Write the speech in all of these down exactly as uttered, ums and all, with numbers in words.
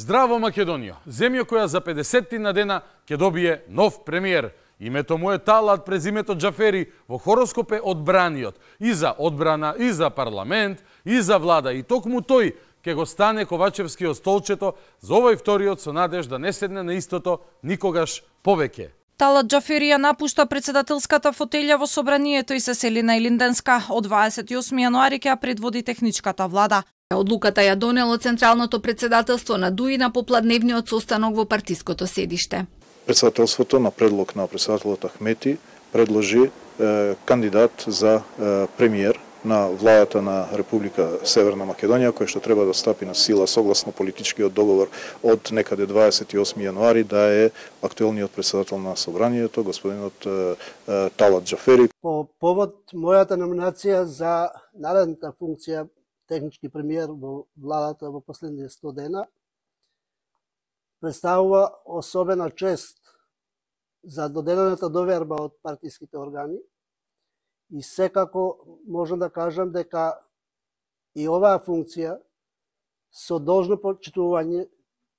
Здраво Македонија, земја која за педесеттина дена ќе добие нов премиер. Името му е Талат, презимето Џафери, во хороскоп е одбраниот и за одбрана, и за парламент, и за влада. И токму тој ќе го стане Ковачевски од столчето за овој вториот со надеж да не седне на истото никогаш повеќе. Талат Џафери ја напушта председателската фотелја во собранието и се сели на Илинденска. Од дваесет и осми јануари ќе ја предводи техничката влада. Одлуката ја донело Централното председателство на ДУИ на попладневниот состанок во партиското седиште. Председателството на предлог на председателот Ахмети предложи е, кандидат за е, премиер на владата на Република Северна Македонија, кој што треба да стапи на сила согласно политичкиот договор од некаде дваесет и осми јануари, да е актуелниот председател на собранието, господинот е, е, Талат Џафери. По повод мојата номинација за наредната функција технички премиер во владата во последните сто дена, представува особена чест за доделената доверба од партиските органи и секако можам да кажам дека и оваа функција со должно почитување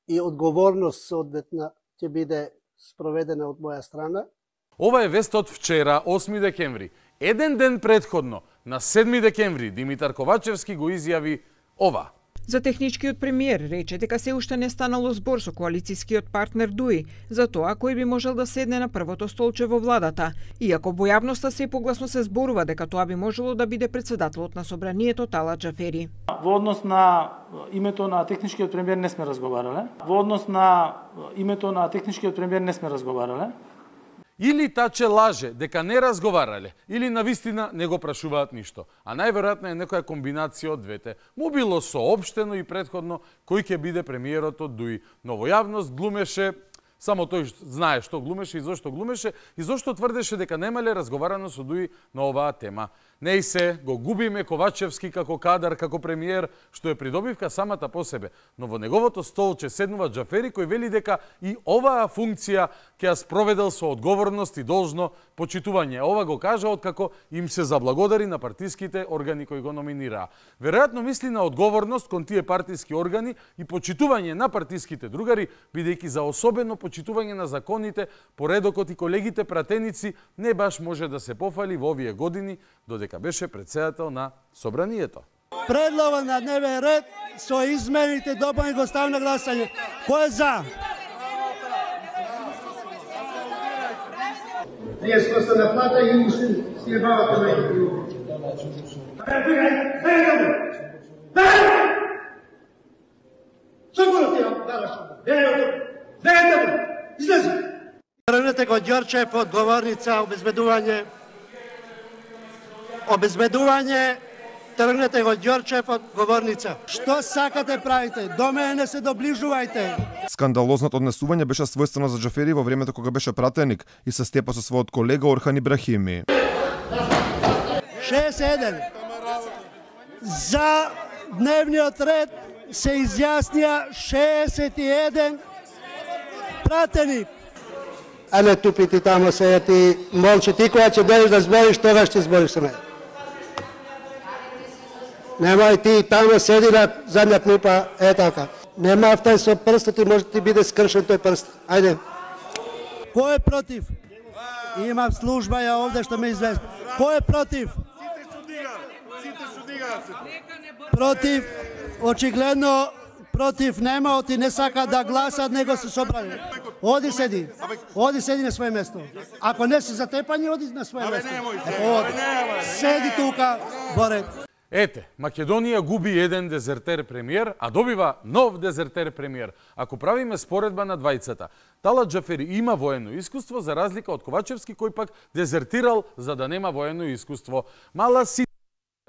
и одговорност соодветна ќе биде спроведена од моја страна. Ова е вест од вчера, осми декември. Еден ден предходно, на седми декември, Димитар Ковачевски го изјави ова. За техничкиот премиер рече дека се уште не станало збор со коалицијскиот партнер ДУИ за тоа кој би можел да седне на првото столче во владата, иако во јавноста се погласно се зборува дека тоа би можело да биде председателот на собранието Талат Џафери. Во однос на името на техничкиот премиер не сме разговарале. Во однос на името на техничкиот премиер не сме разговарале. Или таче лаже дека не разговарале, или навистина не го прашуваат ништо. А најверојатно е некоја комбинација од двете. Му било соопштено и претходно кој ќе биде премиерот од ДУИ. Но во јавност глумеше, само тој знае што глумеше и зошто глумеше, и зошто тврдеше дека немале разговарано со ДУИ на оваа тема. Не и се, го губиме Ковачевски како кадар, како премиер, што е придобивка самата по себе. Но во неговото столче седнува Џафери кој вели дека и оваа функција ќе ја спроведел со одговорност и должно почитување. Ова го кажа откако им се заблагодари на партиските органи кои го номинираа. Веројатно мисли на одговорност кон тие партиски органи и почитување на партиските другари, бидејќи за особено почитување на законите, поредокот и колегите пратеници не баш може да се пофали во овие години, додека беше председател на собранието. Предлогот на дневен ред со измените допълни го ставам на гласање. Кој е за? Вие што сте на плата и уште си ебавате меѓу друго. Што го ротира? Излези! Тргнете го Ѓорчев од говорница обезбедување. Обезбедување, тргнете го Ѓорчев од говорница. Што сакате правите? До мене не се доближувајте. Скандалозното однесување беше својствено за Џафери во времето кога беше пратеник и се степа со својот колега Орхан Ибрахими. шеесет и еден. За дневниот ред се изјаснија шеесет и еден пратеник. А не тупити тамо се ти молчи, ти која ќе дојдеш да збориш, тогаш ќе збориш со мене. Немај ти тамо седи на задња клупа, е така. Нема автај со прстот и може ти биде скршен тој прст. Ајде. Кој е против? Имам служба ја овде што ме извести. Кој е против? Сите што дигаат. Сите што дигаат. Против, очигледно против нема, оти не сака да гласат, него се собрани. Оди седи. Оди седи на своје место. Ако не си затепани, оди на своје место. Седи тука, Боре. Ете, Македонија губи еден дезертер премиер, а добива нов дезертер премиер. Ако правиме споредба на двајцата, Талат Џафери има воено искуство за разлика од Ковачевски кој пак дезертирал за да нема воено искуство. Мала си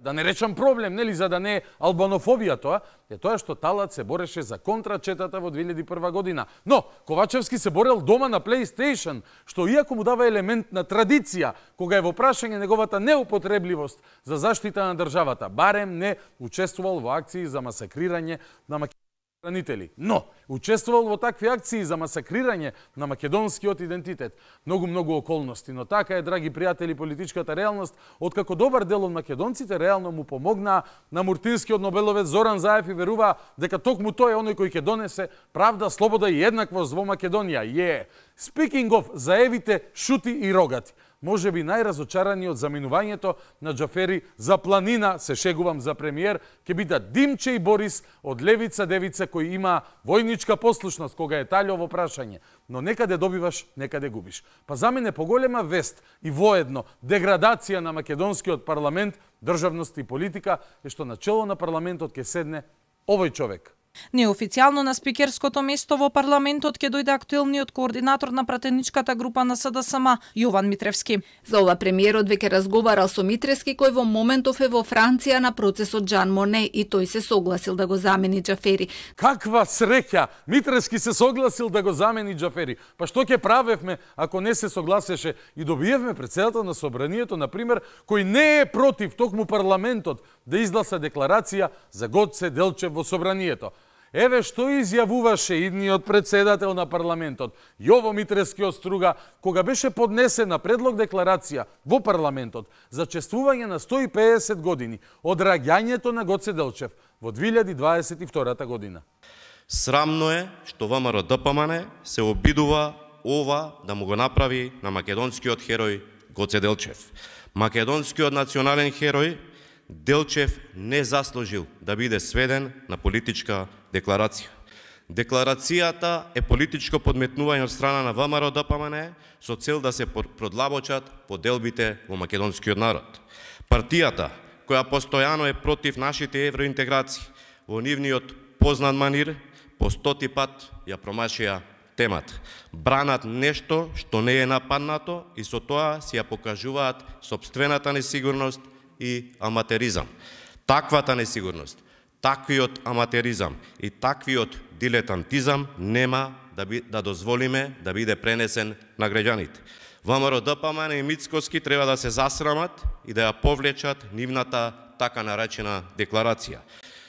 да не речам проблем, нели, за да не е албанофобија тоа, е тоа што Талат се бореше за контрачетата во две илјади и прва година. Но Ковачевски се борел дома на PlayStation, што иако му дава елемент на традиција, кога е во прашање неговата неупотребливост за заштита на државата, барем не учествувал во акции за масакрирање на Македонија. хранители. Но, учествувал во такви акции за масакрирање на македонскиот идентитет. Многу, многу околности, но така е, драги пријатели, политичката реалност, откако добар дел од македонците реално му помогнаа на Муртинскиот нобеловец Зоран Заев и веруваа дека токму тој е оној кој ќе донесе правда, слобода и еднаквост во Македонија. Е, speaking of Заевите шути и рогати. Може би најразочарани од заминувањето на Џафери за планина, се шегувам за премиер, ќе бидат Димче и Борис од Левица Девица кои има војничка послушност кога е талјово прашање. Но некаде добиваш, некаде губиш. Па за мене поголема вест и воедно деградација на македонскиот парламент, државност и политика е што на чело на парламентот ќе седне овој човек. Неофицијално на спикерското место во парламентот ќе дојде актуелниот координатор на пратеничката група на СДСМ, Јован Митревски. За ова премиерот веќе разговарал со Митревски, кој во моментов е во Франција на процесот Жан Моне, и тој се согласил да го замени Џафери. Каква среќа! Митревски се согласил да го замени Џафери. Па што ќе правевме ако не се согласеше? И добиевме претседател на собранието, например, кој не е против токму парламентот да изгласа декларација за Гоце Делчев во собранието. Еве што изјавуваше идниот председател на парламентот, Јово Митревски од Струга, кога беше поднесена предлог декларација во парламентот за чествување на сто и педесет години од раѓањето на Гоце Делчев во две илјади дваесет и втора година. Срамно е што ВМРО Д П М Н се обидува ова да му го направи на македонскиот херој Гоце Делчев. Македонскиот национален херој Делчев не заслужил да биде сведен на политичка декларација. Декларацијата е политичко подметнување од страна на ВМРО Д П М Н со цел да се продлабочат поделбите во македонскиот народ. Партијата, која постојано е против нашите евроинтеграции, во нивниот познат манир, по стоти пат ја промашија темата. Бранат нешто што не е нападнато и со тоа си ја покажуваат сопствената несигурност и аматеризам. Таквата несигурност, таквиот аматеризам и таквиот дилетантизам нема да, би, да дозволиме да биде пренесен на граѓаните. ВМРО Д П М Н и Мицкоски треба да се засрамат и да ја повлечат нивната така наречена декларација.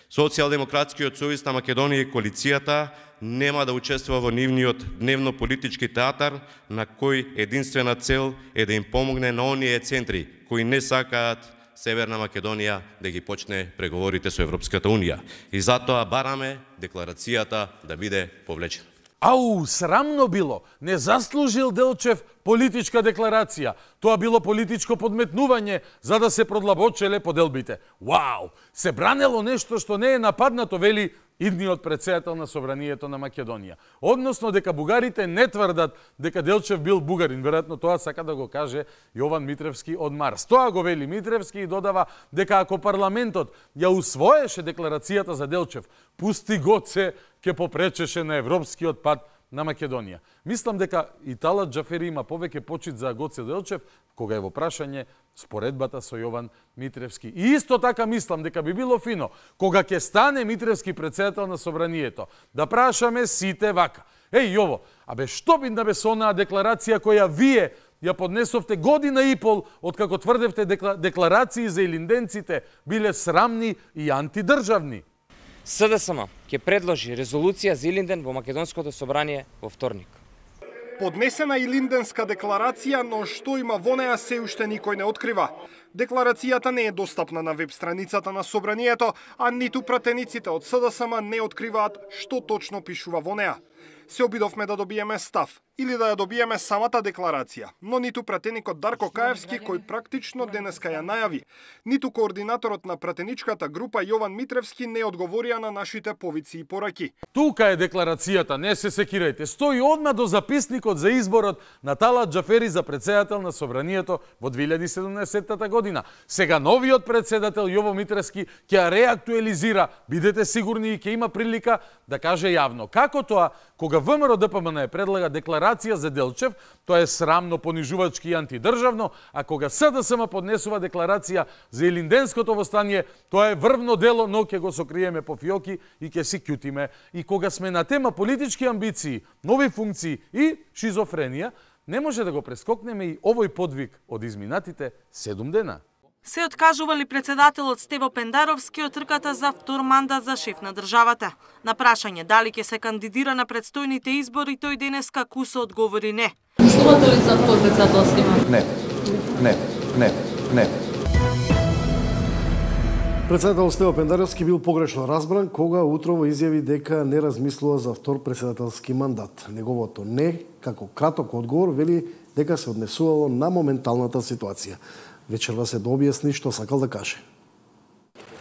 Социјалдемократскиот сојуз на Македонија и коалицијата нема да учествува во нивниот дневно-политички театар, на кој единствена цел е да им помогне на оние центри кои не сакаат Северна Македонија да ги почне преговорите со Европската Унија. И затоа бараме декларацијата да биде повлечена. Ау, срамно било. Не заслужил Делчев политичка декларација. Тоа било политичко подметнување за да се продлабочеле поделбите. Вау! Се бранело нешто што не е нападнато, вели идниот председател на собранието на Македонија. Односно дека бугарите не тврдат дека Делчев бил бугарин. Веројатно тоа сака да го каже Јован Митревски од Марс. Тоа го вели Митревски и додава дека ако парламентот ја усвоеше декларацијата за Делчев, пусти Гоце ќе попречеше на европскиот пат на Македонија. Мислам дека и Талат Џафери има повеќе почит за Гоце Делчев, кога е во прашање споредбата со Јован Митревски. И исто така мислам дека би било фино, кога ќе стане Митревски председател на собранието, да прашаме сите вака. Еј, Јово, абе што би да бе со онаа декларација која вие ја поднесовте година и пол, откако тврдевте декларации за илинденците биле срамни и антидржавни? СДСМ ќе предложи резолуција за Илинден во Македонското собрание во вторник. Поднесена Илинденска декларација, но што има во неа се уште никој не открива. Декларацијата не е достапна на веб страницата на собранието, а ниту пратениците од СДСМ не откриваат што точно пишува во неа. Се обидовме да добиеме став или да ја добиеме самата декларација, но ниту пратеникот Дарко Каевски, кој практично денеска ја најави, ниту координаторот на пратеничката група Јован Митревски не одговорија на нашите повици и пораки. Тука е декларацијата, не се секирајте. Стои одма до записникот за изборот на Талат Џафери за председател на собранието во две илјади и седумнаесетта година. Сега новиот председател Јово Митревски ќе ја реактуализира, бидете сигурни, и ќе има прилика да каже јавно како тоа кога ВМРО Д П М Н предлага декларација за Делчев, тоа е срамно, понижувачки и антидржавно, а кога СДСМ поднесува декларација за Илинденското востание, тоа е врвно дело, но ќе го сокриеме по фиоки и ќе си кјутиме. И кога сме на тема политички амбиции, нови функции и шизофренија, не може да го прескокнеме и овој подвиг од изминатите седум дена. Се откажували председателот Стево Пендаровски од трката за втор мандат за шеф на државата. На прашање дали ќе се кандидира на претстојните избори, тој денеска кусо одговори не. Мислувате ли за втор председателски мандат? Не, не, не, не. Председател Стево Пендаровски бил погрешно разбран кога утрово изјави дека не размислува за втор председателски мандат. Неговото не, како краток одговор, вели дека се однесувало на моменталната ситуација. Вечерва се да објасни што сакал да каже.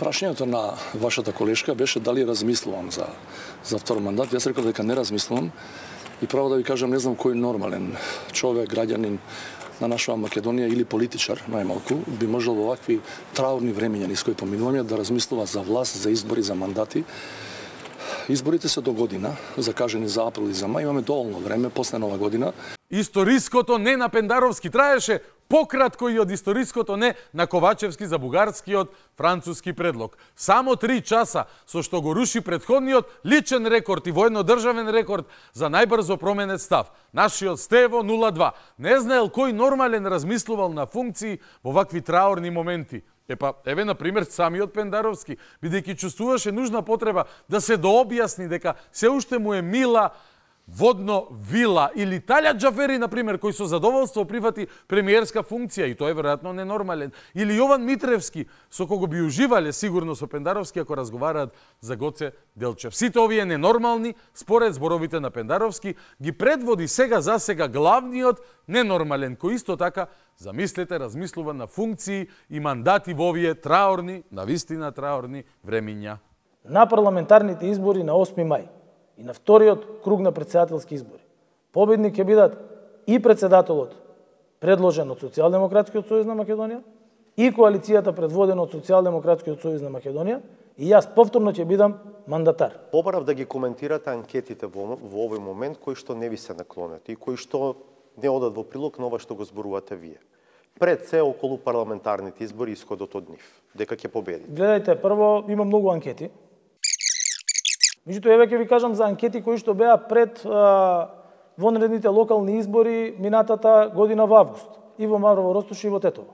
Прашањето на вашата колешка беше дали размислувам за за втор мандат. Јас рекол дека не размислувам и право да ви кажам, не знам кој нормален човек, граѓанин на нашава Македонија или политичар, најмалку, би можел во овакви траурни времиња низ кои поминуваме да размислува за власт, за избори, за мандати. Изборите се до година, закажени за април и за мај, имаме доволно време после нова година. Историското не на Пендаровски траеше пократко и од историското не на Ковачевски за бугарскиот француски предлог. Само три часа, со што го руши претходниот личен рекорд и военно-државен рекорд за најбрзо променет став. Нашиот Стево нула два. Не знаел кој нормален размислувал на функции во вакви траурни моменти. Епа, еве, например, самиот Пендаровски, бидејќи чувствуваше нужна потреба да се дообјасни дека се уште му е мила водно вила, или Талјат Џафери, например, кој со задоволство прифати премиерска функција, и тоа е веројатно ненормален, или Јован Митревски, со кого би уживале сигурно со Пендаровски ако разговараат за Гоце Делчев. Сите овие ненормални, според зборовите на Пендаровски, ги предводи сега за сега главниот ненормален, кој исто така, замислете, размислува на функции и мандати во овие траорни, навистина траорни времиња. На парламентарните избори на осми мај и на вториот круг на председателски избори, победник ќе бидат и председателот предложен од Социјалдемократскиот сојуз на Македонија и коалицијата предводена од Социјалдемократскиот сојуз на Македонија, и јас повторно ќе бидам мандатар. Побарав да ги коментирате анкетите во, во овој момент кои што не ви се наклонети и кои што не одат во прилог на ова што го зборувате вие. Пред се околу парламентарните избори исходот од нив, дека ќе победи. Гледајте, прво има многу анкети. Меѓутоа, еве ќе ви кажам за анкети кои што беа пред а, вонредните локални избори минатата година во август. И во Маврово Ростуш и во Тетово.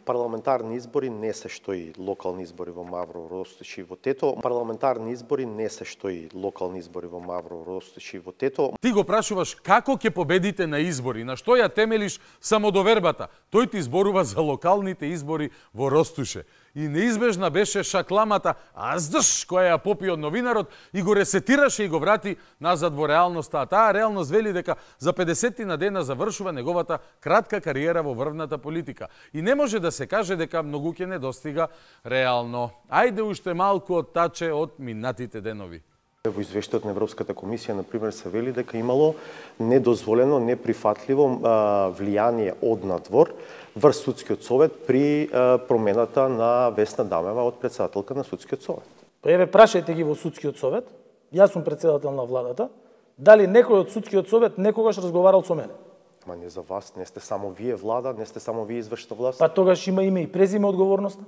Парламентарни избори не се што и локални избори во Маврово Ростуш и во Тетово. Парламентарни избори не се што и локални избори во Маврово Ростуш и во Тетово. Ти го прашуваш како ќе победите на избори, на што ја темелиш самодовербата. Тој ти зборува за локалните избори во Ростуше. И неизбежна беше шакламата аздш која ја попи од новинарот и го ресетираше и го врати назад во реалноста. А таа реалност вели дека за педесетина дена завршува неговата кратка кариера во врвната политика. И не може да се каже дека многу ќе не достига реално. Ајде уште малку оттаче од минатите денови. Во извештајот на Европската комисија, например, се вели дека имало недозволено, неприфатливо а, влијание од надвор врз судскиот совет при а, промената на Весна Дамева од председателка на судскиот совет. Па еве, прашајте ги во судскиот совет, јас сум председател на владата, дали некој од судскиот совет некогаш разговарал со мене? Ма не за вас, не сте само вие влада, не сте само вие извршна власт. Па тогаш има име и презиме одговорноста.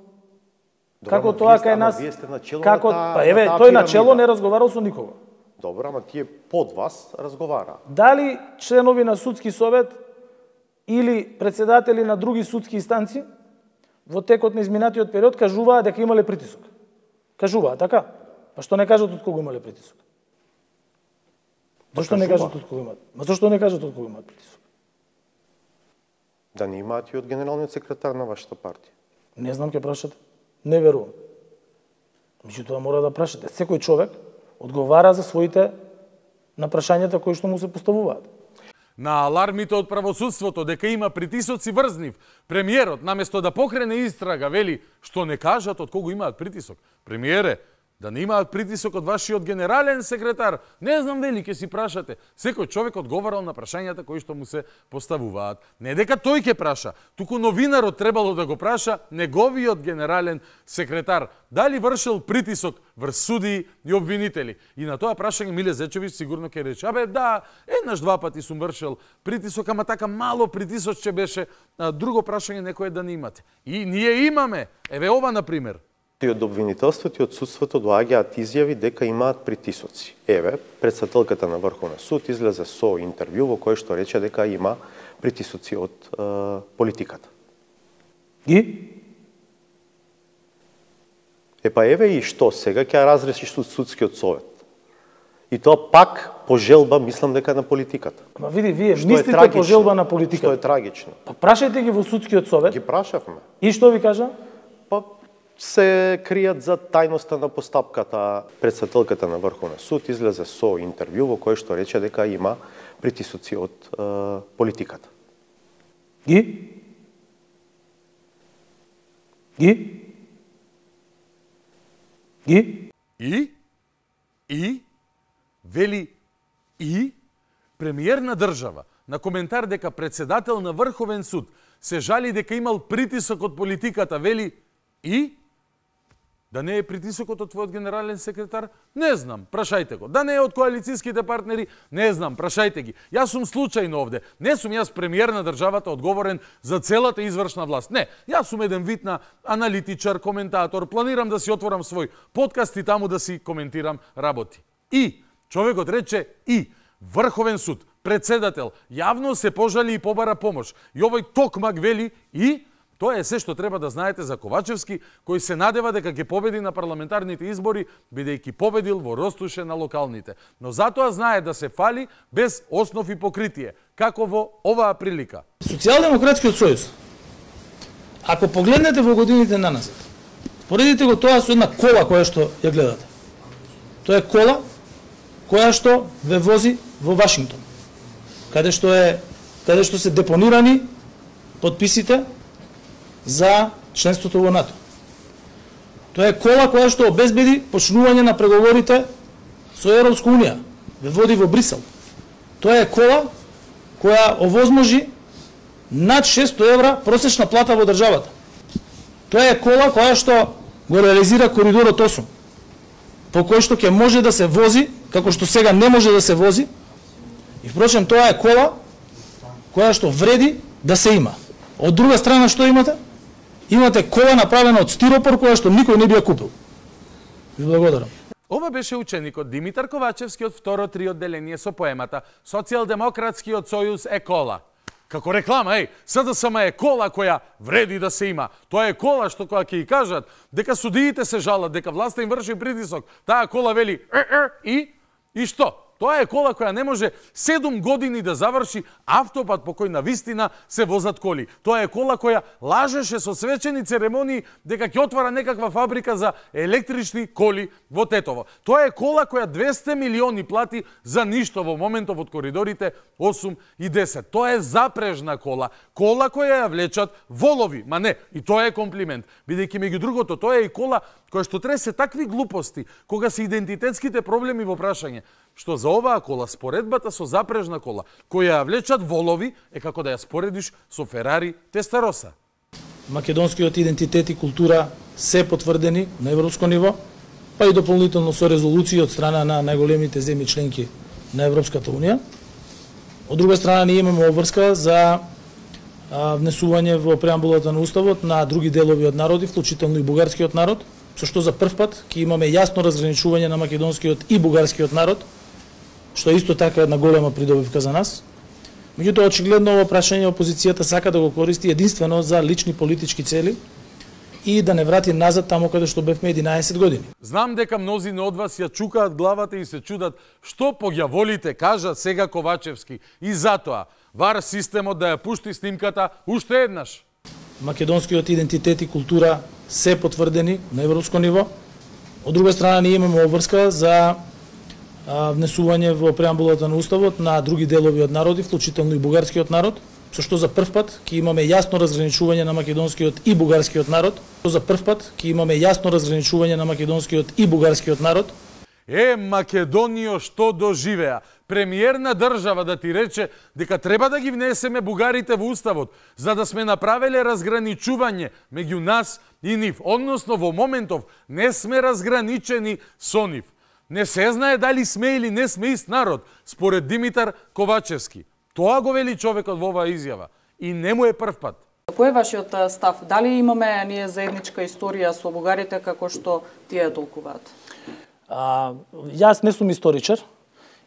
Добра, како тоа кај нас? Вие сте начело како, на та, па еве, на тој начело не разговарал со никого. Добра, ама тие под вас разговара. Дали членови на судски совет или председатели на други судски инстанции во текот на изминатиот период кажуваа дека имале притисок? Кажуваа, така? Па што не кажат од кого имале притисок? Зошто не кажат од кого имаат? Ма зошто не кажат од кого имаат притисок? Да не имаат и од генералниот секретар на вашата партија. Не знам, ќе прашате. Не верувам. Меѓутоа мора да прашате. Секој човек одговара за своите на прашањата кои што му се поставуваат. На алармите од правосудството дека има притисоци врз нив, премиерот наместо да покрене истрага вели што не кажат од кого имаат притисок. Премиере, да не имаат притисок од вашиот генерален секретар, не знам дали ќе си прашате. Секој човек одговарал на прашањата кои што му се поставуваат. Не дека тој ќе праша, туку новинарот требало да го праша неговиот генерален секретар. Дали вршил притисок врз судии и обвинители? И на тоа прашање Миле Зечевич сигурно ќе рече, абе да, еднаш два пати сум вршил притисок, ама така мало притисочче беше. Друго прашање некој да не имате. И ние имаме. Еве ова, например. И од обвинителството и од судството доаѓаат изјави дека имаат притисоци. Еве, председателката на Врховен суд излезе со интервју во кое што рече дека има притисоци од е, политиката. И? Е па еве и што сега ќе разреши судскиот совет. И тоа пак по желба, мислам дека на политиката. Ма види, вие мислите по желба на политиката. Што е трагично. Па прашајте ги во судскиот совет. Ги прашавме. И што ви кажа? Па се кријат за тајноста на постапката. Председателката на Врховен суд излезе со интервју во кое што рече дека има притисоци од е, политиката. И? И? И? И? И? Вели и? Премиер на држава на коментар дека председател на Врховен суд се жали дека имал притисок од политиката, вели и? Да не е притисокот од твојот генерален секретар? Не знам, прашајте го. Да не е од коалицијските партнери? Не знам, прашајте ги. Јас сум случајно овде. Не сум јас премиер на државата одговорен за целата извршна власт. Не, јас сум еден вид на аналитичар, коментатор. Планирам да си отворам свој подкаст и таму да си коментирам работи. И човекот рече и Врховен суд, председател, јавно се пожали и побара помош. И овој токмак вели и тоа е се што треба да знаете за Ковачевски, кој се надева дека ќе победи на парламентарните избори, бидејќи победил во Ростуше на локалните. Но затоа знае да се фали без основ и покритие, како во оваа прилика. Социјалдемократскиот сојуз, ако погледнете во годините наназад, поредите го тоа со една кола која што ја гледате. Тоа е кола која што ве вози во Вашингтон, каде што е каде што се депонирани потписите за членството во НАТО. Тоа е кола која што обезбеди почнување на преговорите со Европска унија, ве води во Брисел. Тоа е кола која овозможи над шесто евра просечна плата во државата. Тоа е кола која што го реализира коридорот осум, по кој што ќе може да се вози, како што сега не може да се вози. И впрочем, тоа е кола која што вреди да се има. Од друга страна што имате? Имате кола направена од стиропор која што никој не би ја купил. Ви благодарам. Ова беше ученикот Димитар Ковачевски од второ три одделение со поемата Социјалдемократскиот сојуз е кола. Како реклама, еј, СДСМ е кола која вреди да се има. Тоа е кола што кога ќе ја кажат дека судиите се жалат, дека власта им врши притисок, таа кола вели е, е, и и што? Тоа е кола која не може седум години да заврши автопат по кој навистина се возат коли. Тоа е кола која лажеше со свечени церемонии дека ќе отвара некаква фабрика за електрични коли во Тетово. Тоа е кола која двесте милиони плати за ништо во моментов од коридорите осум и десет. Тоа е запрежна кола. Кола која ја влечат волови. Ма не, и тоа е комплимент. Бидејќи меѓу другото, тоа е и кола која што тресе такви глупости кога се идентитетските проблеми во прашање, што за оваа кола, споредбата со запрежна кола, која ја влечат волови, е како да ја споредиш со Ферари Тестароса. Македонскиот идентитет и култура се потврдени на европско ниво, па и дополнително со резолуции од страна на најголемите земји членки на Европската унија. Од друга страна, ние имаме обврска за внесување во преамбулата на Уставот на други делови од народи, вклучително и бугарскиот народ, со што за прв пат ќе имаме јасно разграничување на македонскиот и бугарскиот народ, што е исто така една голема придобивка за нас. Меѓутоа, очигледно ова прашање опозицијата сака да го користи единствено за лични политички цели и да не врати назад таму каде што бевме единаесет години. Знам дека мнозина од вас ја чукаат главата и се чудат што по ѓаволите кажа сега Ковачевски и затоа вар системот да ја пушти снимката уште еднаш. Македонскиот идентитет и култура се потврдени на европско ниво. Од друга страна, ние имаме обврска за внесување во преамбулата на Уставот на други делови од народи, вклучително и бугарскиот народ, со што за прв пат ќе имаме јасно разграничување на македонскиот и бугарскиот народ. За прв пат ќе имаме јасно разграничување на македонскиот и бугарскиот народ. Е, Македонијо, што доживеа? Премиер на држава да ти рече дека треба да ги внесеме бугарите во Уставот, за да сме направеле разграничување меѓу нас и нив. Односно, во моментов не сме разграничени со нив. Не се знае дали сме или не сме ист народ, според Димитар Ковачевски. Тоа го вели човекот во оваа изјава. И не му е прв пат. Кој е вашиот став? Дали имаме ние заедничка историја со бугарите како што тие толкуваат? А, јас не сум историчар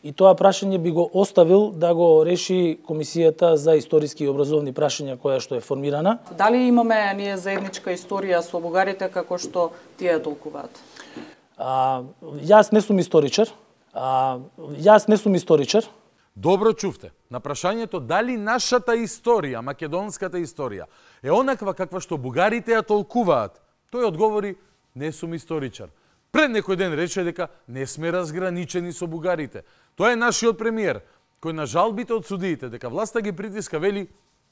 и тоа прашање би го оставил да го реши Комисијата за историски и образовни прашања која што е формирана. Дали имаме ние заедничка историја со бугарите како што тие толкуваат? А, јас не сум историчар. А, јас не сум историчар. Добро чувте. На прашањето дали нашата историја, македонската историја, е онаква каква што бугарите ја толкуваат, тој одговори: не сум историчар. Пред некој ден рече дека не сме разграничени со бугарите. Тоа е нашиот премиер, кој на жалбите од судиите дека власта ги притиска вели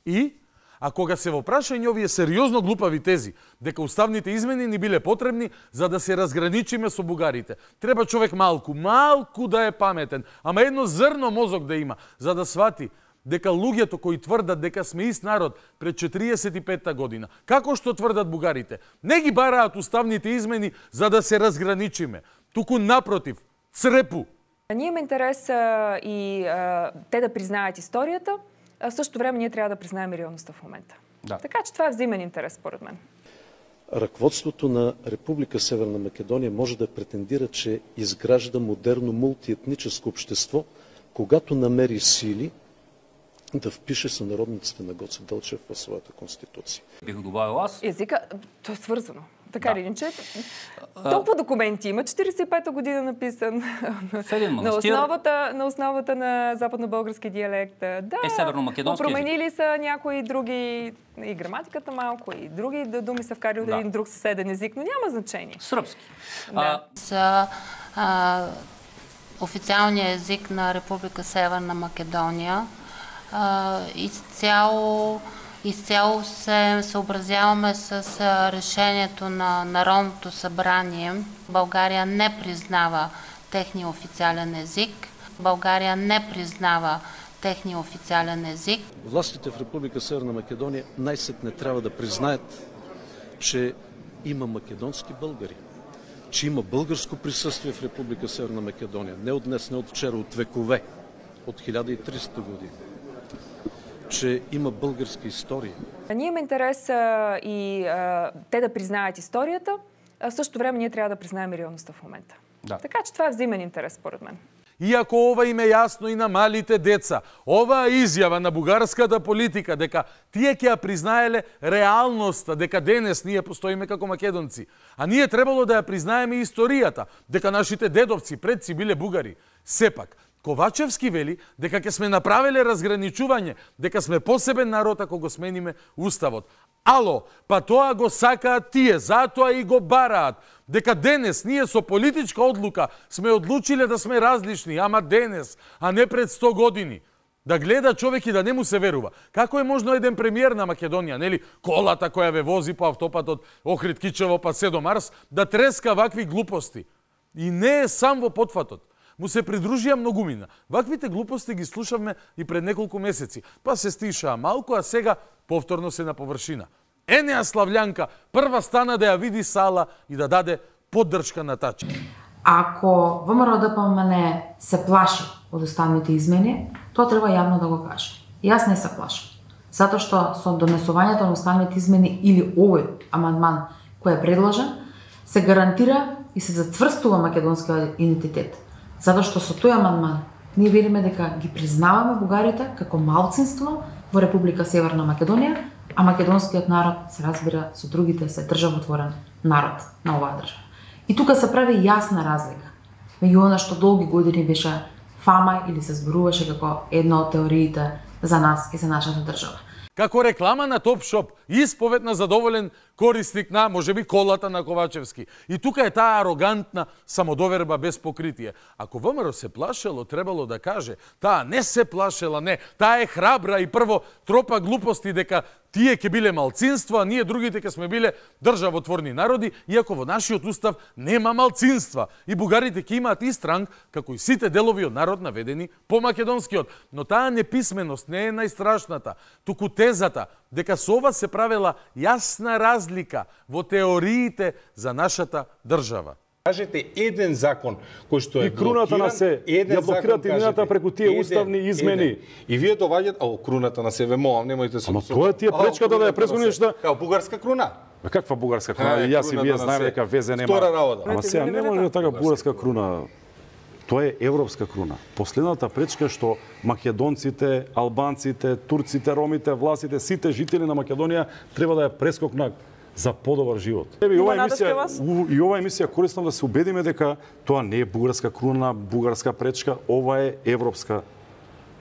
и, а кога се во прашање овие сериозно глупави тези дека уставните измени ни биле потребни за да се разграничиме со бугарите, треба човек малку, малку да е паметен, ама едно зрно мозок да има, за да свати дека луѓето кои тврдат дека сме ист народ пред четириесет и петта година, како што тврдат бугарите, не ги бараат уставните измени за да се разграничиме, туку напротив, црепу. Ние имаме интерес а, и а, те да признаят историјата, а в същото време ние трябва да признаем реалността в момента. Да. Така че това е взаимен интерес, според мен. Ръководството на Република Северна Македония може да претендира, че изгражда модерно мултиетническо общество, когато намери сили да впише сънародниците на Гоце Делчев в своята конституция. Бих добавил аз. Езика, то е свързано. Така или иначе, толкова документи има, четиридесет и пета година написан, на основата, на основата на западно-български диалект. Да, е северно-македонски променили са някои други, и граматиката малко, и други думи са вкарали от да. един друг съседен език, но няма значение. Сръбски. Да. С а, официалния език на Република Северна Македония а, изцяло Изцяло се съобразяваме с решението на Народното събрание. България не признава техния официален език. България не признава техния официален език. Властите в Република Северна Македония най-сетне трябва да признаят, че има македонски българи, че има българско присъствие в Република Северна Македония. Не от днес, не от вчера, от векове, от хиляда и триста години. Че има българска история. Ние имаме интерес а, и а, те да признаят историята, а в същото време ние трябва да признаем реалността в момента. Да. Така че това е взаимен интерес, според мен. Иако ова им е јасно и на малите деца, оваа изјава на бугарската политика дека тие ќе ја признаеле реалноста, дека денес ние постоиме како македонци, а ние требало да ја признаеме историјата, дека нашите дедовци, предци биле бугари. Сепак, Ковачевски вели дека ќе сме направиле разграничување, дека сме посебен народ ако го смениме уставот. Ало, па тоа го сакаат тие, затоа и го бараат. Дека денес ние со политичка одлука сме одлучиле да сме различни, ама денес, а не пред сто години. Да гледа човек и да не му се верува. Како е можно еден премиер на Македонија, нели, колата која ве вози по автопатот Охрид Кичево па се до Марс, да треска вакви глупости. И не е сам во потфатот. Му се придружија многумина. Ваквите глупости ги слушавме и пред неколку месеци. Па се стишаа малку, а сега повторно се на површина. Енеа Слављанка прва стана да ја види сала и да даде поддршка на Тачи. Ако ВМРО-ДПМН се плаши од уставните измени, тоа треба јавно да го каже. Јас не се плашам. Затоа што со донесувањето на уставните измени или овој амандман кој е предложен, се гарантира и се зацврстува македонскиот идентитет. Затоа што со тој амандман ние велиме дека ги признаваме бугарите како малцинство во Република Северна Македонија, а македонскиот народ се разбира со другите се државотворен народ на оваа држава. И тука се прави јасна разлика меѓу она што долги години беше фама или се зборуваше како една од теориите за нас и за нашата држава. Како реклама на Топшоп, исповед на задоволен корисник на, можеби, колата на Ковачевски. И тука е таа арогантна самодоверба без покритие. Ако ВМРО се плашело, требало да каже, таа не се плашела, не, таа е храбра и прво тропа глупости дека тие ќе биле малцинство, а ние другите ќе сме биле државотворни народи, иако во нашиот устав нема малцинства. И бугарите ќе имаат ист ранг, како и сите делови од народ наведени по македонскиот. Но таа неписменост не е најстрашната, туку тезата дека со ова се правела јасна разлика во теориите за нашата држава. Кажете еден закон кој што е и круната на се ја блокирате мината преку тие еден, уставни измени. Еден. И вие доваѓате, о, круната на се вемоам, немојте се. Ама тоа е тие пречката да ја презгониш да. Као бугарска круна. Ма каква бугарска круна? И јас и вие знаеме дека везе нема. Втора работа. Ама сега не може така бугарска круна. Тоа е европска круна. Последната пречка што македонците, албанците, турците, ромите, власите, сите жители на Македонија треба да ја прескокнат за подобар живот. И ова емисија, и ова емисија користам да се убедиме дека тоа не е бугарска круна, бугарска пречка, ова е европска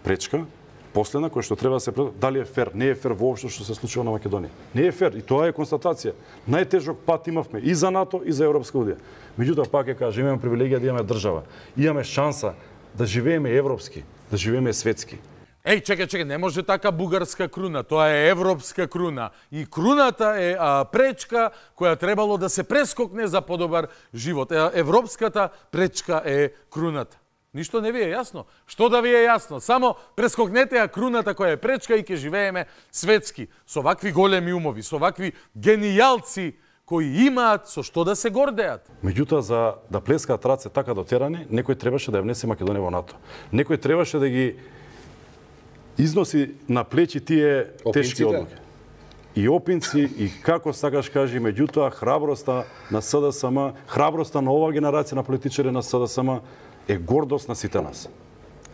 пречка. Последна која што треба да се пред... дали е фер, не е фер воопшто што се случува на Македонија. Не е фер и тоа е констатација. Најтежок пат имавме и за НАТО и за Европска унија. Меѓутоа пак ќе кажам, имаме привилегија да имаме држава. Имаме шанса да живееме европски, да живееме светски. Еј, чекај, чекај, не може така бугарска круна, тоа е европска круна. И круната е а, пречка која требало да се прескокне за подобар живот. Европската пречка е круната. Ништо не ви е јасно. Што да ви е јасно? Само прескокнете ја круната која е пречка и ќе живееме светски. Со вакви големи умови, со вакви генијалци кои имаат со што да се гордеат. Меѓутоа, за да плескаат раце така дотерани, некој требаше да ја внесе Македонија во НАТО. Некој требаше да ги износи на плечи тие тешки одлуки. И опинци, и како сакаш кажи, меѓутоа, храброста на СДСМ, храброста на оваа генерација на политичари на СДСМ е гордост на сите нас.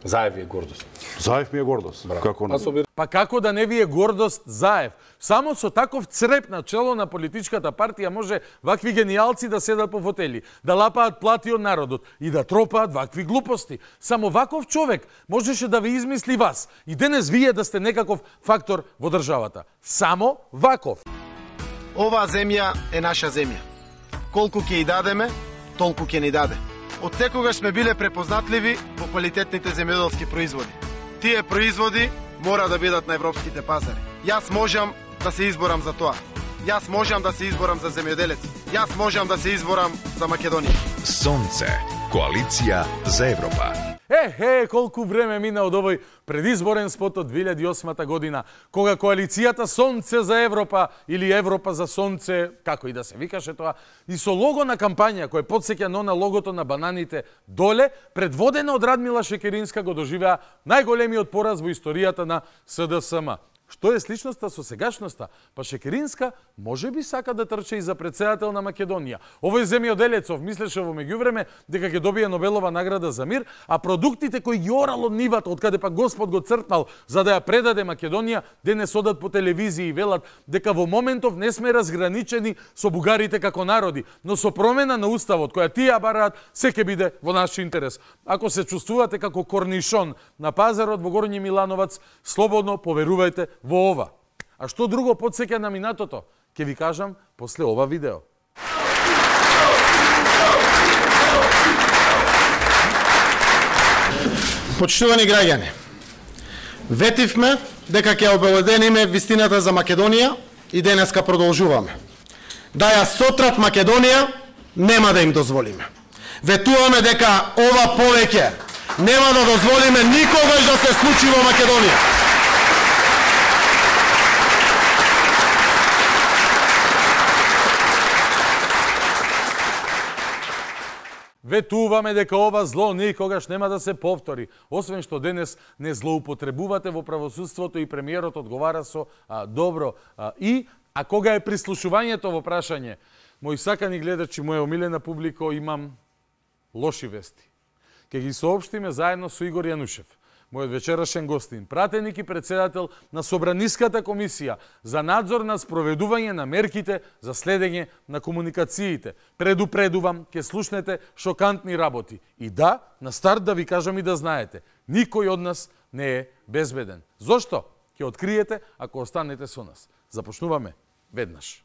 Заев ви е гордост. Заев ми е гордост. Како на... Па како да не ви е гордост Заев? Само со таков цреп на чело на политичката партија може вакви генијалци да седат по фотели, да лапаат плати од народот и да тропаат вакви глупости. Само ваков човек можеше да ви измисли вас и денес вие да сте некаков фактор во државата. Само ваков. Оваа земја е наша земја. Колку ќе ја дадеме, толку ќе ни даде. Од секогаш сме биле препознатливи по квалитетните земјоделски производи. Тие производи мора да бидат на европските пазари. Јас можам да се изборам за тоа. Јас можам да се изборам за земјоделец. Јас можам да се изборам за Македонија. Сонце. Коалиција за Европа. Е, е, колку време мина од овој предизборен спот од две илјади и осма година, кога коалицијата Сонце за Европа или Европа за Сонце, како и да се викаше тоа, и со лого на кампања кој потсеќа на логото на бананите доле, предводена од Радмила Шекеринска, го доживеа најголемиот пораз во историјата на СДСМ. Што е сличноста со сегашноста? Па Шекеринска може би сака да трче и за председател на Македонија. Овој земјоделецов мислеше во меѓувреме дека ќе добие Нобелова награда за мир, а продуктите кои ги орал од нивата, од каде па Господ го цртнал за да ја предаде Македонија, денес одат по телевизија и велат дека во моментов не сме разграничени со бугарите како народи, но со промена на уставот која тие бараат, се ќе биде во наш интерес. Ако се чувствувате како корнишон на пазарот во Горњи Милановац, слободно поверувајте во ова. А што друго потсеќа на минатото? Ќе ви кажам после ова видео. Почитувани граѓани, ветивме дека ќе обелодениме вистината за Македонија и денеска продолжуваме. Да ја сотрат Македонија нема да им дозволиме. Ветуваме дека ова повеќе нема да дозволиме никогаш да се случи во Македонија. Ветуваме дека ова зло никогаш нема да се повтори, освен што денес не злоупотребувате во правосудството и премиерот одговара со а, добро а, и, а кога е прислушувањето во прашање, мои сакани гледачи, моја омилена публико, имам лоши вести. Ке ги соопштиме заедно со Игор Јанушев, мојот вечерашен гостин, пратеник и председател на Собраниската комисија за надзор на спроведување на мерките за следење на комуникациите. Предупредувам, ке слушнете шокантни работи. И да, на старт да ви кажам и да знаете, никој од нас не е безбеден. Зошто? Ке откриете ако останете со нас. Започнуваме веднаш.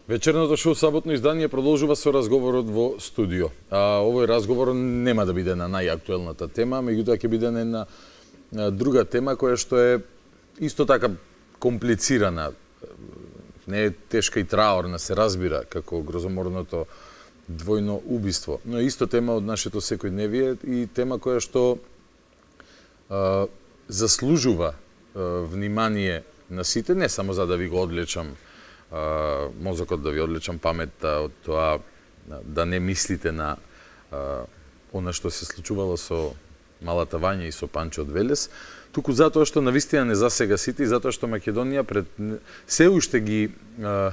Вечерното шоу саботно издание продолжува со разговорот во студио. А, овој разговор нема да биде на најактуелната тема, меѓутоа ќе биде на друга тема која што е исто така комплицирана. Не е тешка и траорна, се разбира, како грозоморното двојно убиство, но е исто тема од нашето секојдневие и тема која што а, заслужува а, внимание на сите, не само за да ви го одлечам Uh, мозокот, да ви одлечам паметта од тоа да не мислите на uh, она што се случувало со Малата Вања и со Панчо од Велес, туку затоа што навистина не засега сите и затоа што Македонија пред се уште ги а,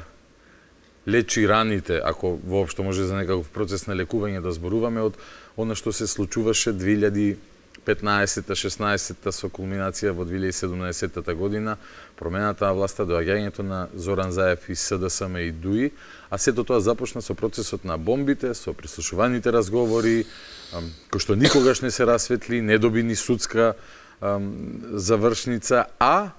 лечи раните, ако воопшто може за некаков процес на лекување да зборуваме од она што се случуваше две илјади и петнаесета шеснаесета со кулминација во две илјади и седумнаесета година, промената на власта, доаѓањето на Зоран Заев и СДСМ и ДУИ, а сето тоа започна со процесот на бомбите, со прислушуваните разговори, кои што никогаш не се расветли, не доби ни судска ам, завршница, а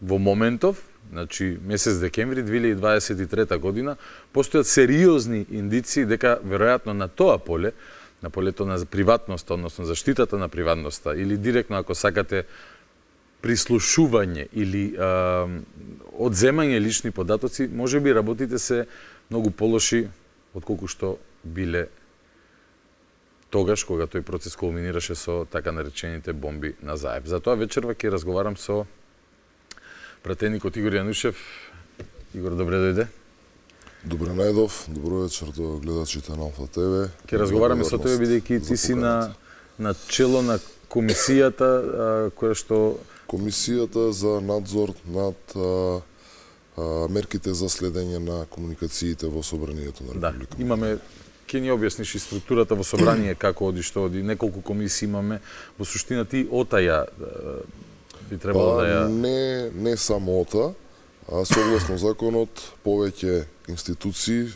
во моментов, значи месец декември две илјади дваесет и трета година, постојат сериозни индиции дека веројатно на тоа поле, на полето на приватноста, односно заштитата на приватноста, или директно, ако сакате, прислушување или а, одземање лични податоци, може би работите се многу полоши отколку што биле тогаш, кога тој процес кулминираше со така наречените бомби на Заев. Затоа вечерва ќе разговарам со пратеникот Игор Јанушев. Игор, добре дојде. Добре најдов, добро вечер до гледачите на Алфа ТВ. Ќе разговараме со тебе бидејќи ти си на на чело на комисијата а, која што Комисијата за надзор над а, а, мерките за следење на комуникациите во собранието на Република. Да, имаме ќе ни објасниш и структурата во собрание како оди што оди, неколку комисии имаме. Во суштина ти отаја би требало па, да ја не не само ота, а согласно законот повеќе институции,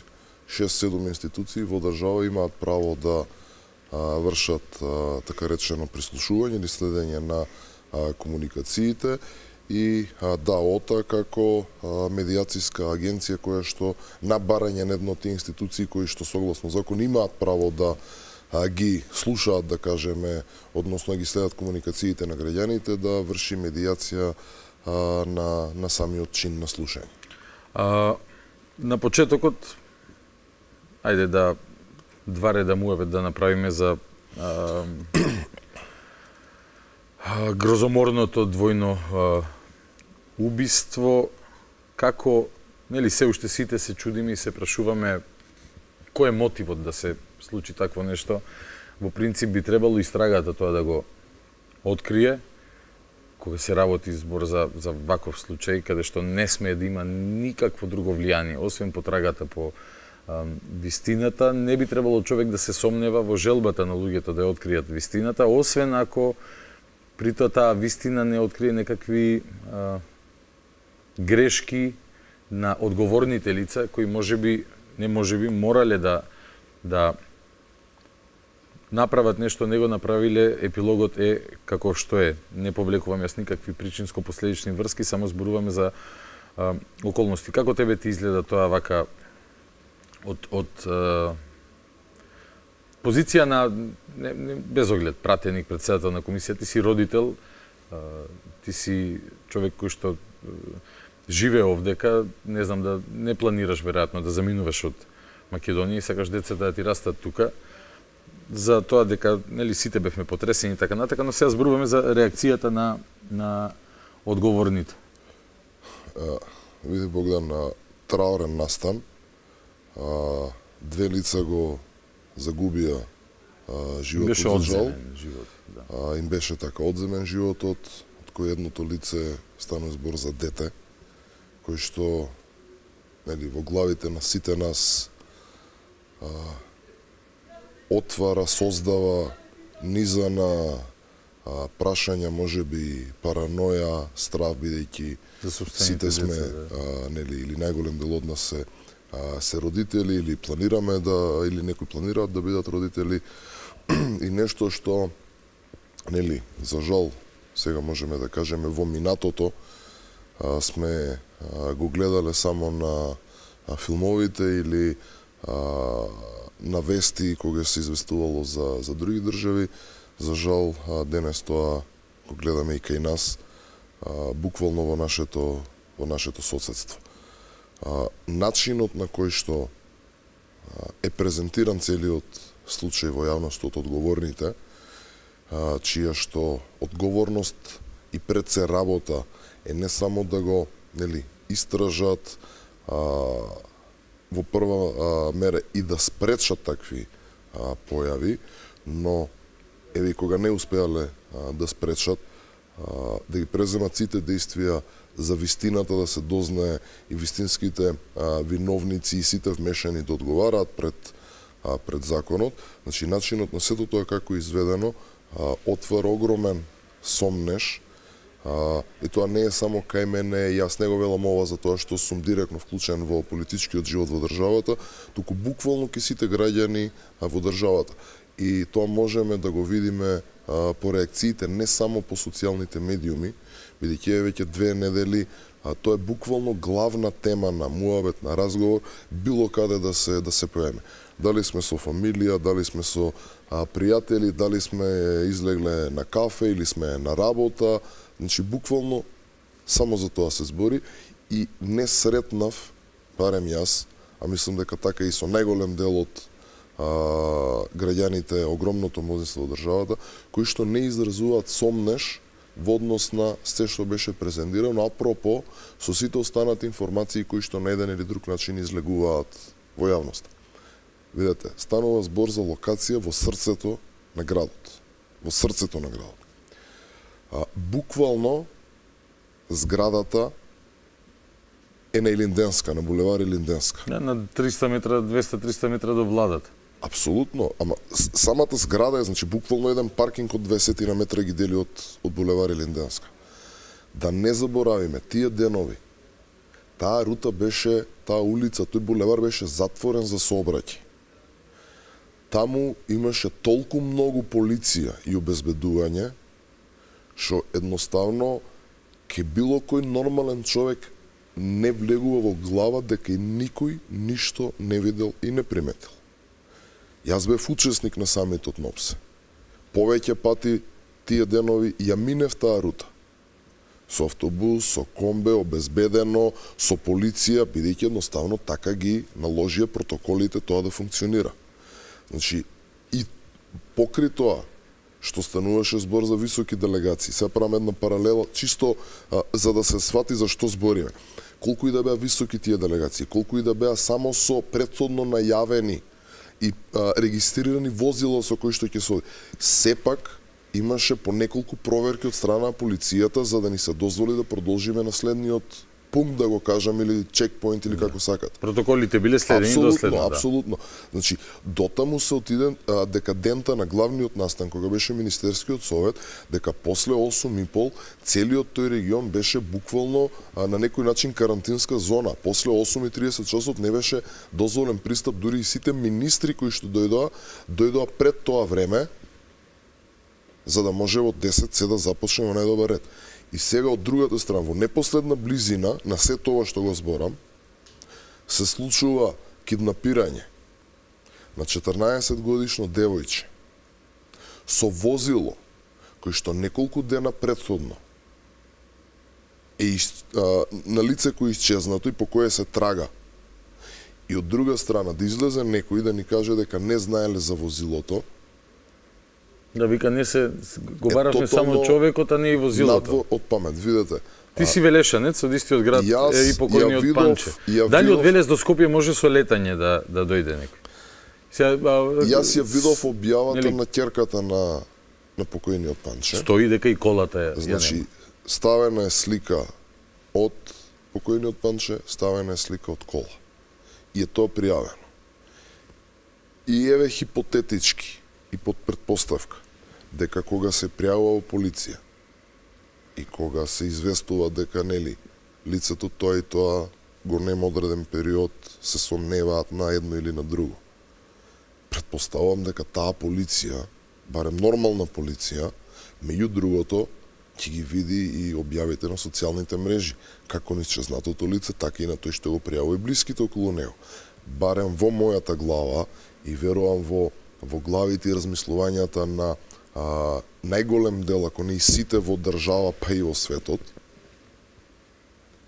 шест-седум институции во држава имаат право да а, вршат а, така речено прислушување или следење на а, комуникациите и а, да, ОТА како а, медијациска агенција која што на барање на едно од тие институции кои што согласно закон имаат право да а, ги слушаат, да кажеме, односно ги следат комуникациите на граѓаните, да врши медијација а, на, на самиот чин на слушање. А, на почетокот, ајде да два реда муавет да направиме за а, а, грозоморното двојно а, убиство, како, нели, се уште сите се чудиме и се прашуваме кој е мотивот да се случи такво нешто. Во принцип би требало истрагата тоа да го открие, кога се работи збор за, за ваков случај, каде што не смее да има никакво друго влијание, освен потрагата по а, вистината, не би требало човек да се сомнева во желбата на луѓето да ја откријат вистината, освен ако при тоа таа вистина не открие некакви а, грешки на одговорните лица, кои може би, не може би, морале да, да направат нешто, не го направиле, епилогот е како што е. Не повлекувам јас никакви причинско-последични врски, само зборуваме за а, околности. Како тебе ти изгледа тоа вака од, од а, позиција на, не, не, без оглед, пратеник, председател на комисија, ти си родител, а, ти си човек кој што а, живее овдека, не знам, да не планираш веројатно да заминуваш од Македонија и сакаш децата да ти растат тука, за тоа дека, нели, сите бевме потресени и така натака, но сега зборуваме за реакцијата на, на одговорните. А, види Богдан, на траурен настан, а, две лица го загубија а, животот. Беше одземен живот, да. А, им беше така одземен животот, од кој едното лице станува збор за дете, кој што, нели, во главите на сите нас а, отвара, создава низана а, прашања, може би параноја, страв, бидејќи сите сме, а, нели, или најголем дел од нас се, а, се родители, или планираме да, или некои планираат да бидат родители, и нешто што, нели, за жал, сега можеме да кажеме, во минатото а, сме а, го гледале само на а, филмовите или а, на вести кога се известувало за, за други држави. За жал, денес тоа го гледаме и кај нас, а, буквално во нашето, во нашето соседство. А, начинот на кој што а, е презентиран целиот случај во јавност од одговорните, а, чија што одговорност и пред се работа е не само да го, нели, истражат, а, во прва а, мера и да спречат такви а, појави, но еве кога не успеале а, да спречат, а, да ги преземат сите действија за вистината да се дознае и вистинските а, виновници и сите вмешани да одговараат пред а, пред законот. Значи начинот на сето тоа како изведено а, отвара огромен сомнеш. А, и тоа не е само кај мене, јас не го велам ова за тоа што сум директно вклучен во политичкиот живот во државата, туку буквално ке сите граѓани а, во државата. И тоа можеме да го видиме а, по реакциите не само по социјалните медиуми, бидејќи е веќе две недели, а тоа е буквално главна тема на муабет, на разговор, било каде да се да се поеме. Дали сме со фамилија, дали сме со а, пријатели, дали сме излегле на кафе или сме на работа, значи буквално само за тоа се збори и не сретнав, барем јас, а мислам дека така и со најголем дел од а, граѓаните, огромното мнозинство од државата, кои што не изразуваат сомнеш во однос на се што беше презентирано, апропо со сите останати информации кои што на еден или друг начин излегуваат во јавноста. Видете, станува збор за локација во срцето на градот. Во срцето на градот. А, буквално зградата е на Илинденска, на булевар Илинденска. Не, на триста метра, двеста до триста метра до владата. Апсолутно, ама самата зграда е, значи, буквално еден паркинг од двесет метра ги дели од, од булевар Илинденска. Да не заборавиме, тие денови, таа рута беше, таа улица, тој булевар беше затворен за сообраќај. Таму имаше толку многу полиција и обезбедување, што едноставно ке било кој нормален човек не влегува во глава дека и никој ништо не видел и не приметил. Јас бев учесник на самитот на ОПСЕ. Повеќе пати тие денови ја минев таа рута. Со автобус, со комбе, обезбедено, со полиција, бидејќи едноставно така ги наложија протоколите тоа да функционира. Значи, и покри тоа, што стануваше збор за високи делегации, се правам една паралела, чисто а, за да се свати за што збориме. Колку и да беа високи тие делегации, колку и да беа само со претходно најавени и а, регистрирани возила со кои што ќе се оди, сепак имаше по неколку проверки од страна на полицијата за да ни се дозволи да продолжиме на следниот пункт, да го кажам, или чекпоинт, или како сакате. Протоколите биле следени до следно, да. Апсолутно. Значи, дотаму се отиде а, декадента на главниот настан, кога беше Министерскиот совет, дека после осум и пол целиот тој регион беше буквално а, на некој начин карантинска зона. После осум и триесет часот не беше дозволен пристап, дури и сите министри кои што дојдоа, дојдоа пред тоа време, за да може во десет се да започне во најдобар ред. И сега од другата страна, во непосредна близина на се тоа што го зборам, се случува киднапирање на четрнаесет годишно девојче со возило кој што неколку дена претходно е из, а, на лице кој исчезнато и по кое се трага. И од друга страна да излезе некој да ни каже дека не знаеле за возилото. Да вика не се говоравме само човекот, а не и возилото. Надво од памет, видете. Ти си велешанец од истиот град јас, е, и покојниот видов, Панче. Дали видов... од Велес до Скопје може со летање да да дојде некој? Сега, а... Јас ја видов објавата Нели... на ќерката на на покојниот Панче. Стои дека и колата е. Значи, ставена е слика од покојниот Панче, ставена е слика од кола. И е тоа пријавено. И еве хипотетички и под предпоставка дека кога се пријавува полиција и кога се известува дека нели лицето тоа и тоа го нема одреден период се сомневаат на едно или на друго. Предпоставувам дека таа полиција, барем нормална полиција, меѓу другото ќе ги види и објавите на социјалните мрежи, како на исчезнатото лице, така и на тој што го пријавува и блиските околу него. Барем во мојата глава и верувам во во главите и размислувањата на а, најголем дел, ако не и сите во држава, па и во светот,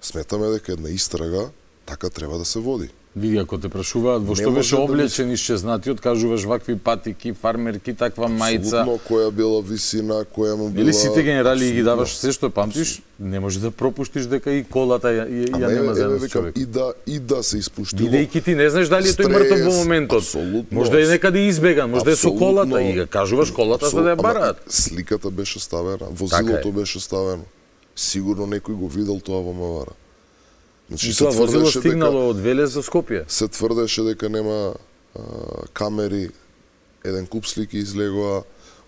сметаме дека една истрага така треба да се води. Види, ако те прашуваат во што беше облечен да исчезнатиот, кажуваш вакви патики, фармерки, таква мајца. Апсолутно, која била висина, која му била... Или сите генерали ги даваш се што памтиш, не може да пропуштиш дека и колата ја, ја, ја нема за еден човек. И да, и да се испуштило... Бидејќи ти не знаеш дали е тој мртов во моментот. Можда е некаде избеган, можда е со колата и ја кажуваш колата за да ја бараат. Сликата беше ставена, возилото беше ставено. Сигурно некој го видел тоа во Мавара. Значи, и тоа возило стигнало од Велес до Скопје. Се тврдеше дека нема а, камери, еден куп слики излегоа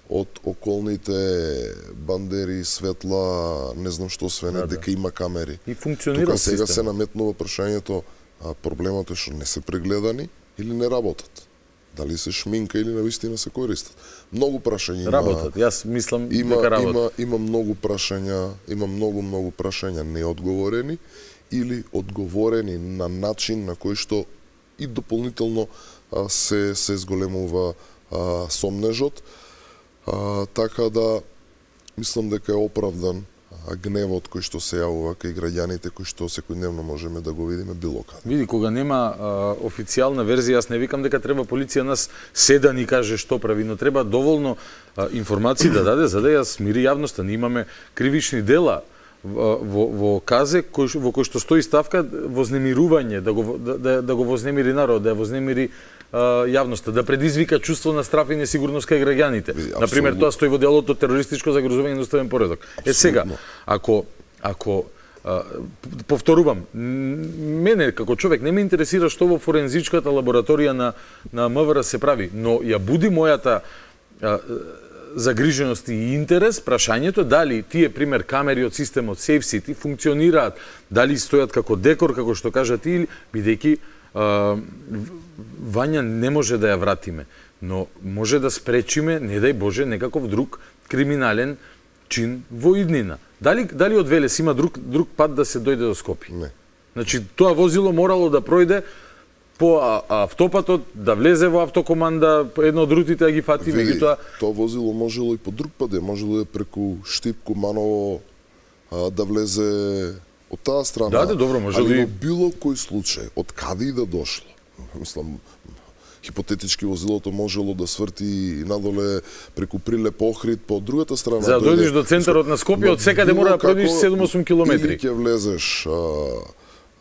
од околните бандери, светла, не знам што све не, да, дека има камери. И функционира Тука сега систем. се наметнува прашањето, а, проблемот е што не се прегледани или не работат. Дали се шминка или навистина се користат. Многу прашања има. Работат. Јас мислам има, дека работат. Има, има многу прашања, има многу многу прашања неодговорени или одговорени на начин на кој што и дополнително а, се се зголемува а, сомнежот. А, така да мислам дека е оправдан а, гневот кој што се јавува кај граѓаните кој што секојдневно можеме да го видиме било каде. Види, кога нема а, официјална верзија, јас не викам дека треба полиција нас се да ни каже што прави, но треба доволно а, информации да даде за да ја смири јавноста. Ние имаме кривични дела во, во казе кој, во кој што стои ставка вознемирување, да го, да, да, да го вознемири народ, да ја вознемири а, јавноста, да предизвика чувство на страф и несигурност кај граѓаните. Например, тоа стои во делото терористичко загрозување на уставен поредок. Е сега, ако ако а, повторувам, мене како човек не ме интересира што во форензичката лабораторија на на МВР се прави, но ја буди мојата а, загриженост и интерес, прашањето дали тие пример камери од системот Safe City функционираат, дали стојат како декор, како што кажа ти, бидејќи Вања не може да ја вратиме, но може да спречиме, не дај Боже, некаков друг криминален чин во иднина. Дали дали од Велес има друг друг пат да се дојде до Скопје? Не. Значи тоа возило морало да пројде по автопатот, да влезе во автокоманда, едно од рутите да ги фати, меѓутоа тоа возило можело и по друг пат, можело е преку Штип, Куманово а, да влезе од таа страна. Да, да, добро, можело и и било кој случај, од каде и да дошло. Мислам, хипотетички возилото можело да сврти надоле преку Прилеп, Охрид, по другата страна. За да дојдеш до центарот на Скопје, од секаде мора да пројдеш седум-осум километри. Или ќе влезеш а,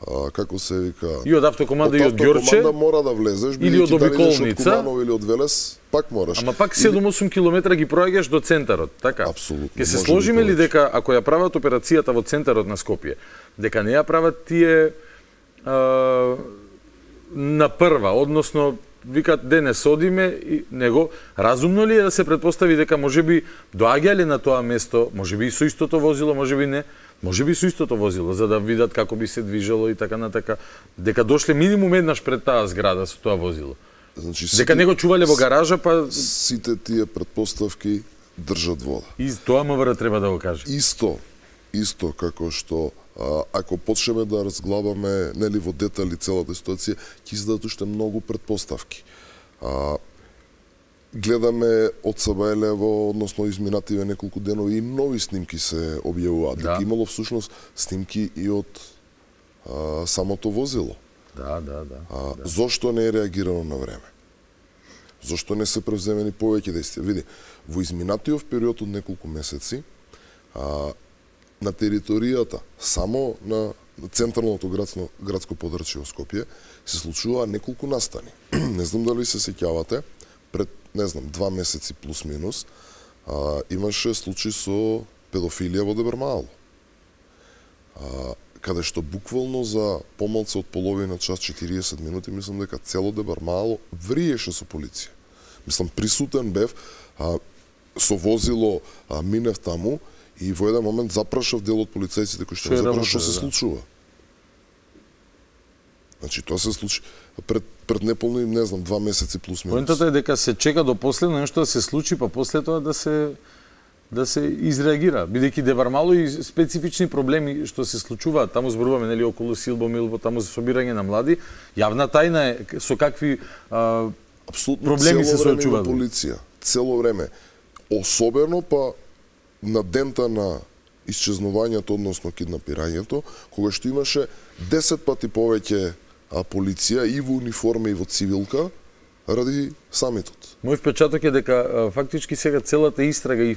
А, како се вика? И од автокоманда, и од Ѓорче. Автокоманда мора да влезеш, или од обиколница. Од или од Велес, пак мораш. Ама пак седум-осум километра ги проаѓаш до центарот, така? Апсолутно. Ке се сложиме ли дека ако ја прават операцијата во центарот на Скопје, дека не ја прават тие а, на прва, односно викат денес одиме и него разумно ли е да се претпостави дека можеби доаѓале на тоа место, можеби и со истото возило, можеби не, можеби со истото возило за да видат како би се движело и така натака, дека дошле минимум еднаш пред таа зграда со тоа возило. Значи, дека сите, него чувале во гаража, па сите тие претпоставки држат вода. И тоа МВР треба да го каже. Исто, исто како што а, ако почнеме да разглабаме нели во детали целата ситуација, ќе издадат уште многу претпоставки. А, гледаме од Сабајлево, односно изминативе неколку денови и нови снимки се објавуваат. Да. Дека имало всушност снимки и од а, самото возило. Да, да, да. А, да. Зошто не е реагирано на време? Зошто не се превземени повеќе действија? Види, во изминатиот период од неколку месеци, а, на територијата, само на централното градско, градско подрачје во Скопје, се случува неколку настани. Не знам дали се сеќавате, пред, не знам, два месеци плюс минус, а, имаше случај со педофилија во Дебармаало. А, каде што буквално за помалку од половина час, четириесет минути, мислам дека цело Дебармаало вриеше со полиција. Мислам, присутен бев, а, со возило а, минев таму и во еден момент запрашав дел од полицајците кои што запрашав што се да. случува. Значи, тоа се случи пред, пред неполни, не знам, два месеци плюс минус. Поентата е дека се чека до последно нешто да се случи, па после тоа да се да се изреагира, бидејќи Дебармаало и специфични проблеми што се случуваат, таму зборуваме нели околу Силбо, Милбо, таму за собирање на млади, јавна тајна е со какви а, проблеми се соочуваат. Полиција, цело време, особено па на дента на исчезнувањето, односно киднапирањето, кога што имаше десет пати повеќе а полиција и во униформа и во цивилка ради самитот. Мој впечаток е дека фактички сега целата истрага и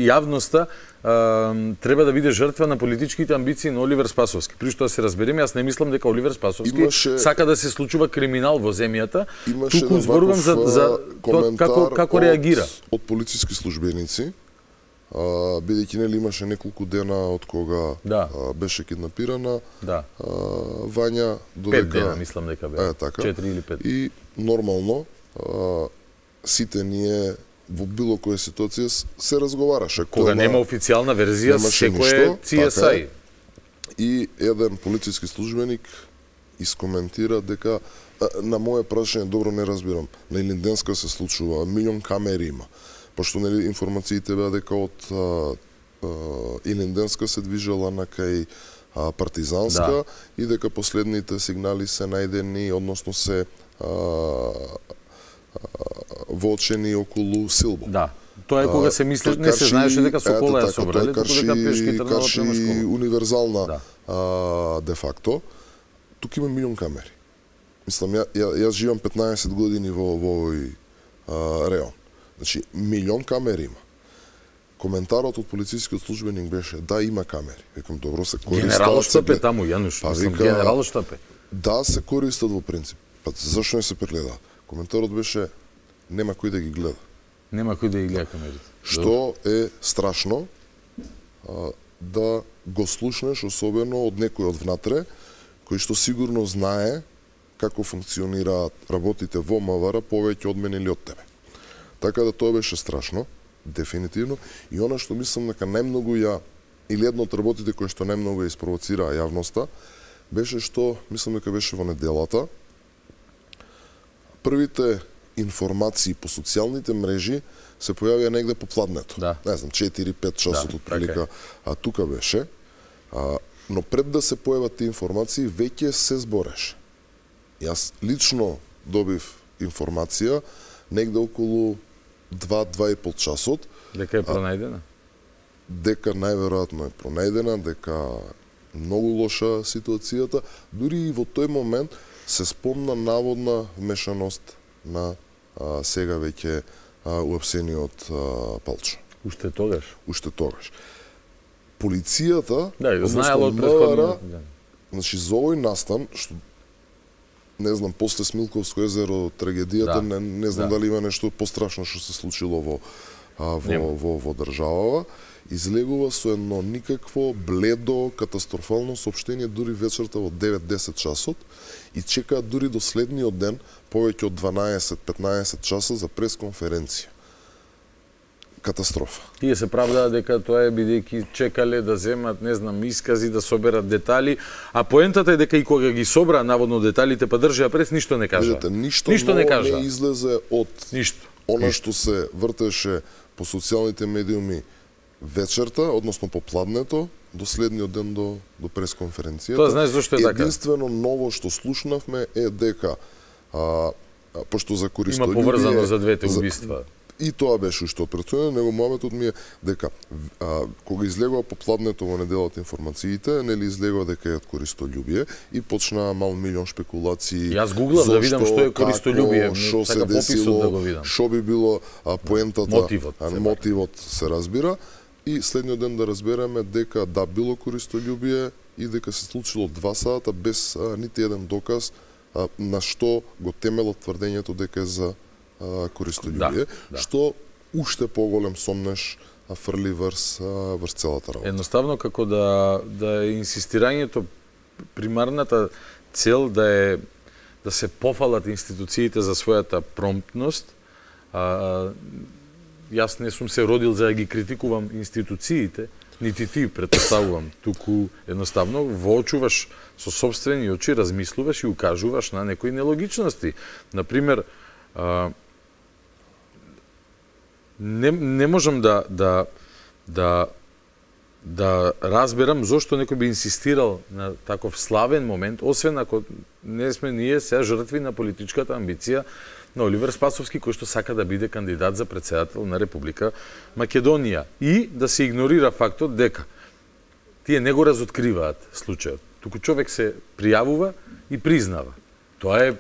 јавноста треба да биде жртва на политичките амбиции на Оливер Спасовски. При што да се разбереме, јас не мислам дека Оливер Спасовски имаше, сака да се случува криминал во земјата, туку зборувам за, за то, како, како реагира. Од, од полициски службеници, а, бидејќи нели имаше неколку дена од кога да. а, беше киднапирана, да. а, Вања додека... Пет дена, мислам дека бе. Е, така. Четири или пет. И нормално, а, сите ние во било која ситуација се разговараше. Кога нема официјална верзија, секој е Си Ес Ај. Така, и еден полициски службеник искоментира дека на моје прашање, добро не разбирам, на Илинденска се случува, милион камери има. Пошто нели информациите беа дека од а, а, Илинденска се движела на кај а, Партизанска да. И дека последните сигнали се најдени, односно се а, воочени околу Силбо. Да. Тоа е кога се мисли, не се знаеше дека Сокола ја собрале, туку дека пешки тргнала према школа. Универзална да. а, де факто. Тук има милион камери. Мислам, ја, ја, јас живам петнаесет години во, во овој а, реон. Значи, милион камери има. Коментарот од полицискиот службеник беше, да, има камери. Викам, добро, се користат... Генерал штап е таму, Јануш. Па, мислам, генерал штап е. Да, се користат во принцип. Па, зашто не се прегледаат? Коментарот беше, нема кој да ги гледа. Нема кој да ги гледа камерите. Што е страшно а, да го слушнеш, особено од некој од внатре, кој што сигурно знае како функционираат работите во МВР повеќе од мене или од тебе. Така да тоа беше страшно, дефинитивно. И она што мислам дека најмногу ја, или едно од работите кои што најмногу ја испровоцираа јавноста, беше што, мислам дека беше во неделата, првите информации по социјалните мрежи се појавија негде по пладнето. Да. Не знам, четири-пет часот да, од прилика, така а тука беше. А, но пред да се појават тие информации, веќе се збореше. Јас лично добив информација негде околу два-два и пол часот. Дека е пронајдена? Дека најверојатно е пронајдена, дека многу лоша ситуацијата. Дури и во тој момент се спомна наводна вмешаност на а, сега веќе уапсениот Палчо. Уште тогаш? Уште тогаш. Полицијата, да, знаела од претходно. Значи, за овој настан, што не знам, после Смилковско езеро, трагедијата, да. не, не знам да. дали има нешто пострашно што се случило во, а, во, во, во, во државава, излегува со едно никакво бледо, катастрофално соопштение дури вечерта во девет-десет часот и чекаат дури до следниот ден повеќе од дванаесет-петнаесет часа за пресконференција. Катастрофа. Тие се правдаат дека тоа е бидејќи чекале да земат, не знам, искази, да соберат детали, а поентата е дека и кога ги собра наводно деталите, па држија прес, ништо не кажа. Видите, ништо, ништо не кажа. Не излезе од ништо. Она ништо. што се вртеше по социјалните медиуми вечерта, односно по пладнето, до следниот ден до, до пресконференцијата. Тоа знаеш зашто е така? Единствено ново што слушнавме е дека, а, а, пошто за користолюбие... Има поврзано за двете убиства. И тоа беше уште од претходно, него мометот ми е дека а, кога излегува по пладнето во неделата информациите, нели излегува дека е од користолюбие и почнаа мал милион шпекулации. Јас гуглав да видам што е користолюбие, што се десило, да го видам. Што би било а, поентата, мотивот, а, мотивот се разбира и следниот ден да разбереме дека да било користолюбие и дека се случило два сата без а, нити еден доказ а, на што го темелат тврдењето дека е за користолюбие, да, да. Што уште поголем сомнеш фрли врз, врз целата работа. Едноставно како да, да е инсистирањето, примарната цел да е да се пофалат институциите за својата промптност. А, јас не сум се родил за да ги критикувам институциите, нити ти претпоставувам, туку едноставно воочуваш со сопствени очи, размислуваш и укажуваш на некои нелогичности. Например, а, Не, не можам да, да, да, да разберам зошто некој би инсистирал на таков славен момент, освен ако не сме ние сега жртви на политичката амбиција на Оливер Спасовски, кој што сака да биде кандидат за претседател на Република Македонија. И да се игнорира фактот дека тие не го разоткриваат случајот, туку човек се пријавува и признава. Тоа е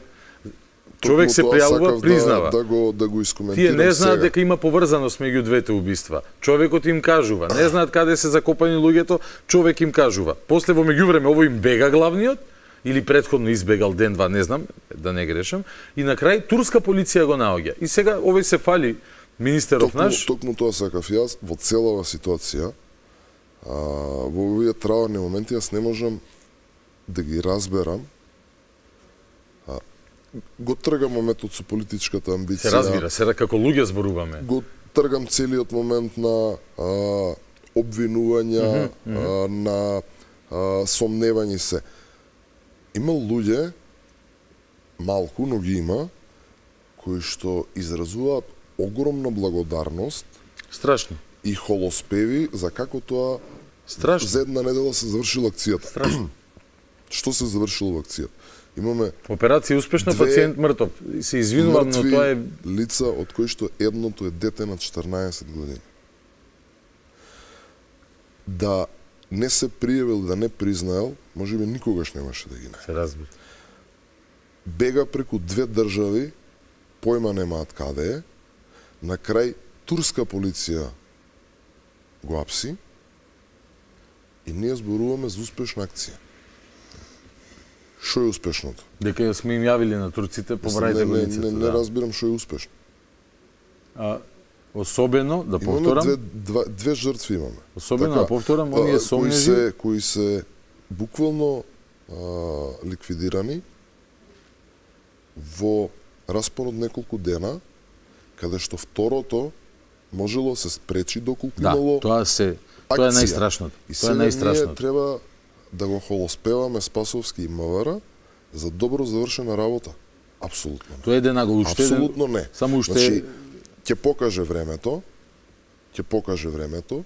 човек се пријавува, признава. Да, да го да го искоментирам. Тие не знаат сега. дека има поврзаност меѓу двете убиства. Човекот им кажува, не знаат каде се закопани луѓето, човек им кажува. После во меѓувреме ово им бега главниот или претходно избегал ден-два, не знам, да не грешам, и на крај турска полиција го наоѓа. И сега овој се фали министеров токму, наш. Токму тоа сакав јас во целава ситуација. А, во овие траурни моменти јас не можам да ги разберам. А, го тргам моментот со политичката амбиција. Се разбира, се како луѓе зборуваме. Го тргам целиот момент на а, обвинувања, mm -hmm, mm -hmm. А, на а, сомневањи се. Има луѓе, малку, но ги има, кои што изразуваат огромна благодарност. Страшно. И холоспеви за како тоа Страшно. За една недела се завршила акцијата. Страшно. Што се завршило во акцијата? Имаме операција успешна, пациент мртов. Се извинувам, но тоа е лица од кои што едното е дете на четрнаесет години. Да не се пријавил, да не признаел, можеби никогаш немаше да ги најде. Се разбира. Бега преку две држави, појма немаат каде е, на крај турска полиција го апси и ние зборуваме за успешна акција. Што е успешното? Дека сме им јавили на турците, побрајте го лицето. Не, не, не, не разбирам што е успешно. А, особено, да повторам... Имаме две, два, две жртви имаме. Особено, така, да повторам, оние сомнежи... Кои се, кои се буквално а, ликвидирани во распон од неколку дена, каде што второто можело се спречи доколку да, имало тоа се тоа е најстрашното. И тоа е најстрашното. Ние треба да го холоспеваме Спасовски и МВР за добро завршена работа. Апсолутно. Тоа е една го уште. Апсолутно не. Само уште значи, ќе покаже времето, ќе покаже времето.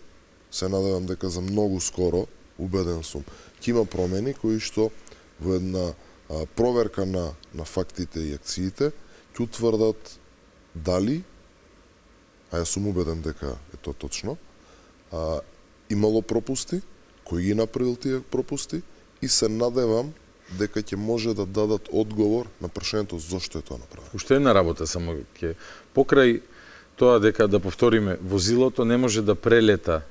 Се надевам дека за многу скоро, убеден сум, ќе има промени кои што во една а, проверка на на фактите и акциите ќе утврдат дали, а јас сум убеден дека е тоа точно, а, имало пропусти, кои ги направил тие пропусти и се надевам дека ќе може да дадат одговор на прашањето зошто е тоа направено. Уште една работа само ќе покрај тоа дека да повториме, возилото не може да прелета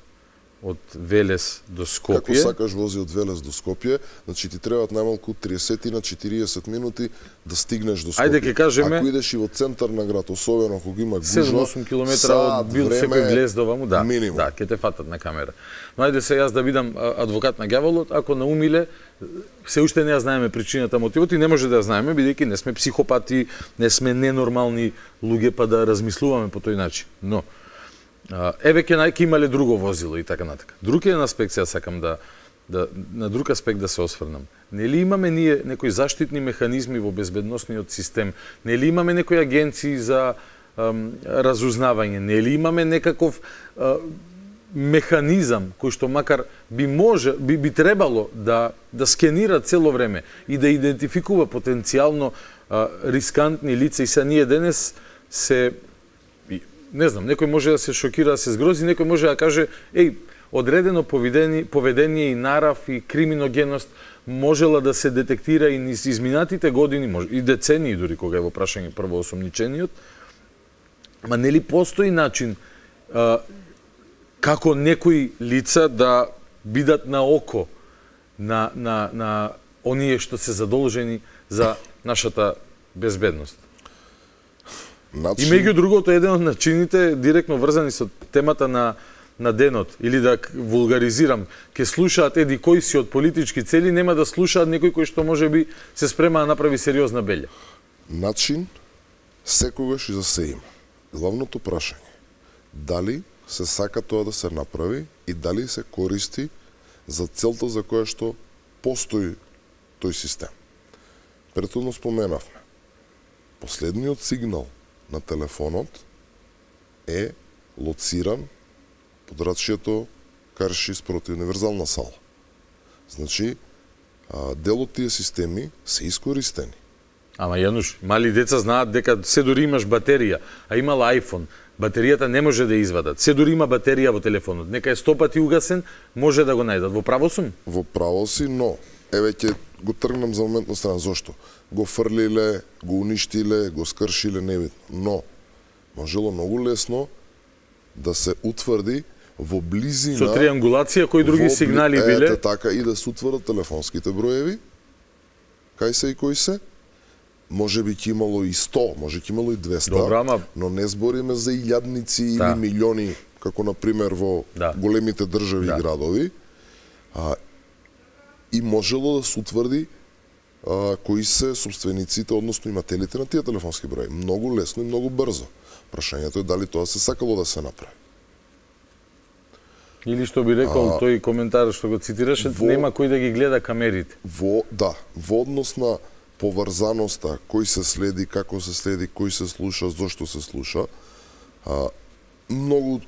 од Велес до Скопје. Како сакаш вози од Велес до Скопје, значи ти требаат најмалку триесет на четириесет минути да стигнеш до Скопје. Ајде ќе кажеме, ако идеш и во центар на град, особено кога има гужва, седум-осум километра од бил секој глездова му, да, минимум. Да, ќе те фатат на камера. Но ајде се јас да бидам адвокат на ѓаволот, ако наумиле, се уште не ја знаеме причината, мотивот и не може да ја знаеме, бидејќи не сме психопати, не сме ненормални луѓе па да размислуваме по тој начин. Но еве ќе најке имале друго возило и така натака. Друг еден аспект сега сакам да, да на друг аспект да се осврнам. Нели имаме ние некои заштитни механизми во безбедносниот систем? Нели имаме некои агенции за ам, разузнавање? Нели имаме некаков а, механизам кој што макар би може би, би требало да да скенира цело време и да идентификува потенцијално а, рискантни лица и са ние денес се не знам, некој може да се шокира, да се згрози, некој може да каже, еј, одредено поведение, поведение и нарав и криминогеност можела да се детектира и низ изминатите години, може, и децении дури кога е во прашање првоосомничениот, ма нели постои начин а, како некои лица да бидат на око на, на, на оние што се задолжени за нашата безбедност? Начин... И меѓу другото, еден од начините директно врзани со темата на на денот или да вулгаризирам, ќе слушаат еди кои си од политички цели, нема да слушаат некој кој што можеби се спрема да направи сериозна белја. Начин секогаш и за се има. Главното прашање, дали се сака тоа да се направи и дали се користи за целта за која што постои тој систем. Претhodно споменавме. Последниот сигнал на телефонот е лоциран под рачјето карши спроти универзална сала. Значи, дел од тие системи се искористени. Ама Јануш, мали деца знаат дека се дури имаш батерија, а имала iPhone, батеријата не може да извадат. Се дури има батерија во телефонот. Нека е сто пати угасен, може да го најдат. Во право сум? Во право си, но еве ќе го тргнам за момент на страна. Зошто? Го фрлиле, го уништиле, го скршиле, небитно. Но, можело многу лесно да се утврди во близина... Со триангулација, кои други во, сигнали биле? Ете така, и да се утврдат телефонските броеви, кај се и кои се. Може би ќе имало и сто, може ќе имало и двесте, Добра, ама... но не збориме за илјадници да. или милиони, како например во да. големите држави да. и градови. А, и можело да се утврди а, кои се собствениците, односно имателите на тие телефонски брои. Многу лесно и многу брзо. Прашањето е дали тоа се сакало да се направи. Или што би рекол а, тој коментар што го цитираше, во, нема кој да ги гледа камерите. Во, да, во однос на поврзаноста, кој се следи, како се следи, кој се слуша, зошто се слуша, а, многу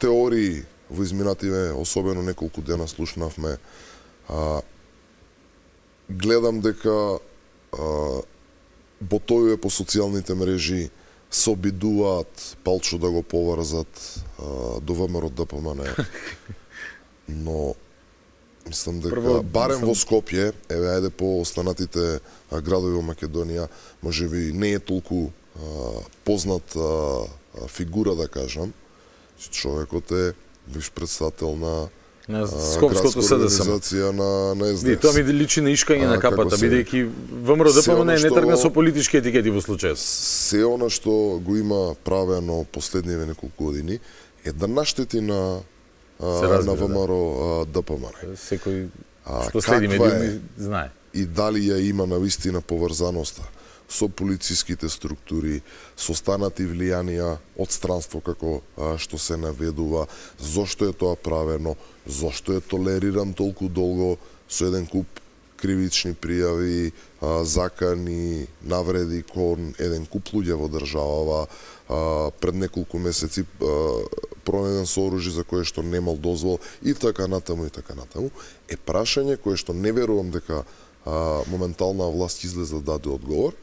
теории во изминативе, особено неколку дена слушнавме, а, гледам дека а, ботовиве по социјалните мрежи се обидуваат палчо да го поврзат а, до ВМРО ДПМН. Но мислам дека Прво, барем мислам... во Скопје, еве ајде по останатите а, градови во Македонија, можеби не е толку а, познат а, фигура да кажам. Човекот е бивш председател на на Скопското СДСМ на на ес де ес. Тоа ми личи на ишкање на капата, бидејќи ВМРО ДПМН не тргна со политички етикети во случајот. Се она што го има правено последниве неколку години е да наштети на а, на ВМРО да. ДПМН. Секој што следи медиуми знае. И дали ја има навистина поврзаноста со полициските структури, со станати влијанија од странство како а, што се наведува, зошто е тоа правено, зошто е толериран толку долго со еден куп кривични пријави, а, закани, навреди кон еден куп луѓе во државава, а, пред неколку месеци а, пронеден со оружје за кое што немал дозвол и така натаму и така натаму, е прашање кое што не верувам дека а, моментална власт излезе да даде одговор,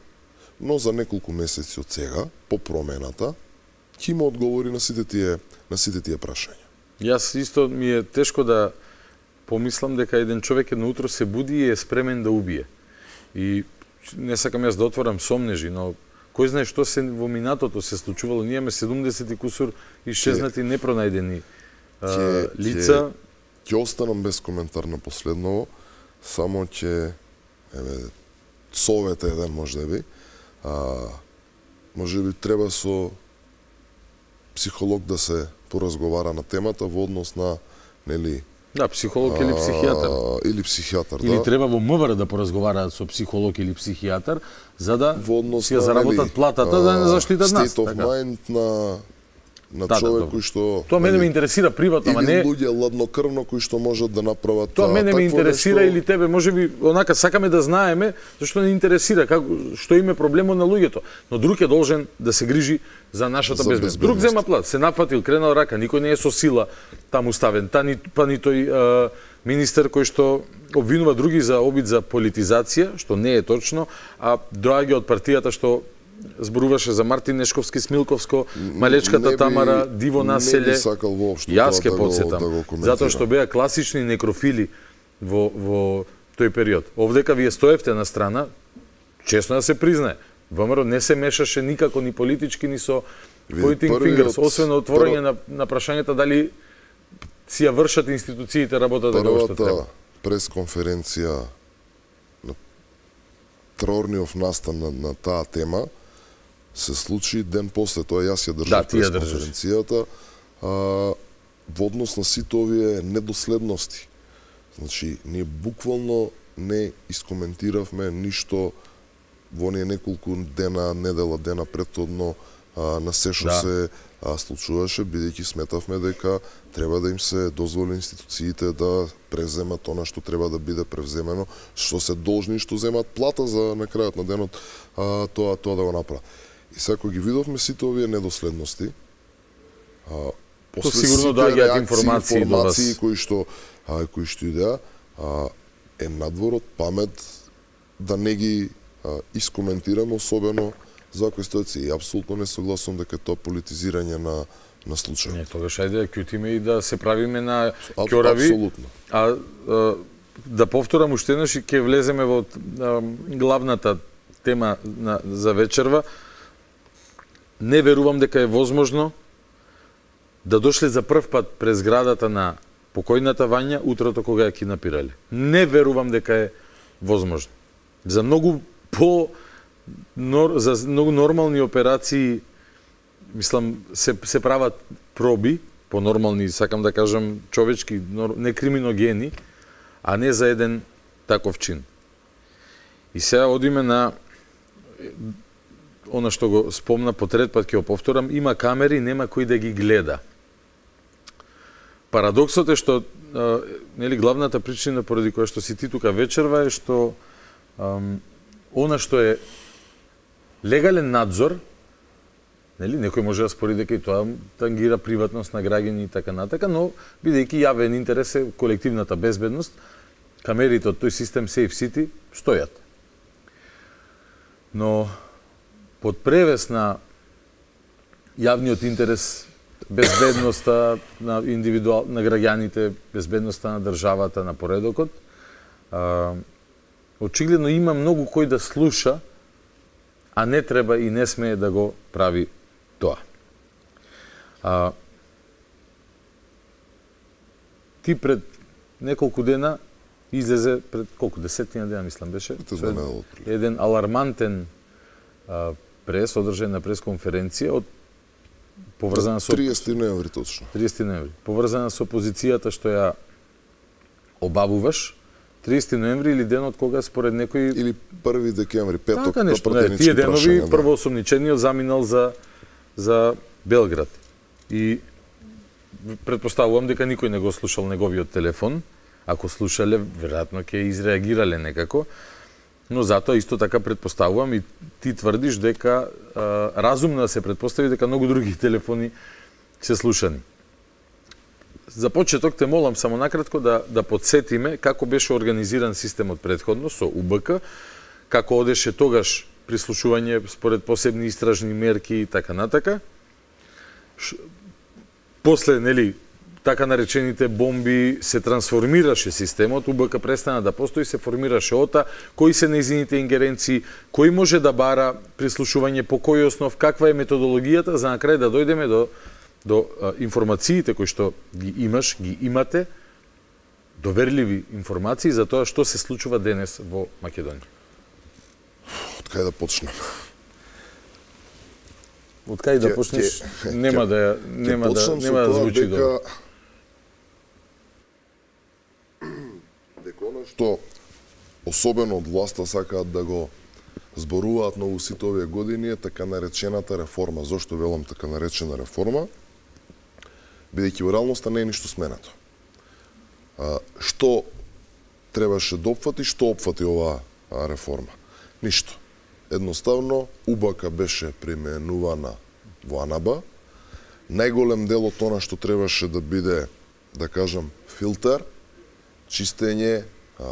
но за неколку месеци од сега, по промената, ќе има одговори на сите тие на сите тие прашања. Јас исто ми е тешко да помислам дека еден човек едно утро се буди и е спремен да убие. И не сакам јас да отворам сомнежи, но кој знае што се во минатото се случувало. Ние имаме седумдесет и кусур исчезнати непронајдени а, лица. Ќе останам без коментар на последново, само ќе еве совет еден можеби. А, може би треба со психолог да се поразговара на темата во однос на, нели... Да, психолог или психијатар. А, или психијатар, или да. треба во МВР да поразговараат со психолог или психијатар, за да си ја заработат платата, да не заштитат нас. State of така. mind на на да, човек да, кој што... Тоа мене ме интересира приватно, ама не... Или луѓе ладнокрвно кои што можат да направат... Тоа мене ме интересира нешто... или тебе, може би, онака сакаме да знаеме, зашто не интересира, како, што име проблемот на луѓето. Но друг е должен да се грижи за нашата за безбедност. Друг зема плат, се нафатил, кренал рака, никој не е со сила таму ставен. Та ни, па ни тој а, министер кој што обвинува други за обид за политизација, што не е точно, а доаѓа од партијата што зборуваше за Мартин Нешковски, Смилковско, Малечката би, Тамара, Диво населе. Не би сакал воопшто Јас ке да подсетам, да затоа што беа класични некрофили во, во тој период. Овдека вие стоевте на страна, честно да се признае, ВМРО не се мешаше никако ни политички, ни со pointing fingers, освен отворање на, на прашањата дали си ја вршат институциите работата како што треба. Првата пресконференција на Траорниов настан на, на таа тема се случи ден после тоа, јас ја држав да, пресконференцијата, а, во однос на сите овие недоследности. Значи, ние буквално не искоментиравме ништо во оние неколку дена, недела дена претhodно а, на се што да. се а, случуваше, бидејќи сметавме дека треба да им се дозволи институциите да превземат она што треба да биде превземено, што се должни, што земат плата за на крајот на денот а, тоа тоа да го направат. И сега кога ги видовме сите овие недоследности, а, после сигурно доаѓаат информации, информации кои што а, кои што идеа, а, е надвор од памет да не ги а, искоментираме, особено за вакви ситуации. И апсолутно не согласувам дека тоа политизирање на на случај. Не, тогаш ајде да ќутиме и да се правиме на ќорави. Апсолутно. А, а да повторам уште еднаш и ќе влеземе во а, главната тема на, за вечерва. Не верувам дека е возможно да дошле за прв пат през градата на покојната Вања утрото кога ја кинапирале. Не верувам дека е возможно. За многу по нор, за многу нормални операции, мислам, се, се прават проби, по нормални, сакам да кажам, човечки, не криминогени, а не за еден таков чин. И сега одиме на она што го спомна по трет пат, ќе го повторам, има камери, нема кој да ги гледа. Парадоксот е што, а, нели, главната причина поради која што си ти тука вечерва е што ам, она што е легален надзор, нели, некој може да спори дека и тоа тангира приватност на граѓани и така натака, но бидејќи јавен интерес е колективната безбедност, камерите од тој систем Safe City стојат. Но под превес на јавниот интерес, безбедноста на индивидуал на граѓаните, безбедноста на државата, на поредокот, а, очигледно има многу кој да слуша, а не треба и не смее да го прави тоа. А, ти пред неколку дена излезе, пред колку, десетина дена, мислам, беше, еден алармантен а, прес, одржан на пресконференција од поврзана со триесети ноември точно. триесети ноември. Поврзана со позицијата што ја обавуваш, триесети ноември или денот кога според некој или први декември, петок, така нешто, не, тие денови прашања, првоосомничениот заминал за за Белград. И претпоставувам дека никој не го слушал неговиот телефон. Ако слушале, веројатно ќе изреагирале некако. Но затоа исто така претпоставувам и ти тврдиш дека а, разумно да се претпостави дека многу други телефони се слушани. За почеток те молам само накратко да да подсетиме како беше организиран системот претходно со У Б К, како одеше тогаш прислушување според посебни истражни мерки и така натака. Ш... После, нели, така наречените бомби се трансформираше системот, У Б К престана да постои, се формираше ОТА, кои се нејзините ингеренции, кој може да бара прислушување, по кој основ, каква е методологијата, за на крај да дојдеме до до а, информациите кои што ги имаш, ги имате, доверливи информации за тоа што се случува денес во Македонија. Од кај да почнем? Од кај да почнеш? Ке, нема ке, да нема да нема да звучи дека, добро. Дека она што особено од власта сакаат да го зборуваат многу сите овие години е така наречената реформа. Зошто велам така наречена реформа? Бидејќи во реалноста не е ништо сменато. А, што требаше да опфати, што опфати оваа реформа? Ништо. Едноставно, У Б К беше преименувана во АНАБА. Најголем дел од она што требаше да биде, да кажам, филтер, чистење,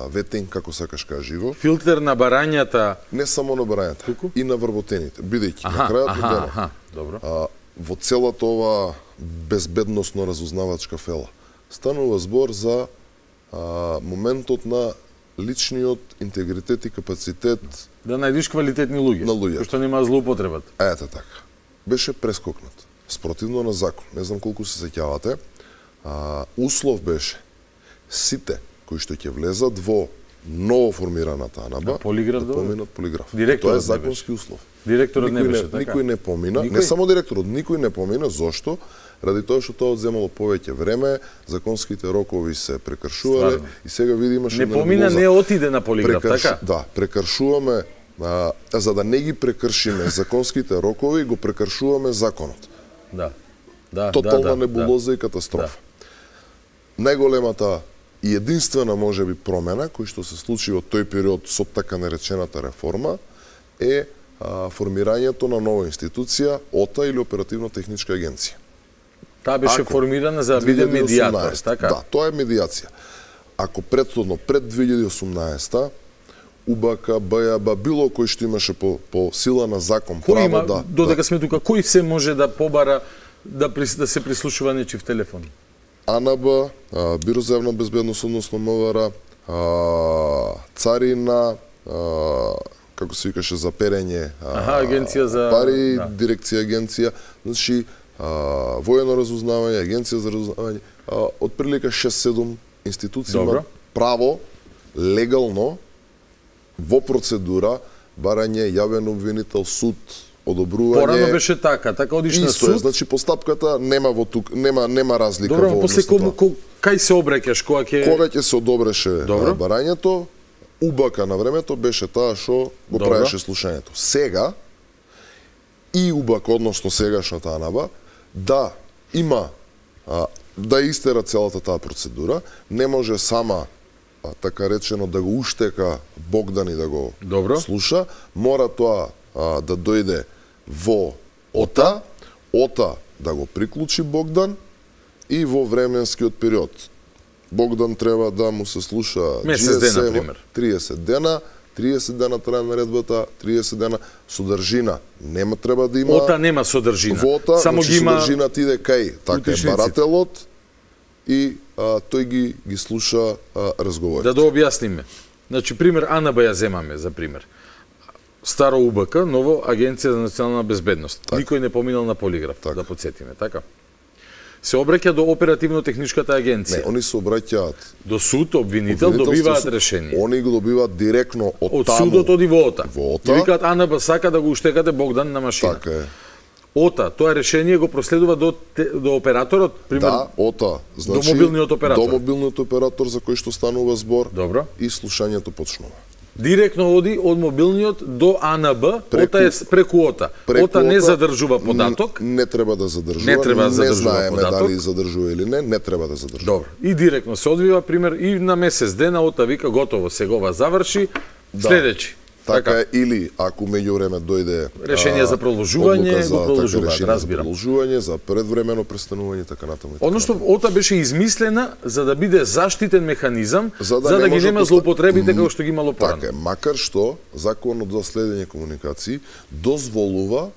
ветинг, како сакаш кажи го. Филтер на барањата. Не само на барањата, Туку? И на вработените. Бидејќи аха, на крајот аха, на денот, аха, добро. А, во целата ова безбедносно разузнавачка фела станува збор за а, моментот на личниот интегритет и капацитет да најдиш квалитетни луѓе, на луѓе, што нема злоупотребата. Ете така. Беше прескокнат. Спротивно на закон. Не знам колку се сеќавате. А, услов беше сите кои што ќе влезат во ново формираната АНАБА полиграф, да поминат полиграф. Директорот тоа е законски услов. Директорот не беше не, така. Никој не помина, никој? Не само директорот, никој не помина. Зошто? Ради тоа што тоа одземало повеќе време, законските рокови се прекршувале и сега види имаше не помина, не отиде на полиграф, прекрш... така? Да, прекршуваме а, за да не ги прекршиме законските рокови, го прекршуваме законот. Да. Да, тотална да, небулоза да. и катастрофа. Да. Најголемата и единствена можеби промена кој што се случи во тој период со така наречената реформа е а, формирањето на нова институција ОТА или оперативно-техничка агенција. Таа беше Ако, формирана за да биде медијатор, така? Да, тоа е медијација. Ако претходно пред две илјади и осумнаесета У Б К, Б Ја Б, било кој што имаше по, по сила на закон кој право има, да... Додека да, сме тука, кој се може да побара да, да се прислушува нечив телефон? АНАБА, Бюро за јавна безбедност, односно М В Р, а, царина, а, како се викаше за перење, Аха, агенција за пари, да. дирекција агенција, значи а, воено разузнавање, агенција за разузнавање, а, отприлика шест-седум институции Добро. имаат право легално во процедура барање јавен обвинител, суд, одобрување. Порано беше така, така одиш на Исто е, суд. значи постапката нема во тук, нема нема разлика Добро, во после однос на кому тоа. кај се обраќаш, кога ќе Кога ќе се одобреше Добро. барањето, убака на времето беше таа што го Добро. правеше слушањето. Сега и убака, односно сегашната АНАБА, да има а, да истера целата таа процедура, не може сама а, така речено да го уштека Богдан и да го Добро. слуша, мора тоа а, да дојде во ОТА, ОТА да го приклучи Богдан и во временскиот период. Богдан треба да му се слуша Месец джи ес дена, ем, пример. триесет дена, триесет дена трае наредбата, триесет дена содржина. Нема треба да има. Ота нема содржина. Во ОТА, Само значи ги има содржината иде кај така е утишниците. барателот и а, тој ги ги слуша а, разговорите. Да да објасниме. Значи пример АНБ ја земаме за пример. Старо УБК, ново Агенција за национална безбедност. Так. Никој не поминал на полиграф, да подсетиме, така? Се обраќа до оперативно-техничката агенција. Не, они се обраќаат До суд, обвинител, добиваат решение. Они го добиваат директно од, Од таму. судот оди во ОТА. Во ОТА. И викаат АНБ сака да го уштекате Богдан на машина. Така е. ОТА, тоа решение го проследува до те- до операторот, пример. Да, ОТА, значи до мобилниот оператор. До мобилниот оператор за кој што станува збор. Добро. И слушањето почнува. Директно оди од мобилниот до АНБ, Преку- ОТА е с- преку ОТА. Преку ОТА не ОТА, задржува податок. Не, не треба да задржува. Не треба да не задржува знаеме податок. дали задржува или не, не треба да задржува. Добро. И директно се одвива, пример, и на месец дена ОТА вика готово, сегова заврши, Да. следејќи. Така е, или ако меѓувреме дојде Решение а, за продолжување, одлука за, го продолжуваат, така, решение разбирам. За продолжување, за предвремено престанување и така натаму. и така Односно, ОТА беше измислена за да биде заштитен механизам, за да, за да ги може нема поста- злоупотребите како што ги имало порано. Така е, макар што Законот за следење комуникации дозволува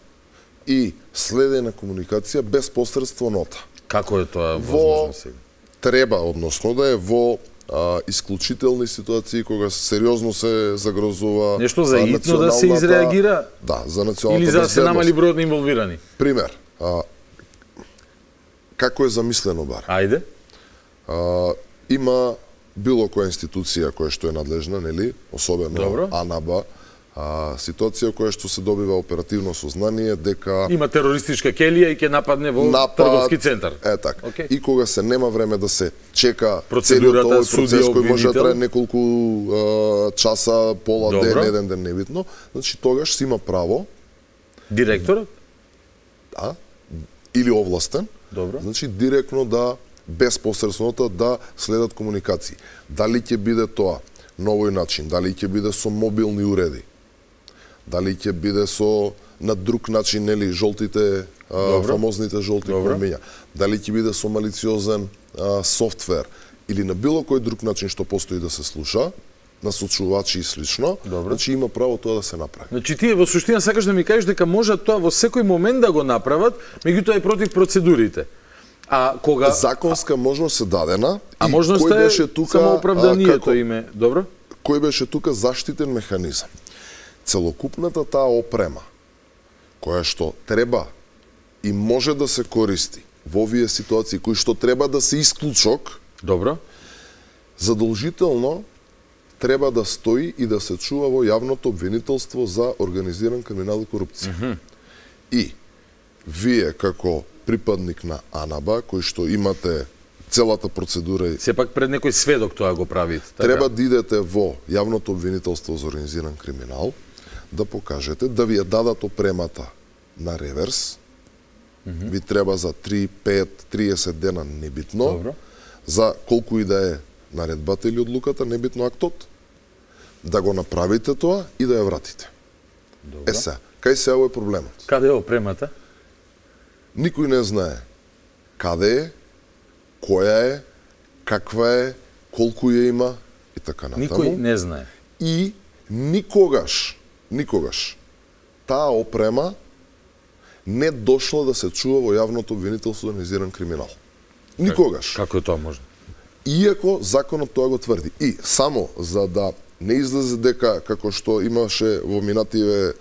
и следење комуникација без посредство нота. Како е тоа Во возможно сега? треба, односно да е во а, исклучителни ситуации кога сериозно се загрозува Нешто за а, итно да се националната- изреагира? Да, за националната Или за да се безбедност. намали бројот на инволвирани? Пример, а, како е замислено бар? Ајде. А, има било која институција која што е надлежна, нели, особено Добро. АНАБА, а, ситуација која што се добива оперативно сознание дека Има терористичка келија и ќе нападне во напад, трговски центар. Е така. Окей. И кога се нема време да се чека Процедурата, целиот овој процес судија, кој може да обвинител. трае неколку а, часа, пола Добро. ден, еден ден небитно, значи тогаш си има право Директорот? да, или овластен, Добро. значи директно да без посредството да следат комуникации. Дали ќе биде тоа на овој начин, дали ќе биде со мобилни уреди, дали ќе биде со на друг начин, нели, жолтите, а, Добро. фамозните жолти Добро. промења, дали ќе биде со малициозен а, софтвер или на било кој друг начин што постои да се слуша, насочувачи и слично, Добро. значи има право тоа да се направи. Значи тие во суштина сакаш да ми кажеш дека можат тоа во секој момент да го направат, меѓутоа е против процедурите. А кога Законска можност е дадена а и можноста кој е беше тука само а, оправданието како- име, добро? кој беше тука заштитен механизам. Целокупната таа опрема, која што треба и може да се користи во овие ситуации, кои што треба да се исклучок, Добро. задолжително треба да стои и да се чува во јавното обвинителство за организиран криминал и корупција. Мгм. И вие како припадник на АНАБА, кој што имате целата процедура и Сепак пред некој сведок тоа го правите, така? треба да идете во јавното обвинителство за организиран криминал, да покажете, да ви ја дадат опремата на реверс, Мгм. ви треба за три, пет, триесет дена, небитно, Добро. за колку и да е наредбата или одлуката, небитно актот, да го направите тоа и да ја вратите. Добро. Е се, кај се е проблемот? Каде е опремата? Никој не знае каде е, која е, каква е, колку ја има и така натаму. Никој не знае. И никогаш, никогаш, таа опрема не дошла да се чува во јавното обвинителство за организиран криминал. Никогаш. Како е тоа можно? Иако законот тоа го тврди. И само за да не излезе дека, како што имаше во минативе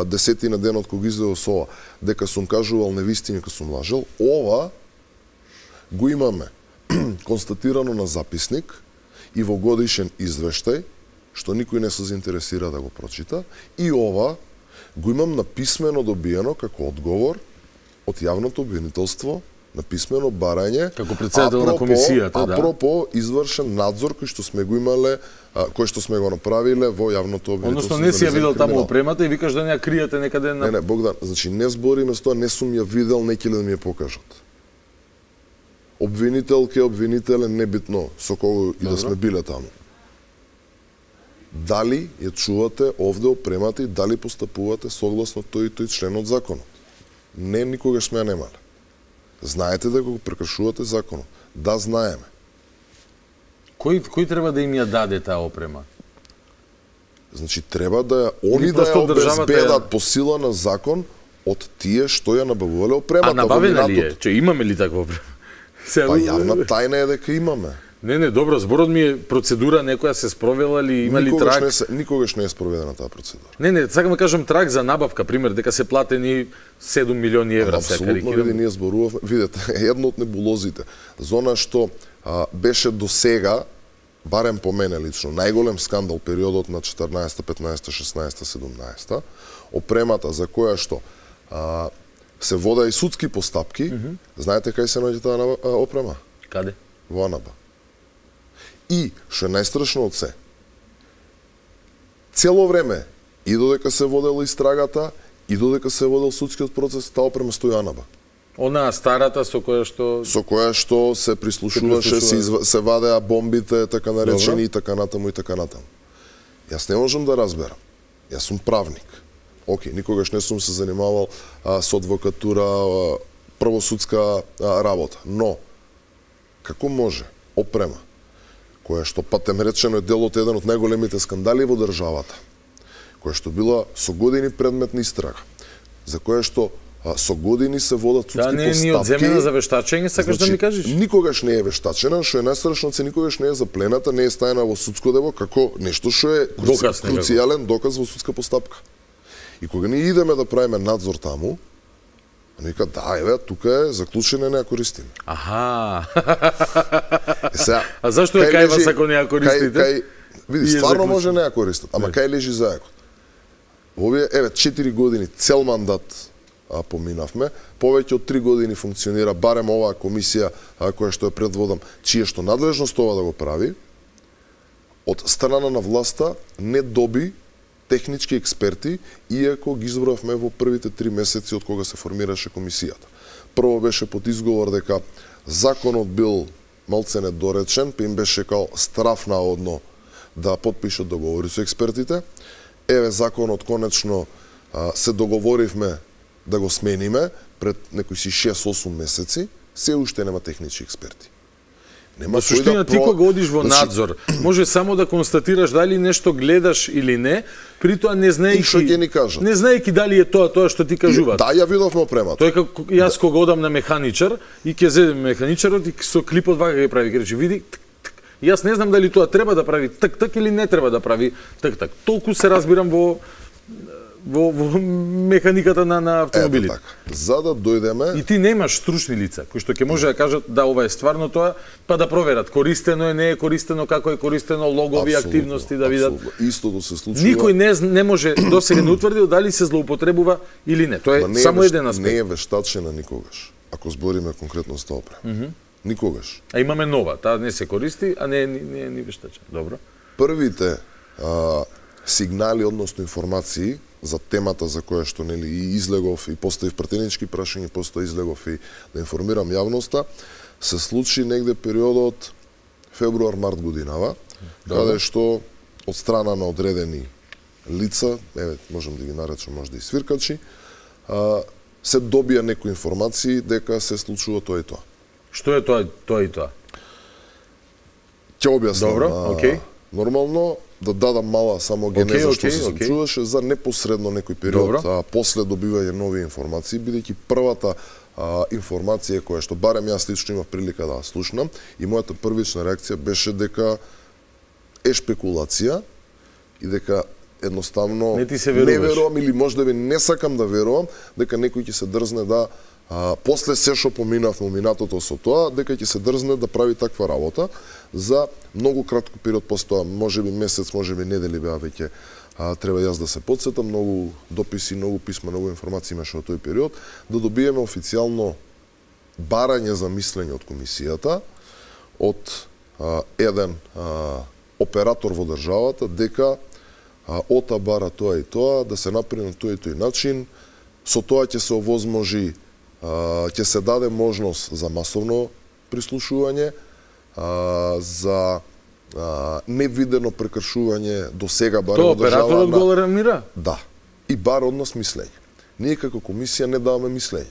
десетина денот кога излезе со ова, дека сум кажувал невистини, дека сум лажел, ова го имаме констатирано на записник и во годишен извештај, што никој не се заинтересира да го прочита, и ова го имам на писмено добиено како одговор од јавното обвинителство на писмено барање како председател на комисијата, да. Апропо извршен надзор кој што сме го имале, кој што сме го направиле во јавното обвинителство. Односно не си ја видел таму опремата и викаш да не ја криете некаде на... Не, не, Богдан, значи не збориме со тоа, не сум ја видел, неќе ли да ми ја покажат. Обвинител ке обвинителен, небитно со кого и да сме биле таму. Дали ја чувате овде опремата и дали постапувате согласно тој и тој член од законот? Не, никогаш сме ја немале. Знаете дека го прекршувате законот. Да, знаеме. Кој кој треба да им ја даде таа опрема? Значи треба да ја они да ја обезбедат по сила на закон од тие што ја набавувале опремата. А набавена ли е? Че имаме ли таква опрема? Па јавна тајна е дека имаме. Не, не, добро, зборот ми е процедура некоја се спровела ли, има ли трак? Не се, никогаш не е спроведена таа процедура. Не, не, сакам да кажам трак за набавка, пример, дека се платени седум милиони евра. Апсолутно, види, ние зборувавме, видете, едно од небулозите, зона што а, беше до сега, барем по мене лично, најголем скандал периодот на четрнаесета, петнаесета, шеснаесета, седумнаесета, опремата за која што а, се вода и судски постапки, mm -hmm. знаете кај се наоѓа таа опрема? Каде? Во Анаба. И, што е најстрашно од се, цело време, и додека се водела истрагата, и додека се водел судскиот процес, таа опрема стои Анаба. Она старата со која што... Со која што се прислушуваше, се, изв... се вадеа бомбите, така наречени, и така натаму, и така натаму. Јас не можам да разберам. Јас сум правник. Океј, никогаш не сум се занимавал а, со адвокатура, а, правосудска а, работа. Но, како може опрема, која што патем речено е дел од еден од најголемите скандали во државата, која што била со години предмет на истрага, за која што а, со години се водат судски постапки. Да, не е ни одземена за вештачење, сакаш значи, да ми кажеш? Никогаш не е вештачена, што е најстрашно, се никогаш не е заплената, не е стајана во судско дело како нешто што е доказ, круцијален доказ во судска постапка. И кога ние идеме да правиме надзор таму, нека да, еве, тука е заклучено, не ја користиме. Аха. Е, сега, а зашто е кај вас ако не ја користите? Кај, кај, види, стварно може не ја користат, ама не. Кај лежи зајакот. Овие, еве, четири години, цел мандат а, поминавме, повеќе од три години функционира барем оваа комисија а, која што е предводам, чија што надлежност ова да го прави, од страна на власта не доби технички експерти, иако ги избравме во првите три месеци од кога се формираше комисијата. Прво беше под изговор дека законот бил малце недоречен, па им беше као страф наодно да потпишат договори со експертите. Еве законот конечно а, се договоривме да го смениме пред некои си шест-осум месеци, се уште нема технички експерти. Нема во суштина, да ти кога одиш во надзор, може само да констатираш дали нешто гледаш или не, при тоа не знаејќи што ќе ни кажат. Не знаејќи дали е тоа тоа што ти кажуваат. Да, ја видовме опремата. Тоа е како јас кога одам на механичар и ќе зедем механичарот и со клипот вака ќе прави, ќе рече види, тк, тк. Јас не знам дали тоа треба да прави так так или не треба да прави так так. Толку се разбирам во во, во механиката на, на автомобилите. Ето така. За да дојдеме... И ти немаш стручни лица, кои што ќе може да кажат да ова е стварно тоа, па да проверат користено е, не е користено, како е користено, логови, абсолютно, активности да видат. Абсолютно. Истото се случува. Никој не не може досега не утврдил дали се злоупотребува или не. Тоа е, не е само веш... еден аспект. Не е вештачена никогаш, ако збориме конкретно за опрема. Mm -hmm. Никогаш. А имаме нова, таа не се користи, а не е не е ни вештачена. Добро. Првите а, сигнали, односно информации за темата за која што нели и излегов и поставив пратенички прашања, после излегов и да информирам јавноста, се случи негде периодот февруар-март годинава, Добре. Каде што од страна на одредени лица, еве можам да ги наречам можда и свиркачи, а, се добија некои информации дека се случува тоа и тоа. Што е тоа тоа и тоа? Ќе објаснам. Добро, окей. Нормално да дадам мала само генеза okay, што okay, се случуваше okay. за непосредно некој период а, после добивање нови информации, бидејќи првата а, а, информација која што барем јас лично имав прилика да слушнам и мојата првична реакција беше дека е шпекулација и дека едноставно не, ти се не верувам или можеби не сакам да верувам дека некој ќе се дрзне да а, после се што поминав во минатото со тоа, дека ќе се дрзне да прави таква работа за многу кратко период постоја, можеби месец, можеби недели беа веќе. А, треба јас да се подсетам, многу дописи, многу писма, многу информации имаше во тој период, да добиеме официјално барање за мислење од комисијата, од а, еден а, оператор во државата, дека а, ОТА бара тоа и тоа, да се направи на тој и тој начин, со тоа ќе се овозможи, а, ќе се даде можност за масовно прислушување, а, за Uh, невидено прекршување до сега барем од држава. Тоа операторот го алармира? Да. И бар од нас мислење. Ние како комисија не даваме мислење.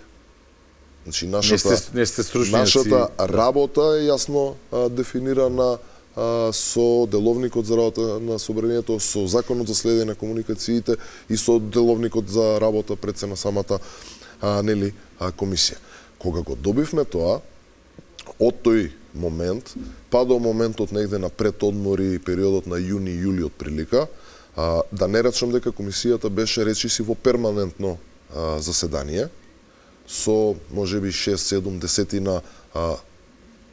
Значи нашата не сте, не сте нашата работа е јасно а, дефинирана а, со деловникот за работа на собранието, со законот за следење на комуникациите и со деловникот за работа пред се на самата а, нели а, комисија. Кога го добивме тоа, од тој момент, па до моментот негде на предодмори, периодот на јуни и јули од прилика, а, да не речам дека комисијата беше речиси во перманентно а, заседание, со можеби шест седум десетина а,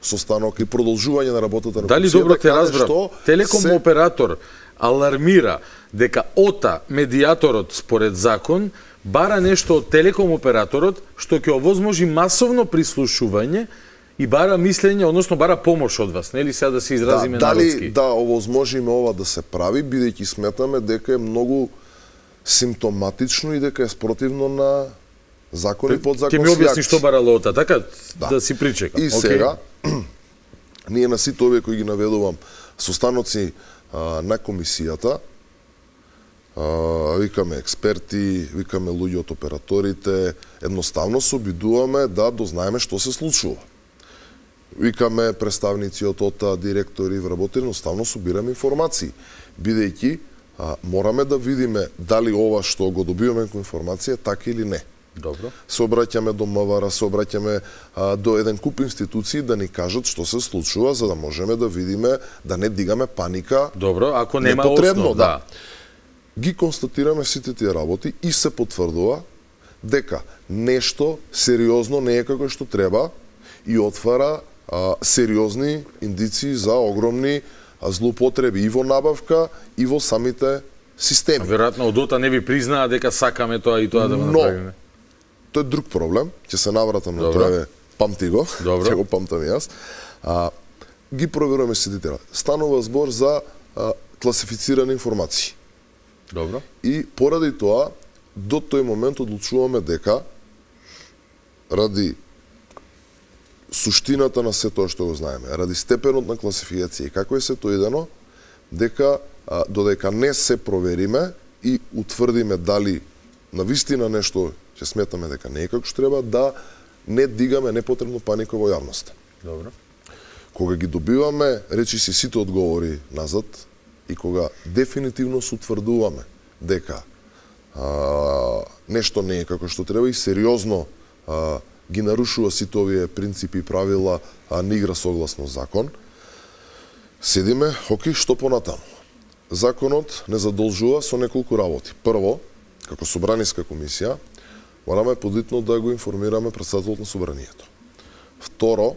состанок и продолжување на работата на Дали комисијата. Дали добро те разбрав? Телеком се... оператор алармира дека ОТА, медијаторот според закон, бара нешто од телеком операторот што ќе овозможи масовно прислушување и бара мислење, односно бара помош од вас, нели сега да се изразиме да, народски? Дали да овозможиме ова да се прави, бидејќи сметаме дека е многу симптоматично и дека е спротивно на закон и подзаконски акти. Ќе ми објасни што бара ОТА, така? Да, да си причекам. И okay. Сега, ние на сите овие кои ги наведувам состаноци а, на комисијата, а, викаме експерти, викаме луѓе од операторите, едноставно се обидуваме да дознаеме што се случува. Викаме представници од ОТА, директори, вработени, едноставно собираме информации, бидејќи а, мораме да видиме дали ова што го добиваме како информација така или не. Добро. Се обраќаме до МВР, се обраќаме а, до еден куп институции да ни кажат што се случува, за да можеме да видиме, да не дигаме паника. Добро, ако нема непотребно, основ, да. Ги констатираме сите тие работи и се потврдува дека нешто сериозно не е како што треба и отвара а, сериозни индиции за огромни а, злоупотреби и во набавка и во самите системи. Веројатно од ОТА не ви признаа дека сакаме тоа и тоа да го направиме. Тоа е друг проблем, ќе се навратам на тоа, памти го, ќе го памтам и јас. А, ги проверуваме сите тие. Станува збор за а, класифицирани информации. Добро. И поради тоа, до тој момент одлучуваме дека, ради суштината на се тоа што го знаеме, ради степенот на класификација и како е се тоа идено, дека а, додека не се провериме и утврдиме дали навистина нешто ќе сметаме дека не е како што треба, да не дигаме непотребно паника во јавноста. Добро. Кога ги добиваме, речи си сите одговори назад, и кога дефинитивно се утврдуваме дека а, нешто не е како што треба и сериозно а, ги нарушува сите овие принципи и правила, а не игра согласно закон, седиме, окей, што понатаму? Законот не задолжува со неколку работи. Прво, како собраниска комисија, мораме подитно да го информираме претседателот на собранието. Второ,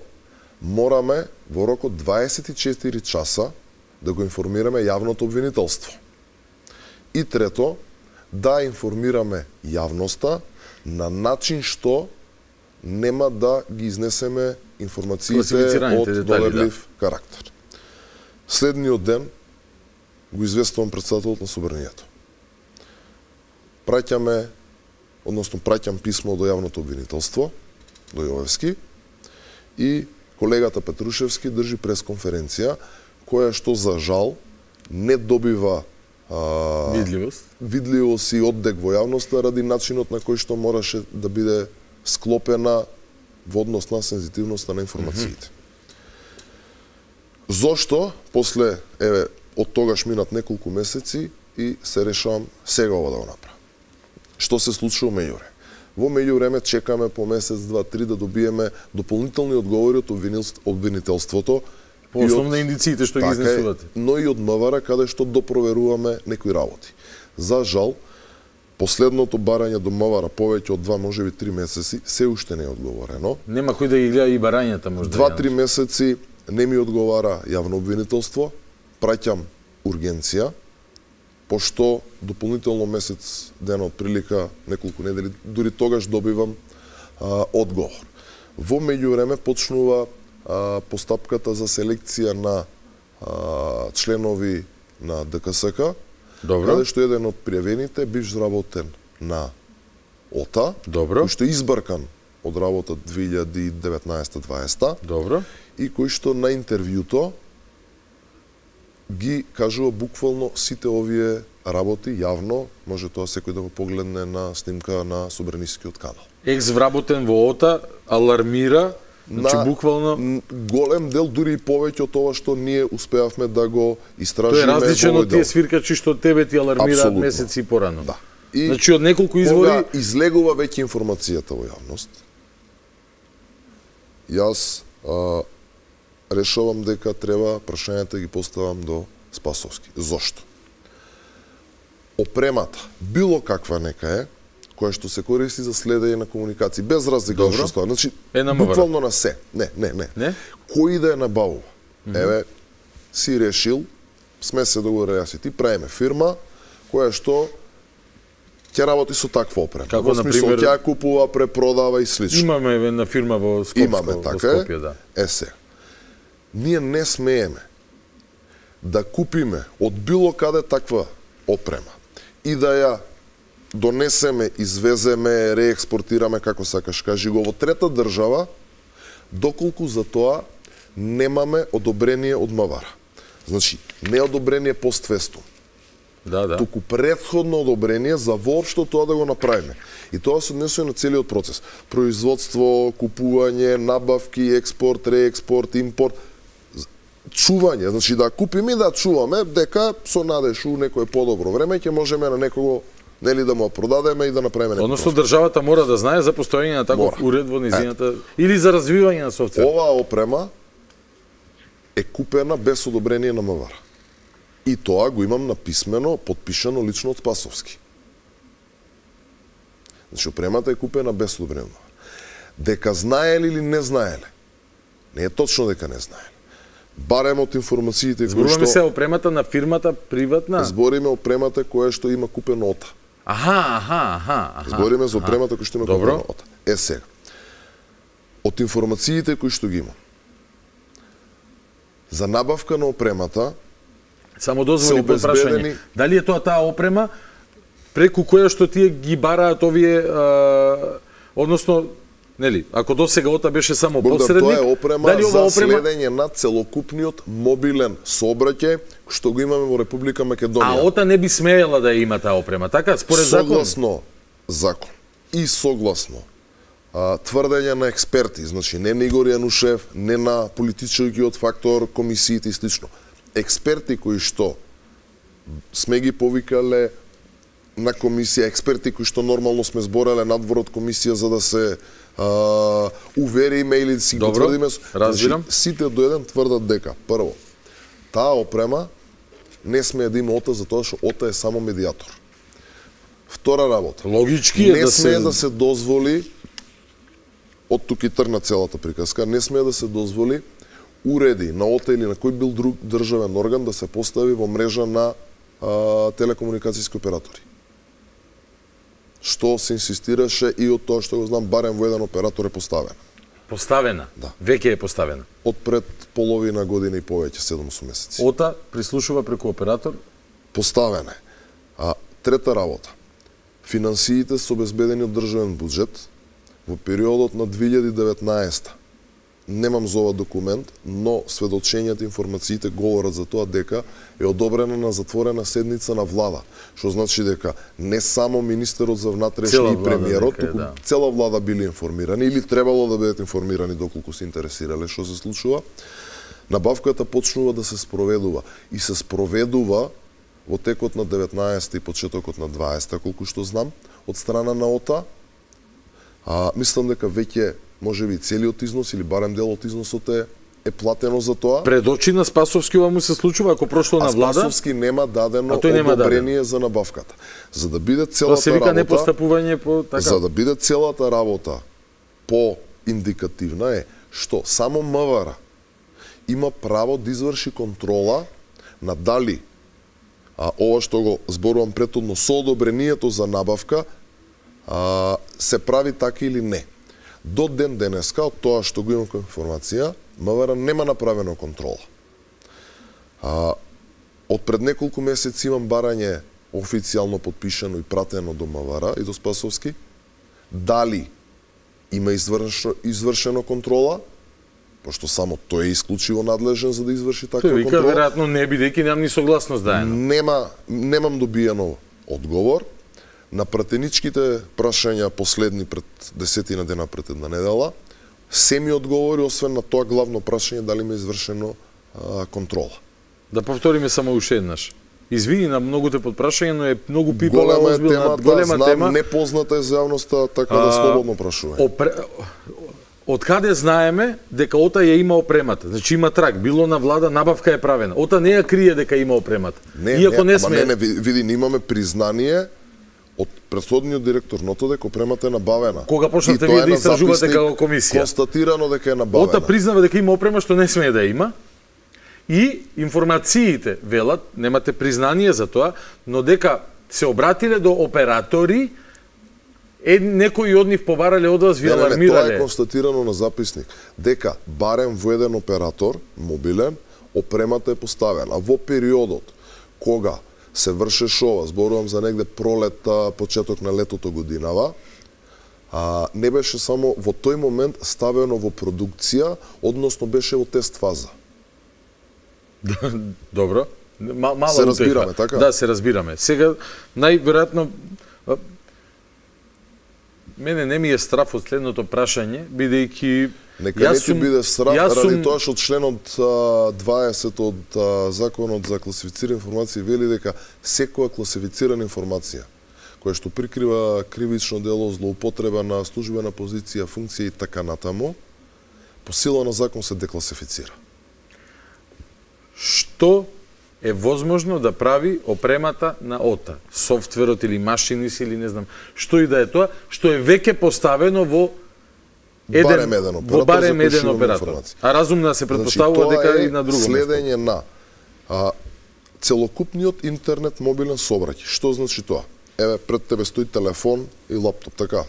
мораме во рок од дваесет и четири часа да го информираме јавното обвинителство. И трето, да информираме јавноста на начин што нема да ги изнесеме информациите од доверлив да. карактер. Следниот ден го известувам претседателот на собранието. Праќаме, односно праќам писмо до јавното обвинителство, до Јовевски, и колегата Петрушевски држи пресконференција, која што за жал не добива а, видливост. видливост и оддек во јавноста ради начинот на кој што мораше да биде склопена во однос на сензитивноста на информациите. Mm-hmm. Зошто после еве од тогаш минат неколку месеци и се решавам сега ова да го направам. Што се случува меѓуре? Во меѓувреме чекаме по месец, два, три да добиеме дополнителни одговори од обвинителството. По основно индициите што ги изнесувате. Но и од МВР каде што допроверуваме некои работи. За жал, последното барање до МВР повеќе од два, можеби три месеци, се уште не е одговорено. Нема кој да ги гледа и барањата можда. Два-три месеци не ми одговара јавно обвинителство, праќам ургенција, пошто дополнително месец дена од прилика, неколку недели, дури тогаш добивам а, одговор. Во меѓувреме почнува а, постапката за селекција на а, членови на ДКСК, Добро. Каде што еден од пријавените бивш работен на ОТА, Добро. кој што е избркан од работа две илјади и деветнаесета дваесета. Добро. И кој што на интервјуто ги кажува буквално сите овие работи јавно, може тоа секој да го погледне на снимка на Собранискиот канал. Екс вработен во ОТА алармира, значи на буквално голем дел, дури и повеќе од тоа што ние успеавме да го истражиме. Тоа е различно од тие свиркачи што тебе ти алармираат месеци порано. Да. И значи од неколку извори кога излегува веќе информацијата во јавност, јас а, решавам дека треба прашањата ги поставам до Спасовски. Зошто? Опремата, било каква нека е, која што се користи за следење на комуникации, без разлика што стои. Значи, е буквално на се. Не, не, не. не? Кој да ја набавува? Mm -hmm. Еве, си решил, сме се договорили јас и ти, правиме фирма која што ќе работи со таква опрема. Како, во смисол, ќе ја купува, препродава и слично. Имаме една фирма во Скопско, Имаме, во така Скопје, да. Е, се. Ние не смееме да купиме од било каде таква опрема и да ја донесеме, извеземе, реекспортираме, како сакаш кажи го, во трета држава, доколку за тоа немаме одобрение од МВР. Значи, не одобрение постфестум. Да, да. Туку претходно одобрение за воопшто тоа да го направиме. И тоа се однесува на целиот процес. Производство, купување, набавки, експорт, реекспорт, импорт, чување, значи да купиме и да чуваме, дека со надеж у некое подобро време ќе можеме на некого, нели, да му продадеме и да направиме некој. Односно државата мора да знае за постоење на таков уред во низината или за развивање на софтвер. Оваа опрема е купена без одобрение на МВР. И тоа го имам написмено, подпишано лично од Спасовски. Значи опремата е купена без одобрение на МВР. Дека знаеле или не знаеле? Не е точно дека не знаеле. Барем од информациите кои што... Зборуваме се опремата на фирмата приватна? Збориме опремата која што има купено ОТА. Аха, аха, аха. Збориме за опремата која што има купено ОТА. Е сега. Од информациите кои што ги има, за набавка на опремата само дозволи по прашање. Дали е тоа таа опрема преку која што тие ги бараат овие, а, односно, нели, ако досега ОТА беше само Богдан, посредник, тоа е опрема дали за ова опрема следење на целокупниот мобилен сообраќај што го имаме во Република Македонија. А ОТА не би смеела да има таа опрема, така? Според закон? Согласно закон и согласно а, тврдење на експерти, значи не на Игор Јанушев, не на политичкиот фактор, комисиите и слично. Експерти кои што сме ги повикале на комисија, експерти кои што нормално сме збореле надвор од комисија за да се а, увериме или да си го тврдиме. Разбирам. Значи, сите до еден тврдат дека, прво, таа опрема не смее да има ОТА затоа што ОТА е само медиатор. Втора работа. Логички е не да смее се... да се дозволи, од тук и тргна целата приказка, не смее да се дозволи уреди на ОТА или на кој бил друг државен орган да се постави во мрежа на а, телекомуникацијски оператори. Што се инсистираше и од тоа што го знам, барем во еден оператор е поставена. Поставена? Да. Веќе е поставена? Од пред половина година и повеќе, седум-осум месеци. ОТА прислушува преку оператор? Поставена е. А трета работа. Финансиите се обезбедени од државен буџет во периодот на две илјади и деветнаесета. Немам за ова документ, но сведочењата, информациите говорат за тоа дека е одобрена на затворена седница на влада, што значи дека не само министерот за внатрешни и премиерот, туку да. Цела влада били информирани или требало да бидат информирани доколку се интересирале што се случува. Набавката почнува да се спроведува и се спроведува во текот на деветнаесета и почетокот на дваесета, колку што знам, од страна на ОТА, А, мислам дека веќе можеби целиот износ или барем дел од износот е е платено за тоа. Пред очи на Спасовски ова му се случува ако прошло на влада. А Спасовски нема дадено нема одобрение дадено. за набавката. За да биде целата Тоа се вика работа, непостапување по така. За да биде целата работа по индикативна е што само МВР има право да изврши контрола на дали а ова што го зборувам претhodно со одобрението за набавка а, се прави така или не. До ден денеска, од тоа што го имам како информација, МВР нема направено контрола. А, од пред неколку месеци имам барање официјално подпишано и пратено до МВР и до Спасовски. Дали има извршено, извршено контрола, пошто само тој е исклучиво надлежен за да изврши таква контрола. контрола. Тој вика, веројатно не бидејќи немам ни согласност даено. Нема, немам добиено одговор. На пратеничките прашања последни пред десетина дена пред една недела, се ми одговори, освен на тоа главно прашање дали ми е извршено а, контрола. Да повториме само уште еднаш. Извини на многуте подпрашања, но е многу пипала, голема е озбилна, темата, голема знам, тема. непозната е за јавноста, така да слободно прашување. Опре... Од каде знаеме дека Ота ја има опремата? Значи има трак, било на влада, набавка е правена. Ота не ја крие дека има опремата. Не, Иако не, не сме... не, не, види, не имаме признание од претходниот директор НОТО дека опремата е набавена. Кога почнавте вие да истражувате како комисија? Констатирано дека е набавена. Ота признава дека има опрема што не смее да има. И информациите велат, немате признание за тоа, но дека се обратиле до оператори, е некои од нив побарале од вас, ви алармирале. Не, не, тоа е констатирано на записник. Дека барем во еден оператор, мобилен, опремата е поставена. Во периодот кога се вршеше ова, зборувам за негде пролета, почеток на летото годинава, а, не беше само во тој момент ставено во продукција, односно беше во тест фаза. Добро. Мала се разбираме, така? Да, се разбираме. Сега, најверојатно, мене не ми е страф од следното прашање, бидејќи Нека не ти биде срав, ради тоа што членот дваесет од Законот за класифицирана информација вели дека секоја класифицирана информација која што прикрива кривично дело, злоупотреба на службена позиција, функција и така натаму, по сила на закон се декласифицира. Што е возможно да прави опремата на Ота? Софтверот или машинис или не знам, што и да е тоа, што е веќе поставено во Еден, барем еден оператор, во барем еден оператор. А разумно се претпоставува значи, дека и на друго место. Следење на а, целокупниот интернет мобилен сообраќај. Што значи тоа? Еве, пред тебе стои телефон и лаптоп, така.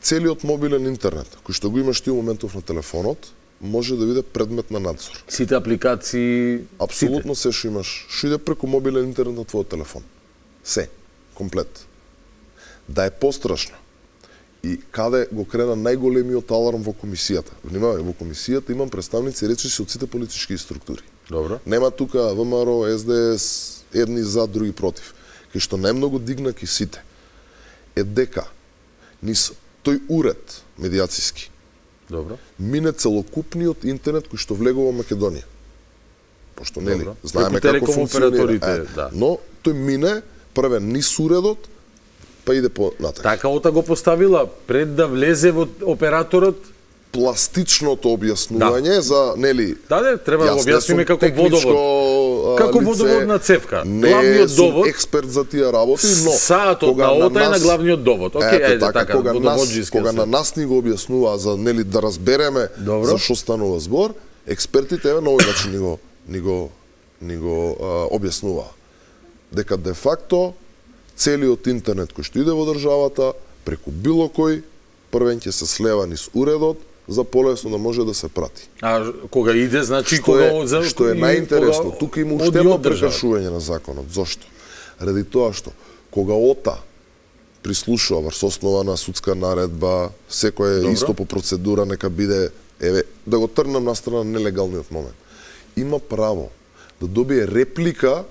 Целиот мобилен интернет, кој што го имаш ти у моментов на телефонот, може да биде предмет на надзор. Сите апликации, апсолутно се што имаш, што иде преку мобилен интернет на твојот телефон. Се, комплет. Да е пострашно. И каде го крена најголемиот аларм во комисијата. Внимавај, во комисијата имам представници речиси од сите политички структури. Добро. Нема тука ВМРО, СДС, едни за, други против. Кај што најмногу дигнаки сите е дека низ тој уред медиациски Добро. мине целокупниот интернет кој што влегува во Македонија. Пошто нели знаеме како функционира. Е, да. Но тој мине првен низ уредот, па иде по натаму. Така Ота го поставила пред да влезе во операторот пластичното објаснување да. За нели. Да, да, треба да го објасниме како водовод. Како лице, водоводна цевка. Не главниот довод. Не експерт за тие работи, но саатот на Ота е на главниот довод. Океј, ајде така, така, кога нас, кога на нас ни го објаснува за нели да разбереме Добро. За што станува збор, експертите еве на овој начин ни го ни го ни го а, објаснува. Дека де факто целиот интернет кој што иде во државата преку било кој првен ќе се слева низ уредот за полесно да може да се прати. А кога иде, значи што кога е, за што е најинтересно, тука има уште едно прекршување на законот. Зошто? Ради тоа што кога Ота прислушува врз основа на судска наредба, секој е исто по процедура, нека биде, еве, да го трнам на страна нелегалниот момент. Има право да добие реплика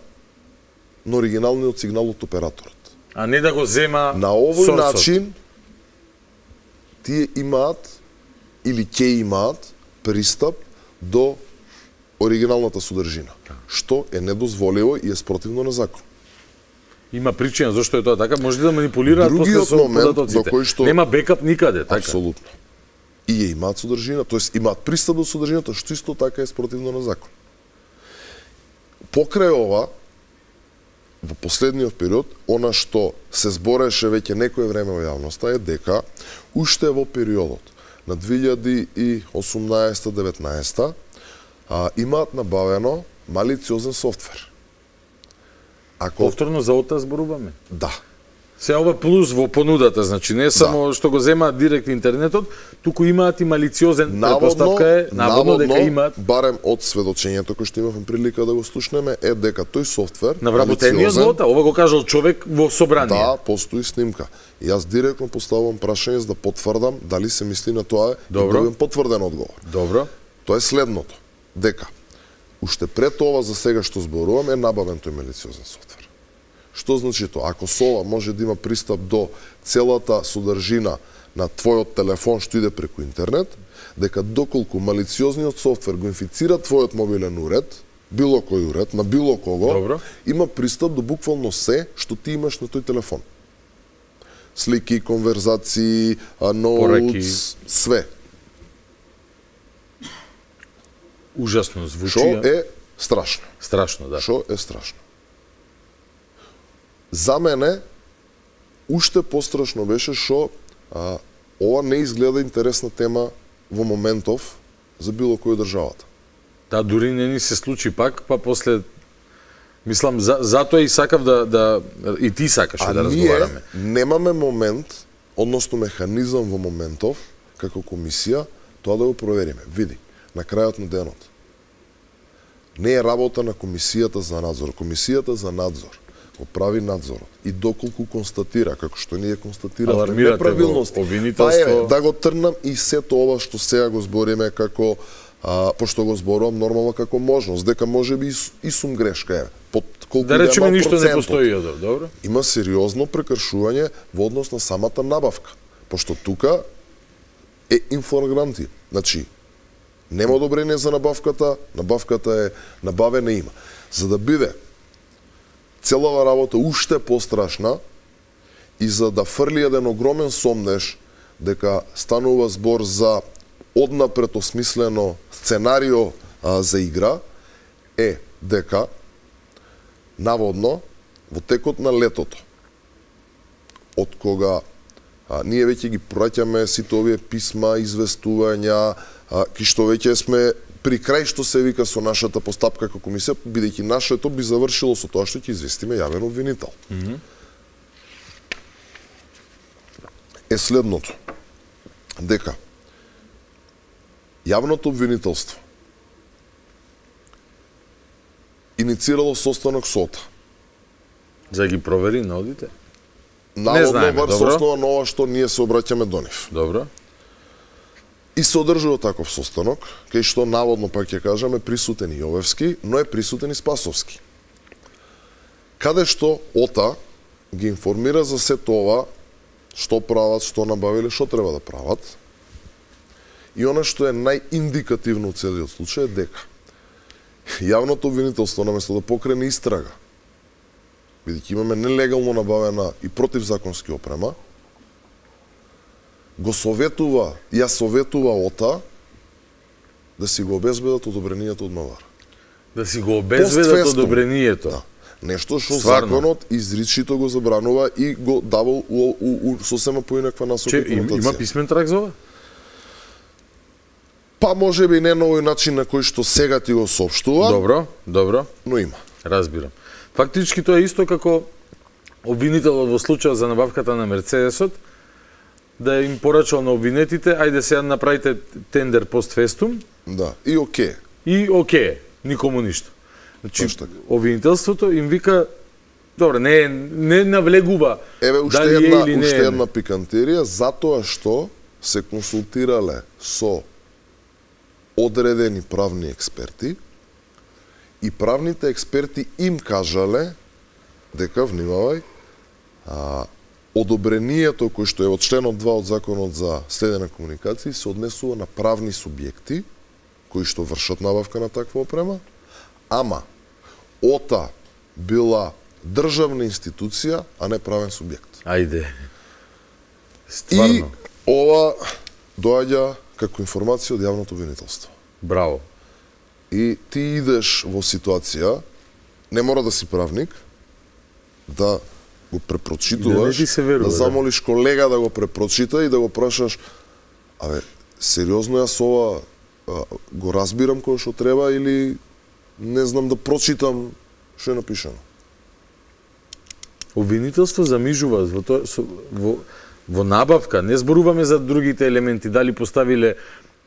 на оригиналниот сигнал од операторот. А не да го зема на овој сорсот. начин тие имаат или ќе имаат пристап до оригиналната содржина, што е недозволиво и е спротивно на закон. Има причина зашто е тоа така, може да манипулираат после со податоците. Што... Нема бекап никаде, така? Апсолутно. И ја имаат содржина, тоест имаат пристап до содржината, што исто така е спротивно на закон. Покрај ова, во последниот период, она што се збореше веќе некое време во јавноста е дека уште во периодот на две илјади и осумнаесета деветнаесета а, имаат набавено малициозен софтвер. Ако... Повторно за ОТА зборуваме? Да. Се ова плюс во понудата, значи не само да. Што го земаат директ интернетот, туку имаат и малициозен, предпоставка е, наводно, наводно дека имаат... барем од сведочењето кој што имавме прилика да го слушнеме, е дека тој софтвер... Навработениот во ОТА, ова го кажал човек во собрание. Да, постои снимка. И јас директно поставувам прашање за да потврдам дали се мисли на тоа и добивам потврден одговор. Добро. Тоа е следното, дека уште пред ова за сега што зборувам е набавен тој малициозен софтвер. Што значи тоа? Ако со ова може да има пристап до целата содржина на твојот телефон што иде преку интернет, дека доколку малициозниот софтвер го инфицира твојот мобилен уред, било кој уред, на било кого, добро, има пристап до буквално се што ти имаш на тој телефон. Слики, конверзации, ноутс, све. Ужасно звучи. Што е страшно. Страшно, да. Што е страшно. За мене, уште пострашно беше што а, ова не изгледа интересна тема во моментов за било кој државата. Да, дури не ни се случи пак, па после... Мислам, за, затоа и сакав да, да... И ти сакаше да разговараме. А ние немаме момент, односно механизам во моментов, како комисија, тоа да го провериме. Види, на крајот на денот. Не е работа на комисијата за надзор. Комисијата за надзор го прави надзорот. И доколку констатира, како што ние констатиравме неправилности, па е, да го трнам и сето ова што сега го збориме како, а, пошто го зборувам нормално како можност, дека може би и, и сум грешка, е. Под колку да речеме ништо не постои, добро? Има сериозно прекршување во однос на самата набавка, пошто тука е инфлагранти. Значи, нема одобрение за набавката, набавката е набавена има. За да биде целава работа уште пострашна и за да фрли еден огромен сомнеж дека станува збор за однапред осмислено сценарио а, за игра, е дека наводно во текот на летото, од кога а, ние веќе ги праќаме сите овие писма, известувања, а, ки што веќе сме при крај што се вика со нашата постапка како комисија, бидејќи нашето би завршило со тоа што ќе известиме јавен обвинител. Mm -hmm. Е следното, дека јавното обвинителство иницирало состанок со ОТА. За да ги провери на одите? Наводно врз основа на ова што ние се обраќаме до нив. Добро. И се одржува таков состанок, кај што наводно, пак ќе кажаме, присутен и Јовевски, но е присутен и Спасовски. Каде што ОТА ги информира за сето ова, што прават, што набавиле, што треба да прават. И она што е најиндикативно од целиот случај е дека јавното обвинителство, наместо да покрене истрага, бидејќи имаме нелегално набавена и противзаконски опрема, го советува, ја советува ОТА да си го обезбедат одобрението од МВР. Да си го обезбедат одобрението? Да. Нешто што законот изричито го забранува и го дава у, у, у, сосема поинаква насока и конотација. Има писмен трак за ова? Па може би не на овој начин на кој што сега ти го соопштува. Добро, добро. Но има. Разбирам. Фактички тоа е исто како обвинителот во случајот за набавката на Мерцедесот, да им порачал на обвинетите, ајде сега направите тендер постфестум. Да, и оке. И оке, никому ништо. Значи, обвинителството им вика, добре, не, не навлегува Еве, уште дали една, е или не уште е. една пикантерија, затоа што се консултирале со одредени правни експерти и правните експерти им кажале дека, внимавај, а, одобрението кој што е од членот два од Законот за следење на комуникации се однесува на правни субјекти кои што вршат набавка на таква опрема, ама ОТА била државна институција, а не правен субјект. Ајде. Стварно. И ова доаѓа како информација од јавното обвинителство. Браво. И ти идеш во ситуација, не мора да си правник, да го препрочитуваш, да, верува, да замолиш колега да го препрочита и да го прашаш, абе, сериозно јас ова а, го разбирам кој што треба или не знам да прочитам што е напишано. Обвинителство замижува во, то, во, во набавка, не зборуваме за другите елементи, дали поставиле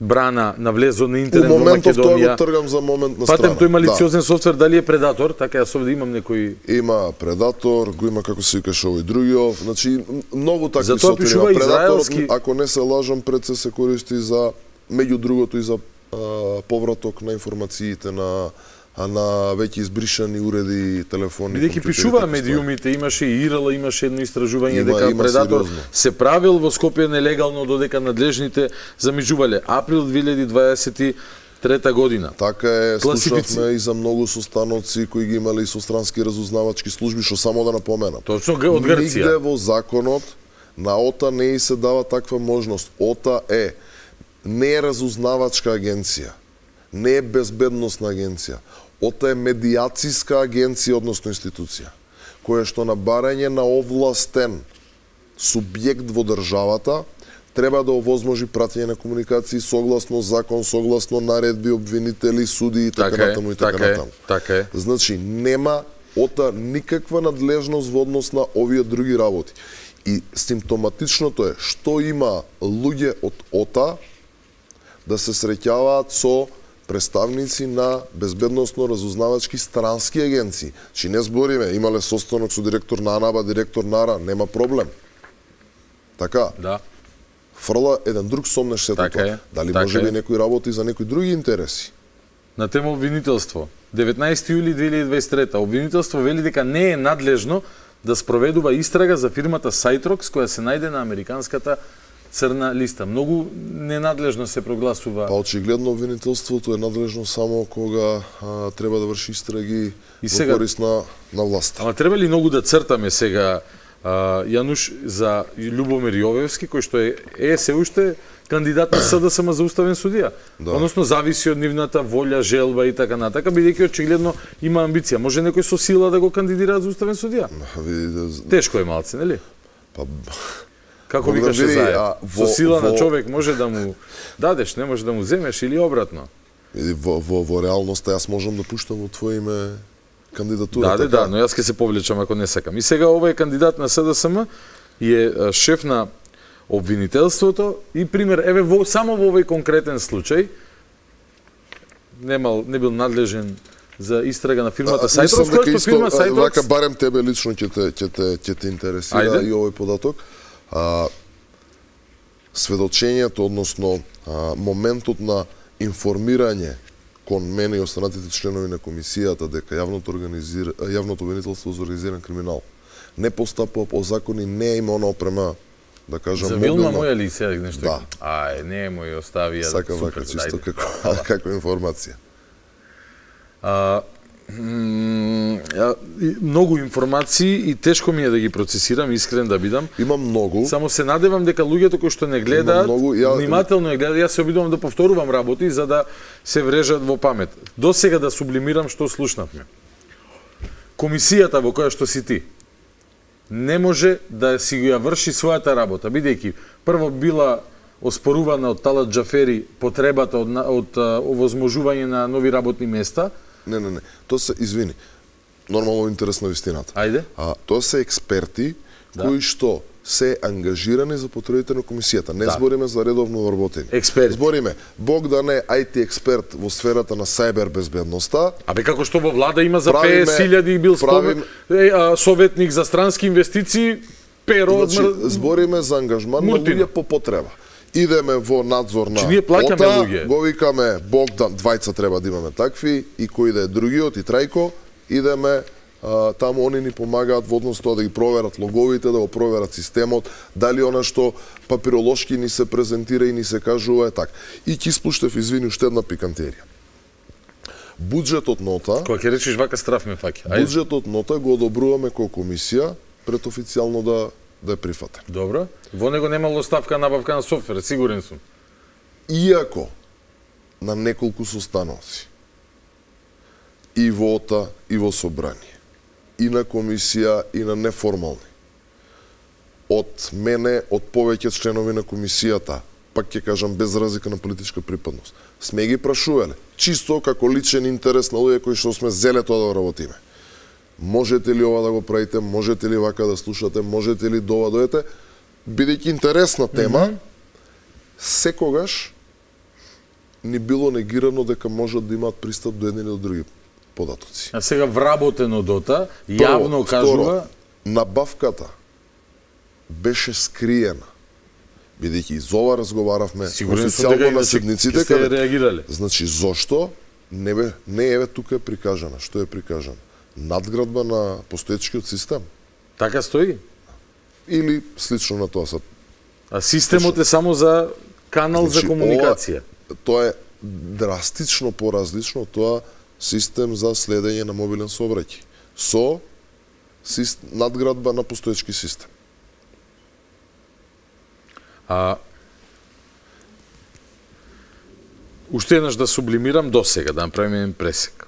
брана на влезо на интернет во Македонија. У моментов тоа го тргам за момент на страна. Патем тој малициозен да. софтвер, дали е предатор, така јас овде имам некој... Има предатор, го има како се викаш овој другиот, значи многу такви софтвери. Затоа пишува израелски... Ако не се лажам, пред се се користи за, меѓу другото и за а, повраток на информациите на а на веќе избришани уреди, телефони, бидејќи пишуваа медиумите, имаше и ИРЛ, имаше едно истражување има, дека има предатор сериозно. Се правил во Скопје нелегално додека надлежните замижувале. Април две илјади дваесет и трета година. Така е, Класифици... слушавме и за многу состаноци кои ги имале и со странски разузнавачки служби, што само да напоменам. Точно од Грција. Нигде во законот на ОТА не и се дава таква можност. ОТА е не е разузнавачка агенција, не е безбедносна агенција. ОТА е медијациска агенција, односно институција, која што на барање на овластен субјект во државата треба да овозможи пратење на комуникации согласно закон, согласно наредби, обвинители, суди и така, така натаму и така, така натаму. Така е. Значи, нема ОТА никаква надлежност во однос на овие други работи. И симптоматичното е што има луѓе од ОТА да се среќаваат со представници на безбедносно-разузнавачки странски агенции. Чи не збориме, имале состанок со директор на АНАБА, директор на АРА, нема проблем. Така? Да. Фрла еден друг сомнеш сето така тоа. Дали така може би некој работи за некои други интереси? На тема обвинителство. деветнаесети јули две илјади дваесет и трета. Обвинителство вели дека не е надлежно да спроведува истрага за фирмата Сайтрокс, која се најде на американската црна листа. Многу ненадлежно се прогласува. Па очигледно обвинителството е надлежно само кога а, треба да врши истраги и сега, во корист на, на власт. Ама треба ли многу да цртаме сега а, Јануш за Љубомир Јовевски, кој што е, е се уште кандидат на СДСМ за уставен судија. Да. Односно зависи од нивната волја, желба и така натака, бидејќи очигледно има амбиција. Може некој со сила да го кандидира за уставен судија? Видите, тешко е малце, нели? Па како викаше Заев, со сила во, на човек може да му дадеш, не може да му земеш или обратно. Во, во, во реалноста јас можам да пуштам во твое име кандидатура. Да, така? Да, но јас ќе се повлечам ако не сакам. И сега овој кандидат на СДСМ е шеф на обвинителството и пример, еве во, само во овој конкретен случај немал, не бил надлежен за истрага на фирмата Сайтрокс, која што фирма Сайтрокс... Вака барем тебе лично ќе те, ќе те, ќе те интересира Ајде. И овој податок. А, сведочењето, односно а, моментот на информирање кон мене и останатите членови на комисијата дека јавното, организира, јавното обвинителство за организиран криминал не постапува по закони, не има она опрема, да кажам, за Вилма моја ли сега нешто? Да. Ај, не мој оставија. Сака вака чисто како, како информација. А, многу информации и тешко ми е да ги процесирам, искрен да бидам. Има многу. Само се надевам дека луѓето кои што не гледаат, ја... внимателно ја гледаат, јас се обидувам да повторувам работи за да се врежат во памет. До сега да сублимирам што слушнавме. Комисијата во која што си ти не може да си ја врши својата работа, бидејќи прво била оспорувана од Талат Џафери потребата од, од, од овозможување на нови работни места. Не, не, не. Тоа се, извини, нормално интерес на вистината. Ајде. А, тоа се експерти да. Кои што се ангажирани за потребите на комисијата. Не да. Збориме за редовно вработени. Експерти. Збориме, Бог да не ај ти експерт во сферата на сајбер безбедноста. Абе како што во влада има за петдесет илјади бил правим... спомен, е, советник за странски инвестиции, перо... Значи, збориме за ангажман на луѓе по потреба. Идеме во надзор на ОТА, го викаме Богдан, двајца треба да имаме такви, и кој да е другиот, и Трајко, идеме, а, таму они ни помагаат во однос тоа да ги проверат логовите, да го проверат системот, дали она што папиролошки ни се презентира и ни се кажува е так. И ќе спуштев, извини, уште една пикантерија. Буџетот нота... Кога ќе речиш вака страф ме фаќа. Буџетот нота го одобруваме како комисија пред официјално да да е прифатен. Добро. Во него немало ставка набавка на софтвер, сигурен сум. Иако на неколку состаноци и во ОТА и во собрание, и на комисија и на неформални, од мене, од повеќе членови на комисијата, пак ќе кажам без разлика на политичка припадност, сме ги прашувале, чисто како личен интерес на луѓе кои што сме зеле тоа да работиме. Можете ли ова да го правите, можете ли вака да слушате, можете ли дова дојдете, бидејќи интересна тема, mm -hmm. секогаш ни било негирано дека можат да имаат пристап до едни или до други податоци. А сега вработено дота, јавно кажува... Набавката беше скриена. Бидејќи и за ова разговаравме официјално на седниците, каде реагирале. Значи, зошто не бе, не еве тука е прикажана, што е прикажано? Надградба на постоечкиот систем. Така стои? Или слично на тоа са. А системот е само за канал значи, за комуникација. Ова, тоа е драстично поразлично, тоа систем за следење на мобилен сообраќај. Со сист... надградба на постоечки систем. А уште еднаш да сублимирам до сега, да направиме еден пресек.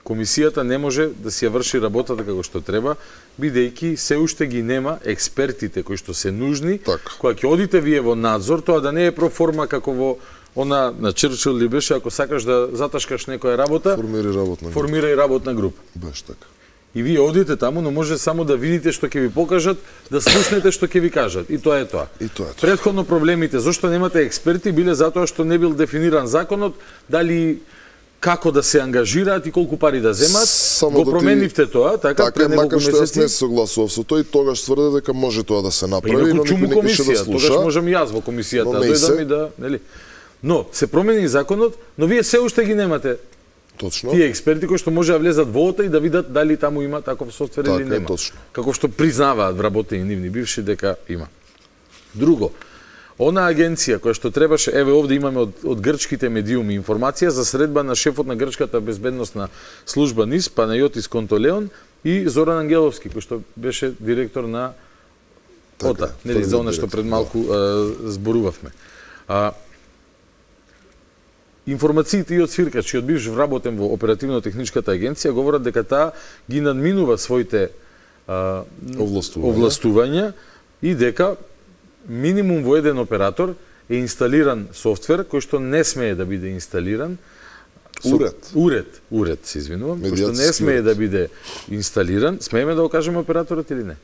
Комисијата не може да си ја врши работата како што треба, бидејќи се уште ги нема експертите кои што се нужни, така. Кога ќе одите вие во надзор, тоа да не е проформа како во она на Черчил ли беше, ако сакаш да заташкаш некоја работа, формирај работна група. Формирај работна група. Беше така. И вие одите таму, но може само да видите што ќе ви покажат, да слушнете што ќе ви кажат. И тоа е тоа. И тоа е тоа. Претходно проблемите, зошто немате експерти, биле затоа што не бил дефиниран законот, дали како да се ангажираат и колку пари да земат. Само го да променивте ти... тоа, така, така пред неколку месеци. Така, макар што јас не се согласував со тоа и тогаш тврде дека може тоа да се направи, но никој не кише да слуша. Тогаш можам и јас во комисијата да дојдам и да, нели? Но се промени законот, но вие се уште ги немате. Точно. Тие експерти кои што може да влезат во ОТА и да видат дали таму има таков софтвер така или нема. Точно. Како што признаваат вработени нивни бивши дека има. Друго, она агенција која што требаше, еве овде имаме од, од грчките медиуми информација за средба на шефот на грчката безбедносна служба НИС, Панајотис Контолеон и Зоран Ангеловски, кој што беше директор на така, ОТА, нели за она што пред малку да. а, зборувавме. А, Информациите и од Свиркач и од бивш вработен во оперативно-техничката агенција говорат дека таа ги надминува своите а, овластувања. овластувања и дека минимум во еден оператор е инсталиран софтвер кој што не смее да биде инсталиран. Уред. Со, уред, уред, се извинувам, кој што не смее уред. да биде инсталиран. Смееме да го кажеме операторот или не?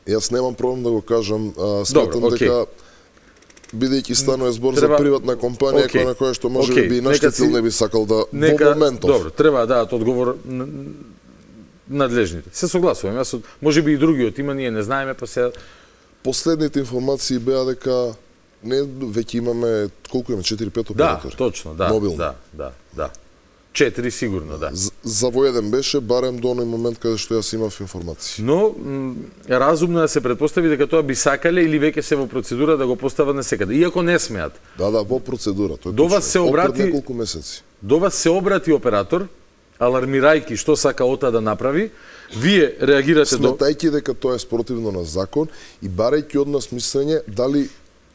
Јас немам проблем да го кажам, а, сметам Добро, дека бидејќи станува збор треба... за приватна компанија okay. која на која што може okay. би наштетил си... не би сакал да нека... во моментов. Добро, треба да дадат одговор надлежните. Се согласувам, јас од... може би и другиот има, ние не знаеме, па се последните информации беа дека не веќе имаме колку имаме четири-пет оператори. Да, точно, да. Мобилни. Да, да, да. четири сигурно, да. За, за во еден беше барем до оној момент каде што јас имав информации. Но е разумно да се претпостави дека тоа би сакале или веќе се во процедура да го постават на секаде, иако не смеат. Да, да, во процедура, тоа е до вас се обрати неколку месеци. До вас се обрати оператор, алармирајќи што сака ОТА да направи, вие реагирате до сметајќи дека тоа е спротивно на закон и барајќи од нас мислење дали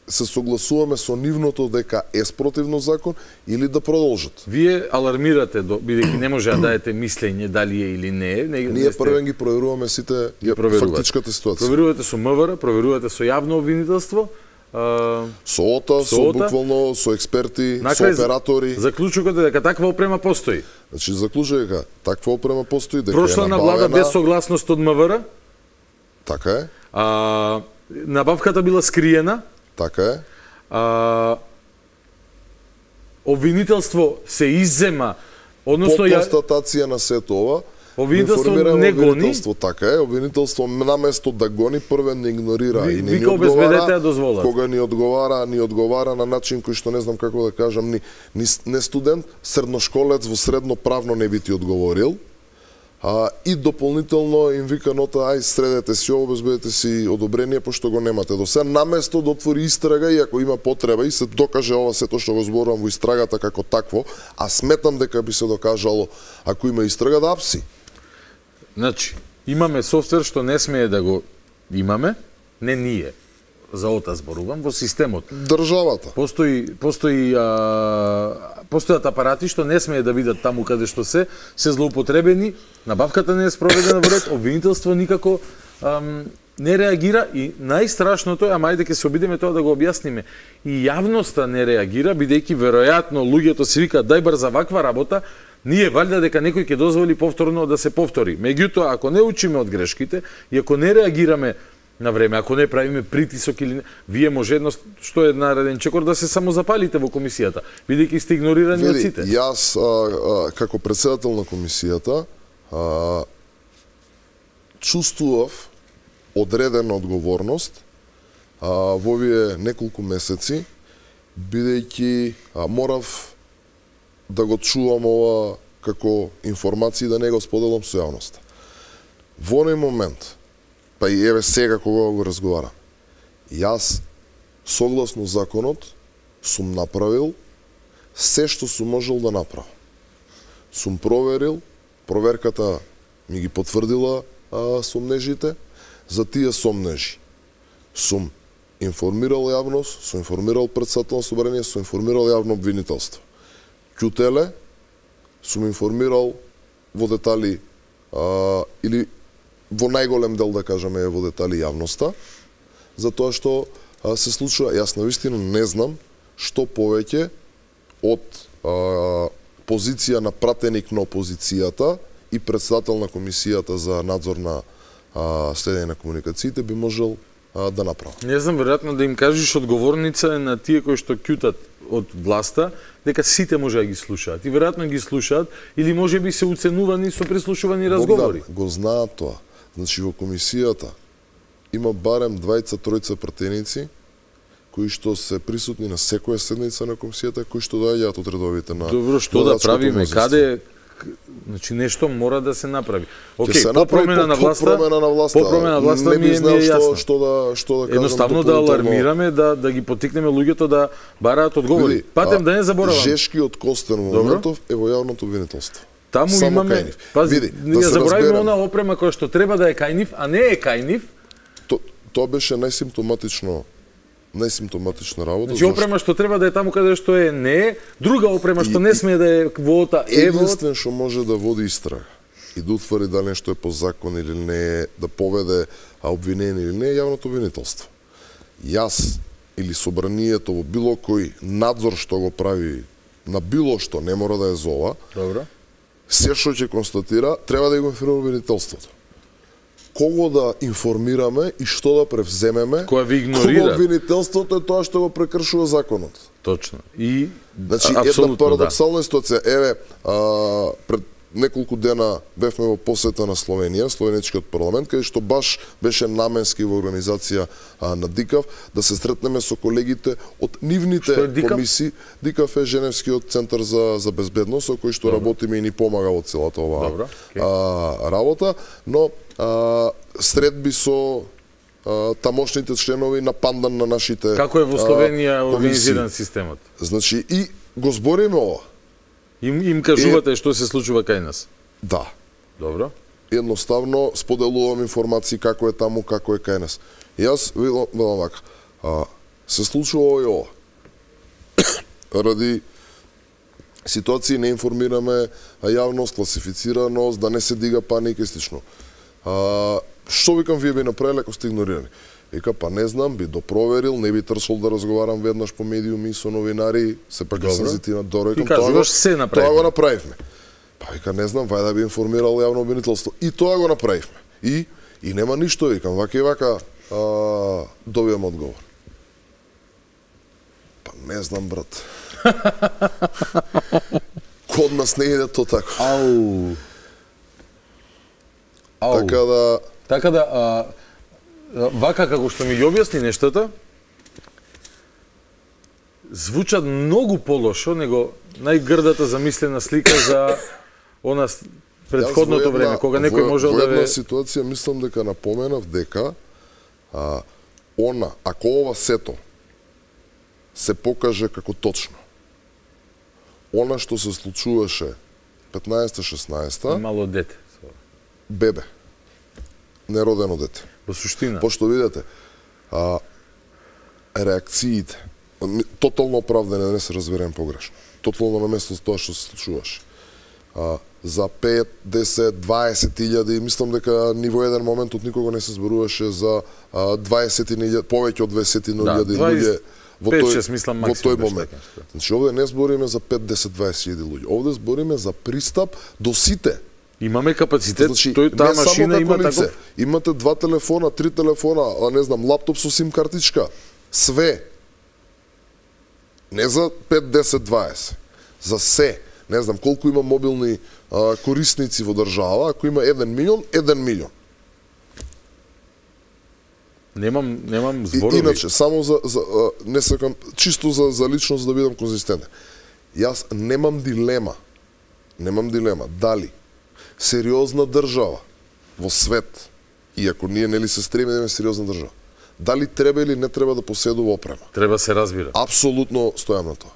се согласуваме со нивното дека е спротивно закон или да продолжат. Вие алармирате, бидејќи не може да дадете мислење дали е или не е. Не, Ние сте... првен ги проверуваме сите фактичката ситуација. Проверувате со МВР, проверувате со јавно обвинителство, а... со ОТА, со, со буквално, со експерти, Накрај, со оператори. Заклучокот е дека таква опрема постои. Значи заклучок е дека таква опрема постои, дека Прошла е на влада без согласност од МВР. Така е. А, набавката била скриена. Така е. А, обвинителство се иззема, односно по констатација на сето ова, обвинителство не гони. Обвинителство така е, обвинителство наместо да гони првен не игнорира Ви, и не ни одговара. Кога ни одговара, ни одговара на начин кој што не знам како да кажам, ни, ни не студент, средношколец во средно правно не би ти одговорил. А, и дополнително им вика нота, ај средете си, обезбедете си одобрение, пошто го немате. До сега наместо да отвори истрага и ако има потреба и се докаже ова сето што го зборувам во истрагата како такво, а сметам дека би се докажало ако има истрага да апси. Значи, имаме софтвер што не смее да го имаме, не ние, за ота зборувам, во системот. Државата. Постои, постои, а, постојат апарати што не смее да видат таму каде што се, се злоупотребени, набавката не е спроведена во ред, обвинителство никако ам, не реагира и најстрашното е, ама ајде ќе се обидеме тоа да го објасниме, и јавноста не реагира, бидејќи веројатно луѓето си викаат дај бар за ваква работа, ние валјда дека некој ќе дозволи повторно да се повтори. Меѓутоа, ако не учиме од грешките и ако не реагираме на време, ако не правиме притисок или не, вие може едно што е нареден чекор да се самозапалите во комисијата, бидејќи сте игнорирани од сите. Јас а, а, како претседател на комисијата а, чувствував одредена одговорност а, во овие неколку месеци, бидејќи а, морав да го чувам ова како информација да не го споделам со јавноста. Во оној момент, па и еве сега кога го разговарам, јас, согласно законот, сум направил се што сум можел да направам. Сум проверил, проверката ми ги потврдила а, сомнежите, за тие сомнежи сум информирал јавност, сум информирал председател на собрание, сум информирал јавно обвинителство. Ќутеле, сум информирал во детали а, или во најголем дел, да кажеме, во детали јавноста, за тоа што а, се случува. Јас навистина не знам што повеќе од а, позиција на пратеник на опозицијата и председател на комисијата за надзор на а, следење на комуникациите би можел а, да направи. Не знам, веројатно да им кажеш одговорница е на тие кои што ќутат од власта, дека сите може да ги слушаат. И веројатно ги слушаат, или може би се уценувани со прислушувани разговори. Богдан, го знаат тоа. Значи, во комисијата има барем двајца тројца пратеници кои што се присутни на секоја седница на комисијата, кои што доаѓаат од редовите на... Добро, што да правиме? Каде... Значи, нешто мора да се направи. Океј, okay, по промена на власта, по промена на власта, по промена на власта ми, ми е јасно. Што да, што да кажам, едноставно да алармираме, да, да ги поттикнеме луѓето да бараат одговори. Патем да не заборавам. Жешкиот Костен Моментов е во јавното обвинителство. Таму само имаме, кајнив. Пази, Види, да ја забораваме она опрема која што треба да е кајнив, а не е кајнив. То, тоа беше најсимптоматично најсимптоматична работа. Значи опрема што треба да е таму каде што е не е, друга опрема што не смее да е во ота е во... Единствен што може да води истрага и да утврди дали нешто е по закон или не е, да поведе обвинение или не е јавното обвинителство. Јас или собранието во било кој надзор што го прави на било што, не мора да е за ова, добро, се што ќе констатира, треба да го информира обвинителството. Кого да информираме и што да превземеме, која ви игнорира. Обвинителството е тоа што го прекршува законот. Точно. И значи една парадоксална да. ситуација. Еве, а, пред неколку дена бевме во посета на Словенија, Словеничкиот парламент, каде што баш беше наменски во организација а, на ДИКАВ да се сретнеме со колегите од нивните комисии. ДИКАВ е Женевскиот центар за за безбедност, со кој што Добро. работиме и ни помага во целата оваа okay. а, работа, но а, средби со а, тамошните членови на пандан на нашите Како е во Словенија а, организиран системот? Значи и го збориме ова. Им, им кажувате е, што се случува кај нас? Да. Добро. Едноставно споделувам информации како е таму, како е кај нас. Јас велам вака, а, се случува ова и ова. Ради ситуации не информираме јавност, класифицираност, да не се дига паника и слично. А, што викам вие би направиле ако сте игнорирани? Вика, па не знам, би допроверил, не би трсол да разговарам веднаш по медиуми со новинари, се пак сензитивна дорека. Ти кажуваш се направивме. Тоа го направивме. Па вика, не знам, вај да би информирал јавно обвинителство. И тоа го направивме. И и нема ништо, викам, вака и вака а, добијам одговор. Па не знам, брат. Код нас не иде то така. Ау. Ау. Така да... Така да... А... Вака како што ми ги објасни нештата, звучат многу полошо него најгрдата замислена слика за она предходното време, кога некој можел да ве... Во една ситуација мислам дека напоменав дека а, она, ако ова сето се покаже како точно, она што се случуваше петнаесета-шеснаесета мало дете. Бебе. Неродено дете. Во суштина. Пошто видите, а, реакциите, тотално оправдане, не се разберем погрешно. Тотално на место тоа што се случуваше. А, за пет, десет, дваесет илјади, мислам дека ни во еден момент од никого не се зборуваше за дваесет илјади, повеќе од дваесет илјади луѓе во тој, мислам, во тој момент. Значи, овде не збориме за пет, десет, дваесет илјади луѓе. Овде збориме за пристап до сите. Имаме капацитет, значи, тој таа машина има таков. Имате два телефона, три телефона, а не знам, лаптоп со сим картичка. Све. Не за пет, десет, дваесет. За се. Не знам колку има мобилни а, корисници во држава, ако има еден милион, еден милион. Немам, немам зборови. И, иначе, само за, за а, не сакам, чисто за, за личност да бидам конзистентен. Јас немам дилема, немам дилема, дали сериозна држава во свет, иако ние нели се стремиме да имаме сериозна држава, дали треба или не треба да поседува опрема? Треба се разбира. Апсолутно стојам на тоа.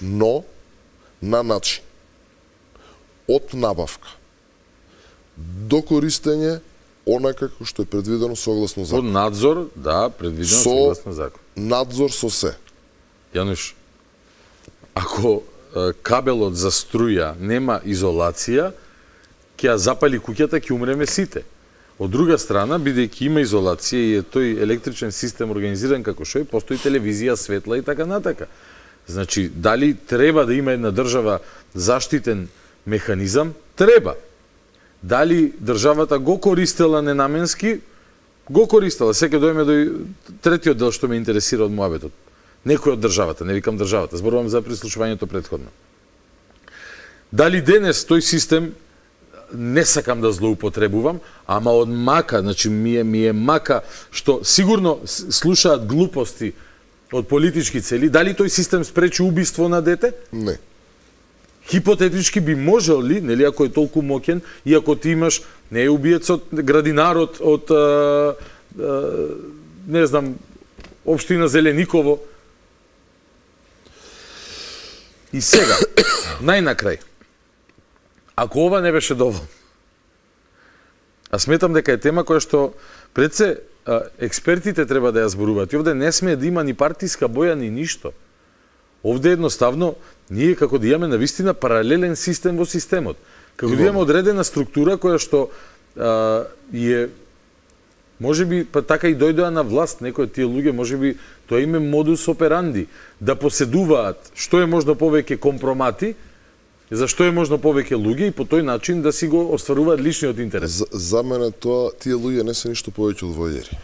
Но, на начин, од набавка до користење онака како што е предвидено согласно закон. Од надзор, да, предвидено со согласно закон. Надзор со се. Јануш, ако е, кабелот за струја нема изолација, ќе ја запали куќата, ќе умреме сите. Од друга страна, бидејќи има изолација и е тој електричен систем организиран како што е, постои телевизија, светла и така натака. Значи, дали треба да има една држава заштитен механизам? Треба. Дали државата го користела ненаменски? Го користела. Сега дојме до третиот дел што ме интересира од муабетот. Некој од државата, не викам државата, зборувам за прислушувањето претходно. Дали денес тој систем не сакам да злоупотребувам, ама од мака, значи ми е, ми е мака што сигурно слушаат глупости од политички цели, дали тој систем спречи убиство на дете? Не. Хипотетички би можел ли, нели, ако е толку моќен, и ако ти имаш, не е убиецот, градинарот од, а, а, не знам, општина Зелениково. И сега, најнакрај, ако ова не беше доволно, а сметам дека е тема која што пред се експертите треба да ја зборуваат. И овде не смее да има ни партиска боја, ни ништо. Овде едноставно, ние како да имаме навистина паралелен систем во системот. Како да имаме одредена структура која што а, е, може би, па така и дојдоа на власт, некои од тие луѓе, може би, тоа име модус операнди, да поседуваат што е можно повеќе компромати, за што е можно повеќе луѓе и по тој начин да си го остваруваат личниот интерес. За, за мене тоа, тие луѓе не се ништо повеќе од војери.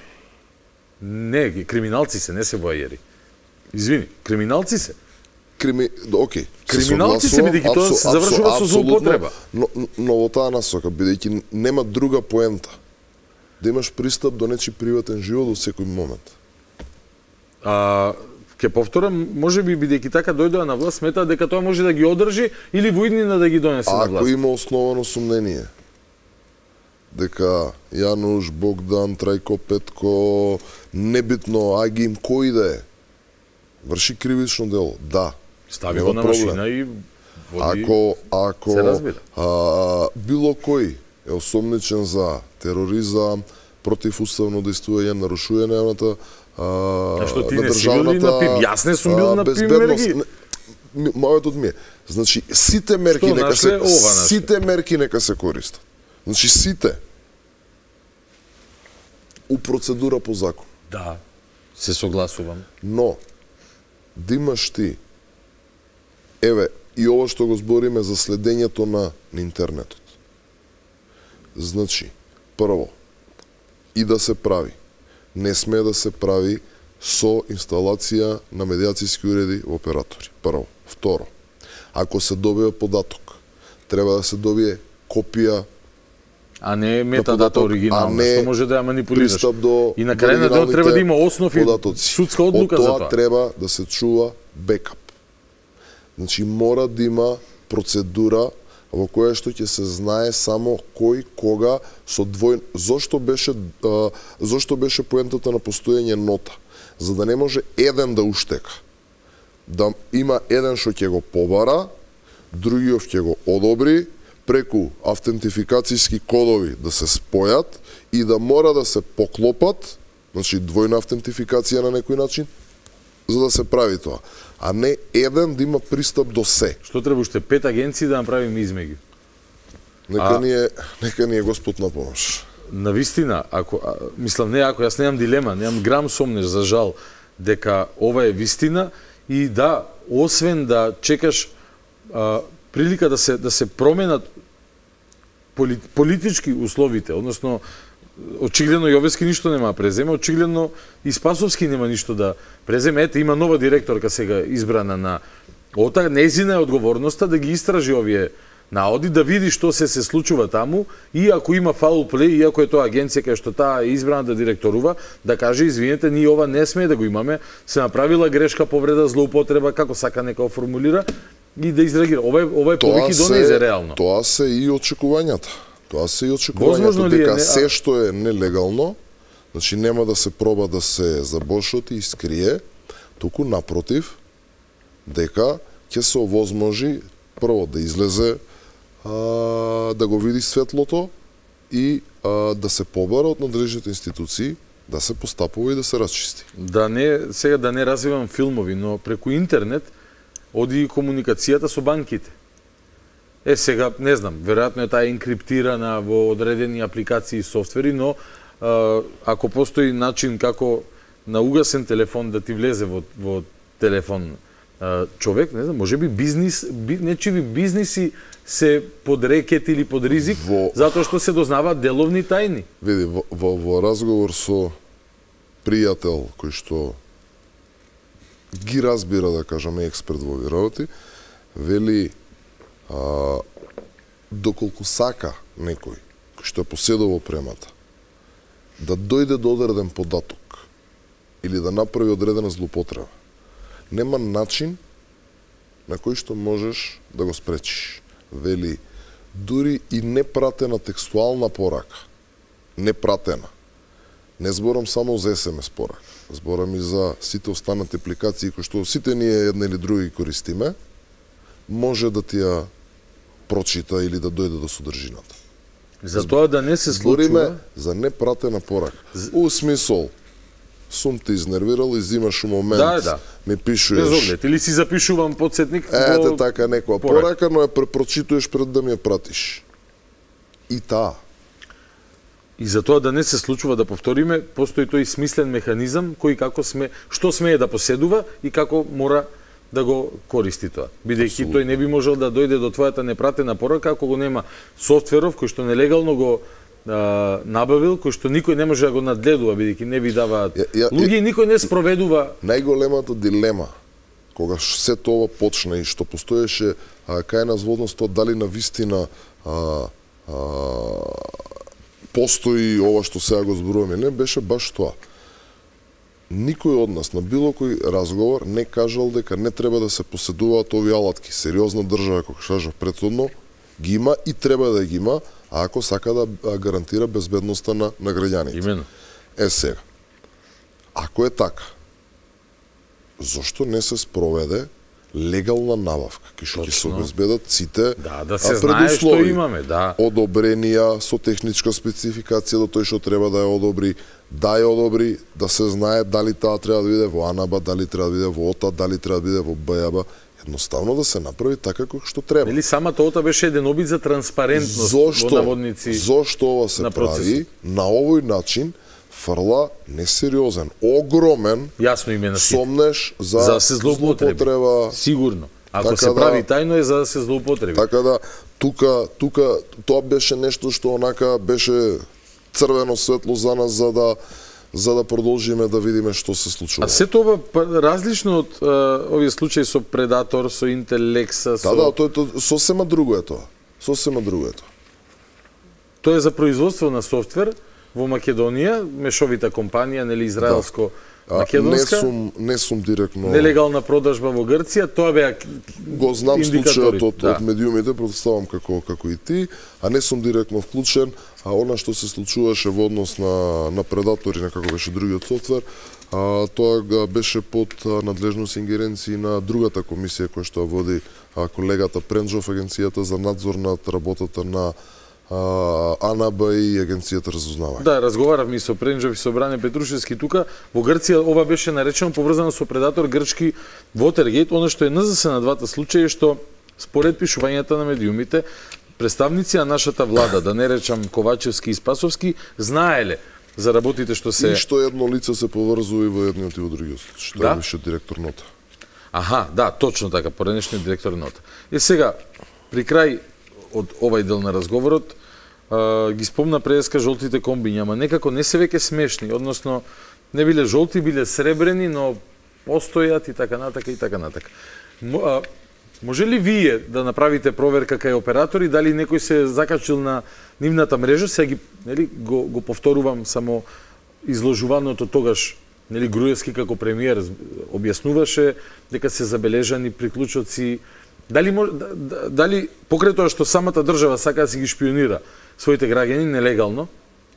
Не, криминалци се, не се војери. Извини, криминалци се. Крими... Океј. Криминалци се, бидејќи тоа се завршува со злоупотреба. Но, но во таа насока, бидејќи нема друга поента, да имаш пристап до нечи приватен живот од секој момент. А, ке повторам, може би бидејќи така дојдоа на власт, сметаат дека тоа може да ги одржи или во иднина да ги донесе на власт. Ако има основано сомнение дека Јануш, Богдан, Трајко, Петко, небитно, Агим, кој да е, врши кривично дело, да. Стави го на машина и води... Ако, ако се разбира. А, било кој е осомничен за тероризам, противуставно действување, нарушување на а, а што ти не си бил ли на ПИМ? Јас не сум бил на ПИМ мерки. Мојот од ми е. Значи, сите мерки нека се, сите мерки нека се користат. Значи, сите у процедура по закон. Да, се согласувам. Но, да имаш ти, еве, и ова што го збориме за следењето на, на интернетот. Значи, прво, и да се прави, не смее да се прави со инсталација на медиацијски уреди во оператори. Прво. Второ, ако се добие податок, треба да се добие копија, а не метадата оригинална, што може да ја манипулираш. До, и на крај на дел треба да има основ и судска одлука за тоа. Од тоа треба да се чува бекап. Значи, мора да има процедура во која што ќе се знае само кој кога со двој зошто беше а, зошто беше поентата на постоење нота, за да не може еден да уштека. Да има еден што ќе го побара, другиот ќе го одобри, преку автентификацијски кодови да се спојат и да мора да се поклопат, значи двојна автентификација на некој начин, за да се прави тоа. А не еден да има пристап до се. Што треба уште пет агенции да направиме измеѓу? Нека а... ни е, нека ни е Господ на помош. Навистина, ако а, мислам не ако јас немам дилема, немам грам сомнеш за жал дека ова е вистина и да, освен да чекаш а, прилика да се да се променат поли, политички условите, односно очигледно Јовески ништо нема преземе, очигледно и Спасовски нема ништо да преземе. Ете, има нова директорка сега избрана на ОТА, нејзина е одговорноста да ги истражи овие наоди, да види што се се случува таму и ако има фаул плей, и ако е тоа агенција кај што таа е избрана да директорува, да каже извинете, ние ова не смее да го имаме, се направила грешка, повреда, злоупотреба, како сака нека оформулира и да изреагира. Ова е ова е повеќе донезе реално. Тоа се и очекувањата. Тоа се и очекувањето дека не... се што е нелегално, значи нема да се проба да се забошоти и скрие, туку напротив, дека ќе се овозможи прво да излезе, а, да го види светлото и а, да се побара од надлежните институции, да се постапува и да се расчисти. Да не, сега да не развивам филмови, но преку интернет оди и комуникацијата со банките. Е, сега, не знам, веројатно е таа енкриптирана во одредени апликации и софтвери, но а, ако постои начин како на угасен телефон да ти влезе во, во телефон а, човек, не знам, може би бизнис, би, нечиви бизниси се под рекет или под ризик, во... затоа што се дознаваат деловни тајни. Види, во, во, во разговор со пријател кој што ги разбира, да кажаме, експерт во овие работи, вели А, доколку сака некој кој што е поседува премата да дојде до одреден податок или да направи одредена злоупотреба, нема начин на кој што можеш да го спречиш. Вели, дури и непратена текстуална порака, непратена, не зборам само за ес ем ес порака, зборам и за сите останати апликации кои што сите ние една или други користиме, може да ти ја прочита или да дојде до содржината. За тоа да не се случува... Збориме за непратена порака. У смисол, сум те изнервирал и зимаш у момент, да, да. ми пишуеш... Без оглед, или си запишувам подсетник... Ете така некоја порака, порака, но ја препрочитуваш пред да ми ја пратиш. И таа. И за тоа да не се случува, да повториме, постои тој смислен механизам кој како сме, што смее да поседува и како мора да го користи тоа. Бидејќи тој не би можел да дојде до твојата непратена порака ако го нема софтверов кој што нелегално го а, набавил, кој што никој не може да го надледува, бидејќи не ви даваат луѓе и никој не спроведува. Најголемата дилема кога се тоа почна и што постоеше а, кај нас во однос тоа дали навистина а, а, постои ова што сега го зборуваме, не беше баш тоа. Никој од нас на било кој разговор не кажал дека не треба да се поседуваат овие алатки. Сериозна држава, како кажав претходно, ги има и треба да ги има, а ако сака да гарантира безбедноста на, на граѓаните. Именно. Е сега, ако е така, зошто не се спроведе легална набавка, кај што ќе се обезбедат сите да, да се знае што имаме, да. Одобренија со техничка спецификација до тој што треба да ја одобри, да ја одобри, да се знае дали таа треба да биде во АНАБА, дали треба да биде во ОТА, дали треба да биде во БАБА, едноставно да се направи така како што треба. Нели самата ОТА беше еден обид за транспарентност зошто, во наводници. Зошто ова се на прави на овој начин? Фрла несериозен, огромен јасно име на сомнеш за, за се злоупотреба. Сигурно. Ако така се прави да, тајно е за да се злоупотреби. Така да тука тука тоа беше нешто што онака беше црвено светло за нас за да за да продолжиме да видиме што се случува. А се тоа различно од а, овие случаи со Предатор, со Интелекса, со... Да, да, тоа е тоа, сосема друго е тоа. Сосема друго е тоа. Тоа е за производство на софтвер во Македонија, мешовита компанија, нели израелско Македонска? Не сум, не сум директно... Нелегална продажба во Грција, тоа беа го знам случајот од, да. од медиумите, претставам како, како и ти, а не сум директно вклучен, а она што се случуваше во однос на, на предатори, на како беше другиот софтвер, а, тоа беше под надлежност и ингеренции на другата комисија која што води а, колегата Пренджов, Агенцијата за надзор над работата на АНБ и Агенцијата разузнавање. Да, разговаравме и со Пренджов и со Бране Петрушевски тука. Во Грција ова беше наречено поврзано со предатор грчки Watergate. Оно што е ен зес на двата случаи е што според пишувањата на медиумите, представници на нашата влада, да не речам Ковачевски и Спасовски, знаеле за работите што се... И што едно лице се поврзува и во едниот и во другиот случај, што да? Е више директор нота. Аха, да, точно така, поредишниот директор нота. И сега, при крај од овај дел на разговорот, а, ги спомна преска жолтите комбиња, ама некако не се веќе смешни, односно не биле жолти, биле сребрени, но постојат и така натака и така натака. А, може ли вие да направите проверка кај оператори, дали некој се закачил на нивната мрежа, сега ги, нели, го, го повторувам само изложуваното тогаш, нели, Груевски како премиер објаснуваше дека се забележани приклучоци. Дали, дали покрај тоа што самата држава сака да си ги шпионира своите граѓани нелегално,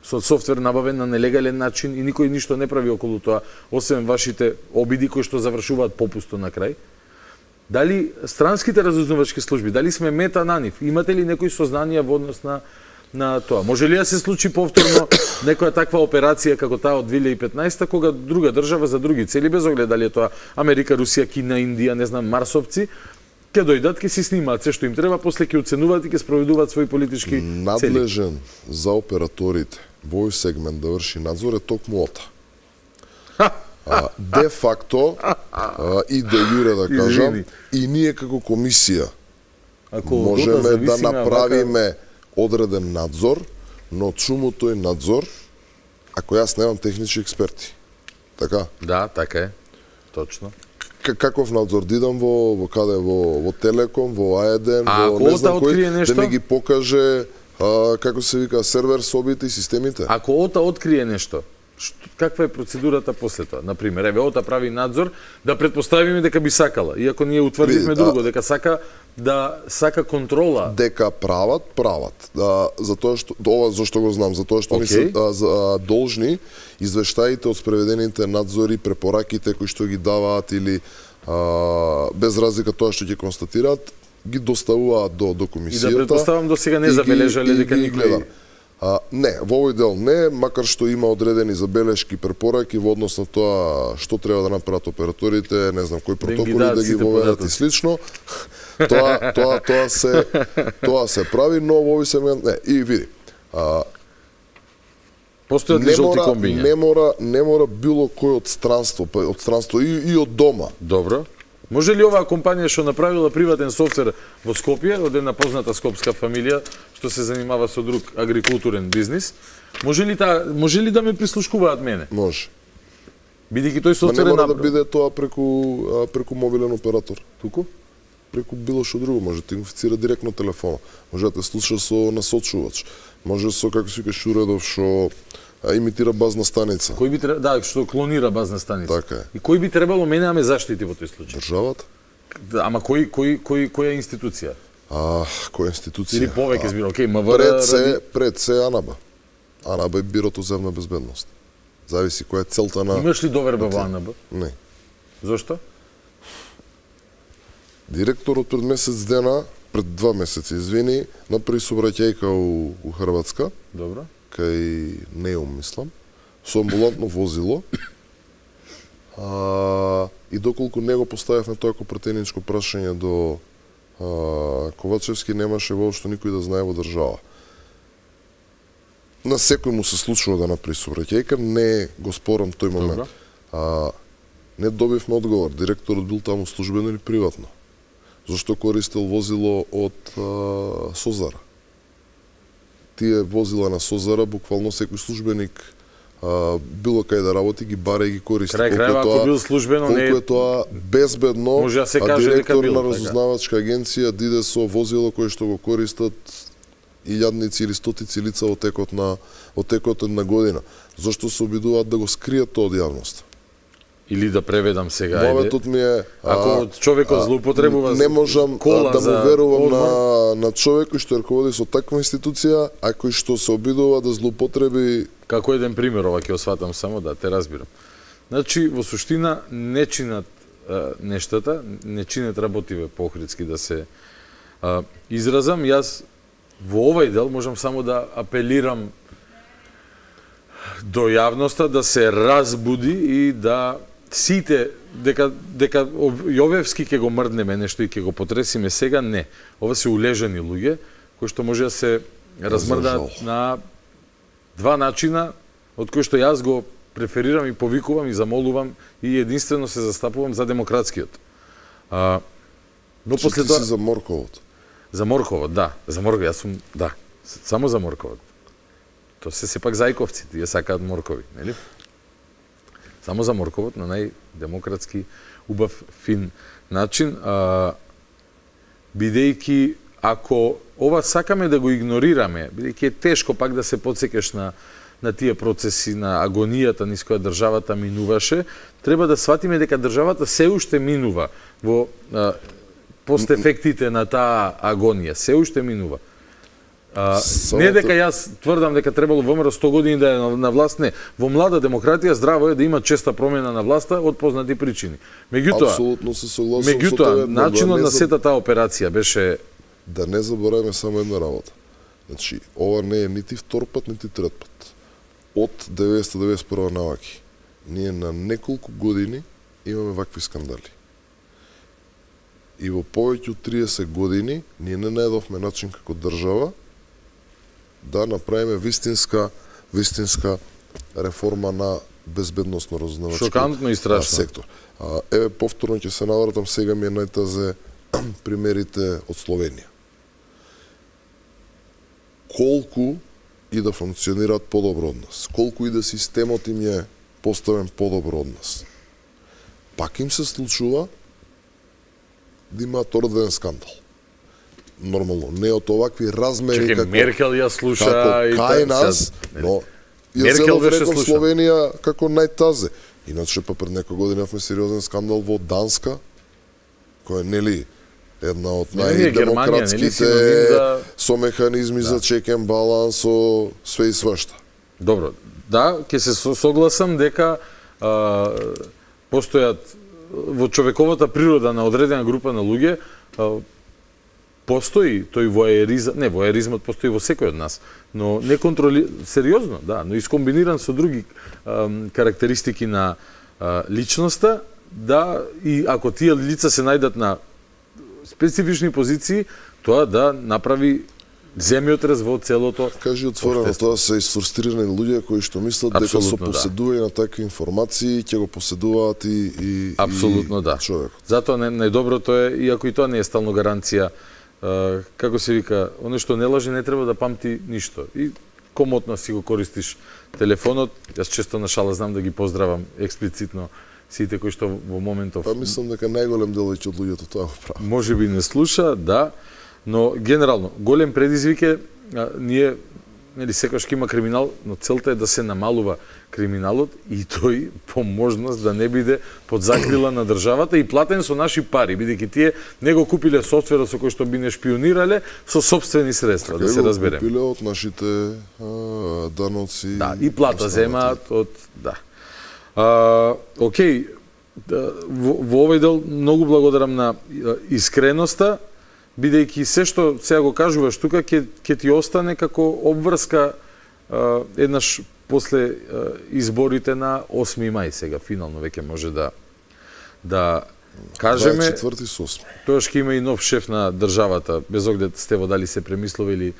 со софтвер набавен на нелегален начин и никој ништо не прави околу тоа, освен вашите обиди кои што завршуваат попусто на крај, дали странските разузнавачки служби, дали сме мета на нив, имате ли некои сознанија во однос на, на тоа? Може ли да се случи повторно некоја таква операција како таа од две илјади и петнаесета, кога друга држава за други цели, без оглед дали е тоа Америка, Русија, Кина, Индија, не знам, марсовци, ќе дојдат, ќе си снимаат се што им треба, после ќе оценуваат и ќе спроведуваат своји политички цели. Надлежен за операторите во овој сегмент да врши надзор е токму ОТА. А, де факто а, и де јуре да кажам, и ние како комисија Ако можеме да направиме одреден надзор, но чуму тој надзор, ако јас немам технички експерти. Така? Да, така е. Точно. Каков надзор дидам во во каде во во Телеком, во АЕДЕН, во не знам кој да ми ги покаже а, како се вика сервер собите и системите. Ако ОТА открие нешто, што, каква е процедурата после тоа? Например, еве ОТА прави надзор, да претпоставиме дека би сакала, иако ние утврдивме друго, дека сака да сака контрола. Дека прават, прават. Да, затоа што ова зашто го знам, затоа што okay. ни се а, за, а, должни извештаите од спроведените надзори, препораките кои што ги даваат или а, без разлика тоа што ќе констатираат, ги доставуваат до до комисијата. И да претпоставам до сега не забележале дека никој. А, не, во овој дел не, макар што има одредени забелешки, препораки во однос на тоа што треба да направат операторите, не знам кои протоколи да, да ги воведат и слично. Тоа тоа тоа се тоа се прави, но во овој сегмент не. И види. А, Постојат ли жолти комбиња? Не мора, не мора било кој од странство, од странство и, и од дома. Добро. Може ли оваа компанија што направила приватен софтвер во Скопје, од една позната скопска фамилија што се занимава со друг агрикултурен бизнис, може ли та, може ли да ме прислушкуваат мене? Може. Бидејќи тој софтвер не е мора да биде тоа преку преку мобилен оператор. Туку? Преку било што друго, може да ти инфицира директно телефона, може да те слуша со насочувач, може со како се вика Шуредов што имитира базна станица. Кој би требало, да, што клонира базна станица. Така е. И кој би требало мене да ме заштити во тој случај? Државата. Да, ама кој кој кој која институција? А, која институција? Или повеќе збира, окей, МВР. Пред се, пред се АНАБ. АНАБ е Бирото за земна безбедност. Зависи која е целта на. Имаш ли доверба во АНАБ? Не. Зошто? Директорот пред месец дена, пред два месеци, извини, направи сообраќајка у, у Хрватска. Добро. Кај Неум, мислам, со амбулантно возило. А, и доколку него поставивме тоа како претеничко прашање до а, Ковачевски, немаше воопшто никој да знае во држава. На секој му се случува да направи сообраќајка, не го спорам тој момент. А, не добивме одговор, директорот бил таму службено или приватно. Зошто користел возило од а, Созара? Тие возила на Созара, буквално секој службеник а, било кај да работи, ги бара и ги користи. Крај крајва, ако бил службено, колку не е тоа безбедно, може да се а каже дека директор било, на разузнавачка агенција диде со возило кое што го користат илјадници или стотици лица во текот на во текот на година. Зошто се обидуваат да го скријат тоа од јавноста? или да преведам сега, Моветот ми е, ако човекот злоупотребува не можам кола да му за верувам одмор, на, на човек кој што рководи со таква институција, а кој што се обидува да злоупотреби. Како еден пример, ова ќе осватам само да те разбирам. Значи, во суштина, не чинат а, нештата, не чинат работиве по-охридски да се а, изразам. Јас во овај дел можам само да апелирам до јавноста да се разбуди и да сите, дека, дека Јовевски ќе го мрднеме нешто и ќе го потресиме сега, не. Ова се улежани луѓе, кои што може да се размрдаат на два начина, од кои што јас го преферирам и повикувам и замолувам и единствено се застапувам за демократскиот. А, но Че после ти тоа... си за Морковот? За Морковот, да. За Морковот, јас сум, да. Само за Морковот. То се сепак зајковци, тие сакаат моркови, нели? Само за Морковот на најдемократски, убав, фин начин, а, бидејќи ако ова сакаме да го игнорираме, бидејќи е тешко пак да се подсекеш на на тие процеси на агонијата низ која државата минуваше, треба да сватиме дека државата се уште минува во а, постефектите на таа агонија, се уште минува. А, не дека јас тврдам дека требало ВМРО сто години да е на, на власт, не. Во млада демократија здраво е да има честа промена на власта од познати причини. Меѓутоа, апсолутно се согласувам со тебе. Начинот на сета таа операција беше да не забораваме само една работа. Значи, ова не е нити втор пат, нити трет пат. Од деветоста деветдесет и прва наваки, ние на неколку години имаме вакви скандали. И во повеќе од триесет години ние не најдовме начин како држава да направиме вистинска вистинска реформа на безбедносно разузнавачки шокантно и страшно сектор. А, еве повторно ќе се навратам, сега ми е најтазе примерите од Словенија. Колку и да функционираат подобро од нас, колку и да системот им е поставен подобро од нас, пак им се случува да имаат орден скандал. Нормално, не од овакви размери Чекай, како Меркел ја слуша како и кај та, нас, сега, но ја Меркел зелов беше реков слушан. Словенија како најтазе. Иначе па пред некоја година имавме сериозен скандал во Данска, која нели една од Не, не, Германија, нели, синоним за- со механизми за чекен баланс, со све и свашта. Добро, да, ќе се со- согласам дека а, постојат во човековата природа на одредена група на луѓе, а, постои тој воеризам, не, воеризмот постои во секој од нас, но не контроли сериозно, да, но искомбиниран со други а, карактеристики на а, личноста, да, и ако тие лица се најдат на специфични позиции, тоа да направи земјотрес во целото. Кажи отворено, тоа се изфрустрирани луѓе кои што мислат дека со Апсолутно, да. поседување на такви информации ќе го поседуваат и, и, Апсолутно и да. човек. Затоа нај, најдоброто е, иако и тоа не е стално гаранција, а, како се вика, оно што не лаже не треба да памти ништо. И комотно си го користиш телефонот. Јас често на шала знам да ги поздравам експлицитно сите кои што во моментов... Па мислам дека најголем дел од луѓето тоа го прави. Може би не слуша, да, но генерално голем предизвик е а, ние нели секогаш ќе има криминал, но целта е да се намалува криминалот и тој по можност да не биде под закрила на државата и платен со наши пари, бидејќи тие не го купиле софтверот со кој што би не шпионирале со сопствени средства, да се разбереме. Купиле од нашите а, даноци. Да, и плата земаат од да. А, окей, да, во, во овој дел многу благодарам на а, искреноста, бидејќи се што сега го кажуваш тука ќе ќе ти остане како обврска а, еднаш после а, изборите на осми мај, сега финално веќе може да да кажеме дваесет и четврти со осми. Тоаш ќе има и нов шеф на државата, без оглед Стево дали се премислува или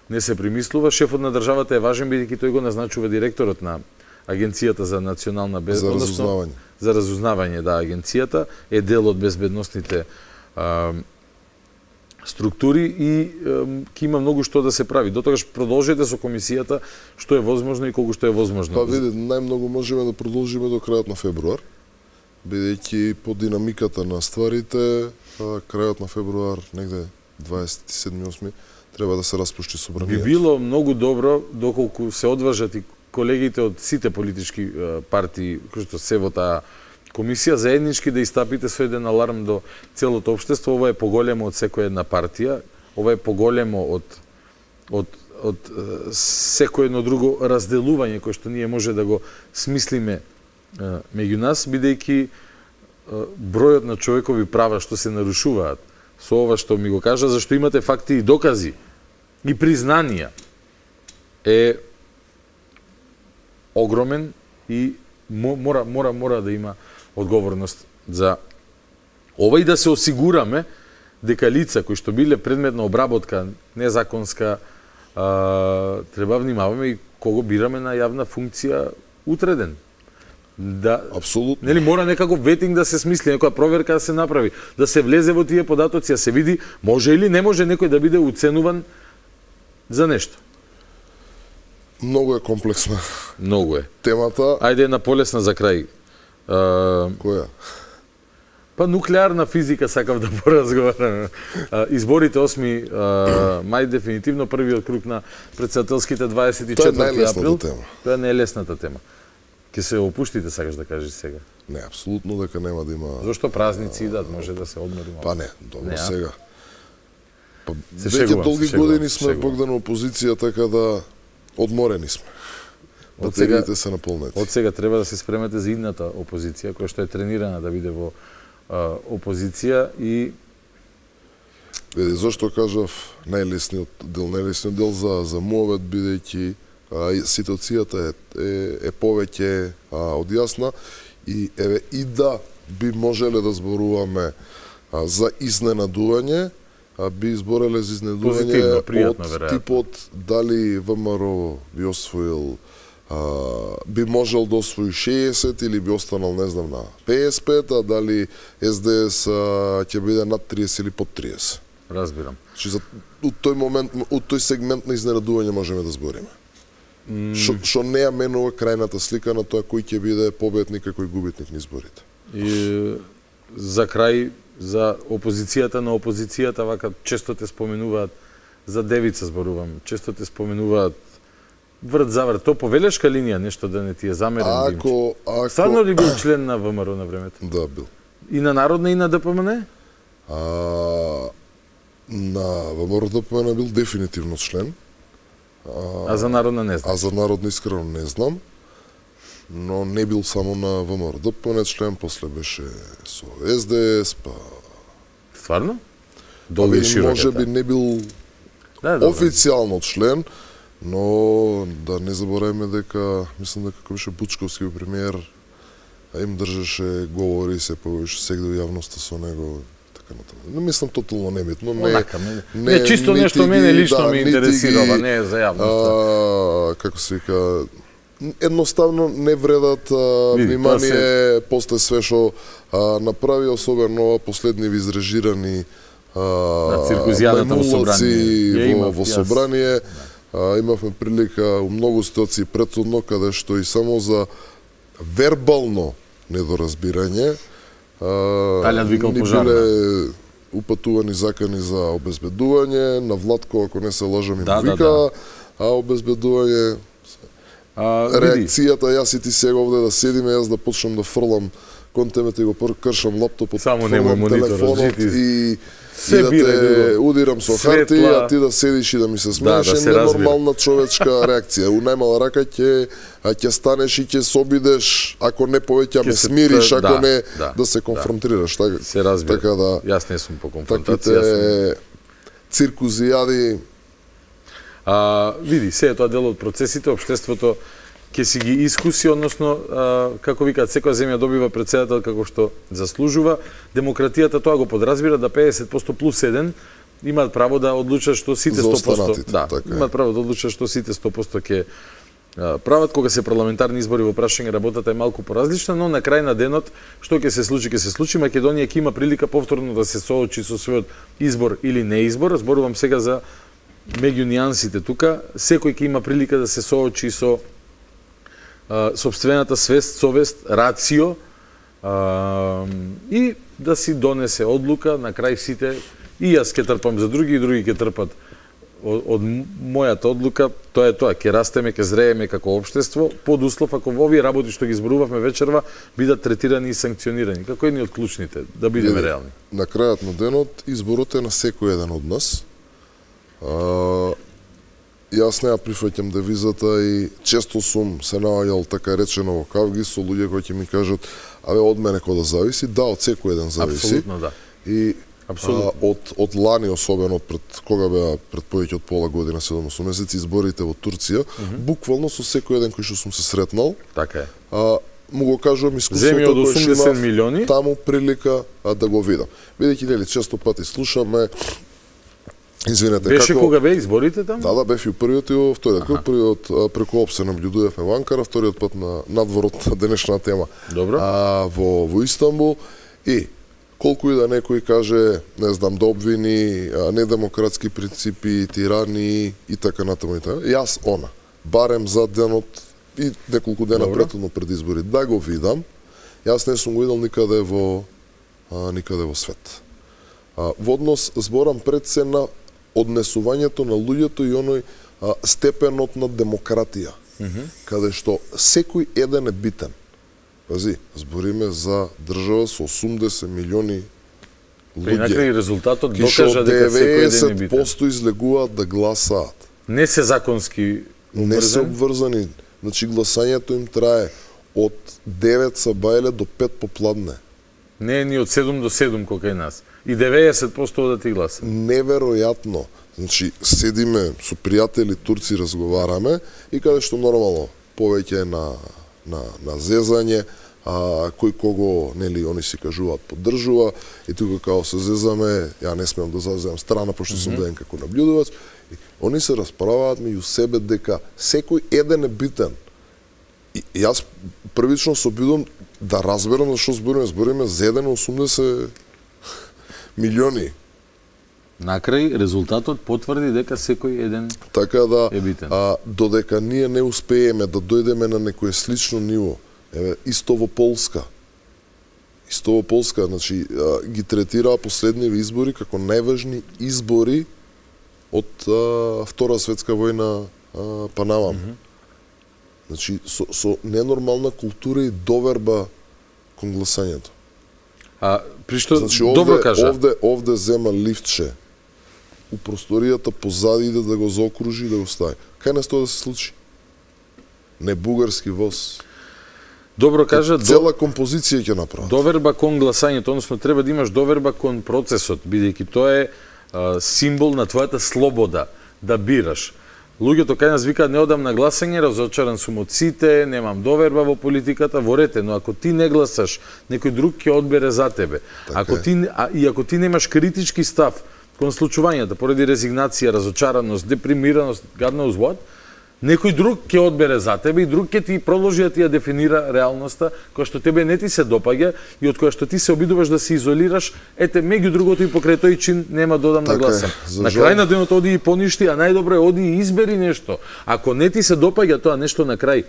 не се премислува. Шефот на државата е важен бидејќи тој го назначува директорот на Агенцијата за национална безбедност. За разузнавање. За разузнавање, да, агенцијата е дел од безбедносните а, структури и ќе има многу што да се прави. Дотогаш продолжете со комисијата што е возможно и колку што е возможно. Па види, најмногу можеме да продолжиме до крајот на февруар, бидејќи по динамиката на стварите, крајот на февруар, негде дваесет и седми осми, треба да се распушти собранието. Би било многу добро доколку се одважат и колегите од сите политички партии кои што се во таа комисија заеднички да истапите со еден аларм до целото општество. Ова е поголемо од секоја една партија, ова е поголемо од од од секој едно друго разделување кој што ние може да го смислиме меѓу нас, бидејќи бројот на човекови права што се нарушуваат со ова што ми го кажа, зашто имате факти и докази и признанија, е огромен и мора мора мора да има одговорност за ова и да се осигураме дека лица кои што биле предмет на обработка незаконска, а, треба внимаваме и кого бираме на јавна функција утреден. Да, апсолутно. Нели мора некако ветинг да се смисли, некоја проверка да се направи, да се влезе во тие податоци, да се види може или не може некој да биде уценуван за нешто. Многу е комплексна. Многу е. Темата. Ајде една полесна за крај. А, Која? Па нуклеарна физика сакав да поразговараме. Изборите осми мај дефинитивно првиот круг на председателските дваесет и четврти април. Тема. Тоа е најлесната тема. Ке се опуштите, сакаш да кажеш сега? Не, апсолутно дека нема да има. Зошто празници идат, може да се одмори. Па не, добро не, сега. Па се веќе шегувам, долги се години шегувам, сме Богдан опозиција, така да одморени сме. Батериите се наполнети. Од сега треба да се спремете за идната опозиција, која што е тренирана да биде во а, опозиција и... Види, зашто кажав најлесниот дел, најлесниот дел за, за мовет, бидејќи ситуацијата е, е, е повеќе а, одјасна и еве и да би можеле да зборуваме а, за изненадување, а, би избореле за изненадување од типот дали ВМРО би освоил а, би можел да освои шеесет или би останал, не знам, на петдесет и пет, а дали СДС ќе биде над триесет или под триесет. Разбирам. Че за од тој момент, од тој сегмент на изненадување можеме да збориме. Што не ја менува крајната слика на тоа кој ќе биде победник и кој губитник на изборите. И за крај, за опозицијата на опозицијата, вака често те споменуваат, за девица зборувам, често те споменуваат врт за врт. То по велешка линија нешто да не ти е замерен. Ако, ако... Стварно ли бил член на ВМРО на времето? Да, бил. И на Народна и на ДПМН? А, на ВМРО ДПМН бил дефинитивно член. А, а за Народна не знам. А за Народна искрено не знам. Но не бил само на ВМРО ДПМН член, после беше со СДС, па... Стварно? Долго и широко. Може би не бил да, да, официјално член, но да не забораваме дека, мислам дека кој беше Бучковски премиер, а им држеше говори се појавеше сегде во јавноста со него. Не мислам тотално небитно, не, Онака, не, не, не чисто нешто мене лично да, ме интересирава, не е за јавноста. Како се вика, едноставно не вредат а, Види, внимание се... после све што направи, особено последниви изрежирани мајмулаци во, во собрание. А, имавме прилика у многу ситуации претhodно, каде што и само за вербално недоразбирање Талјан викал пожарна. Биле упатувани закани за обезбедување, на Владко, ако не се лажам, им да, вика, да, да. а обезбедување... А, реакцијата, јас и ти сега овде да седиме, јас да почнам да фрлам кон темете и го кршам лаптопот, само фрлам телефонот и, и да те удирам со харти, а ти да седиш и да ми се смееш, да, да е ненормална човечка реакција. У најмала рака ќе ќе станеш и ќе се обидеш, ако не повеќе ме смириш, ако да, не да, да се конфронтираш. Да. Се разбира. Така да, јас не сум по конфронтација. Таките циркузијади. А, види, се е тоа дел од процесите, општеството ќе си ги искуси, односно, а, како викаат, секоја земја добива председател како што заслужува. Демократијата тоа го подразбира да педесет проценти плюс еден имаат право да одлучат што сите сто проценти да, така имаат право да одлучат што сите сто проценти ќе прават. Кога се парламентарни избори во прашање работата е малку поразлична, но на крај на денот што ќе се случи, ќе се случи. Македонија ќе има прилика повторно да се соочи со својот избор или неизбор. Зборувам сега за меѓу нијансите тука. Секој ќе има прилика да се соочи со а, собствената свест, совест, рацио а, и да си донесе одлука. На крај сите и јас ќе трпам за други, и други ќе трпат од, од мојата одлука, тоа е тоа, ќе растеме, ќе зрееме како општество, под услов ако во овие работи што ги зборувавме вечерва бидат третирани и санкционирани, како едни од клучните, да бидеме реални. На крајот на денот изборот е на секој еден од нас. А, Јас не ја прифаќам девизата и често сум се наоѓал така речено во кавги со луѓе кои ќе ми кажат абе од мене кој да зависи, да, од секој еден зависи. Апсолутно да. И а, од од лани особено пред кога беа пред повеќе од пола година, седум-осум месеци изборите во Турција, mm -hmm. буквално со секој еден кој што сум се сретнал. Така е. А, му го кажувам искуството кој што има милиони таму прилика а, да го видам. Бидејќи нели често пати слушаме Извинете, беше како... кога бе изборите таму? Да, да, бев и првиот и во вториот. Ага. Првиот преку ОП се наблюдувавме во Анкара, вториот пат на надворот на денешна тема. Добро. А, во, во Истанбул и колку и да некој каже, не знам, да обвини а, недемократски принципи, тирани и така натаму и така, јас она, барем за денот и неколку дена претhodно пред избори, да го видам, јас не сум го видел никаде во а, никаде во свет. А, во однос зборам пред се на однесувањето на луѓето и оној а, степенот на демократија, mm -hmm. каде што секој еден е битен. Пази, збориме за држава со осумдесет милиони луѓе. При накрај резултатот докажа дека секој еден е битен. деветдесет проценти излегуваат да гласаат. Не се законски обврзани? Не се обврзани. Значи гласањето им трае од девет сабајле до пет попладне. Не е ни од седум до седум кој кај нас. И деветдесет проценти да ти гласа. Неверојатно. Значи, седиме со пријатели турци, разговараме и каде што нормално повеќе на, на, на зезање, а, кој кого, нели, они си кажуваат, поддржува, и тука као се зезаме, ја не смеам да заземам страна, пошто сум mm -hmm. ден како наблюдувач, и они се расправаат меѓу себе дека секој еден е битен. И, и јас првично се обидувам да разберам зашто збориме, збориме за еден осумдесет милиони. Накрај резултатот потврди дека секој еден така да, е битен. А, додека ние не успееме да дојдеме на некое слично ниво, еве исто во Полска. Исто во Полска, значи а, ги третираа последниве избори како најважни избори од а, Втора светска војна а, па навам. Mm -hmm. Значи со, со ненормална култура и доверба кон гласањето. А при што значи, овде, добро кажа. Овде овде зема лифтче. У просторијата позади иде да го заокружи и да го стави. Кај нас тоа да се случи? Не бугарски воз. Добро кажа, цела композиција ќе направи. Доверба кон гласањето, односно треба да имаш доверба кон процесот, бидејќи тоа е а, символ на твојата слобода да бираш. Луѓето кај нас викаат не одам на гласање, разочаран сум од сите, немам доверба во политиката, во рете, но ако ти не гласаш, некој друг ќе одбере за тебе. Така ако ти а, и ако ти немаш критички став кон случувањата поради резигнација, разочараност, депримираност, гадна узвод, некој друг ќе одбере за тебе и друг ќе ти продолжи да ти ја дефинира реалноста која што тебе не ти се допаѓа и од која што ти се обидуваш да се изолираш, ете меѓу другото и покрај тој чин нема додам да гласам. На крај на денот оди и поништи, а најдобро е оди и избери нешто. Ако не ти се допаѓа тоа нешто на крај,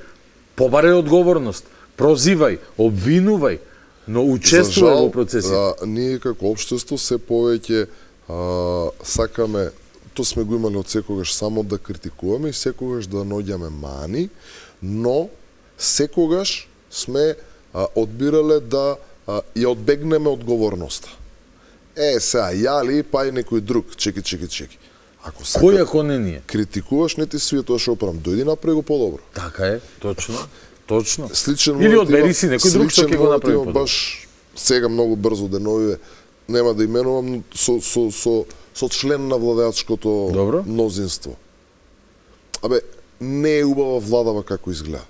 побарај одговорност, прозивај, обвинувај, но учествувај во процесите. За жал, ние како општество се повеќе а, сакаме, тоа сме го имали од секогаш само да критикуваме и секогаш да наоѓаме мани, но секогаш сме а, одбирале да а, ја одбегнеме одговорноста. Е, сега, ја ли, па и некој друг, чеки, чеки, чеки. Ако сака, кој ако не ние? Критикуваш, не ти свие тоа што оправам. Дојди направи го подобро. Така е, точно, точно. Сличен или одбери си некој друг што ќе го направи подобро. Баш сега многу брзо деновиве, нема да именувам, со, со, со, со член на владеачкото Добро. мнозинство. Абе, не е убава владава како изгледа.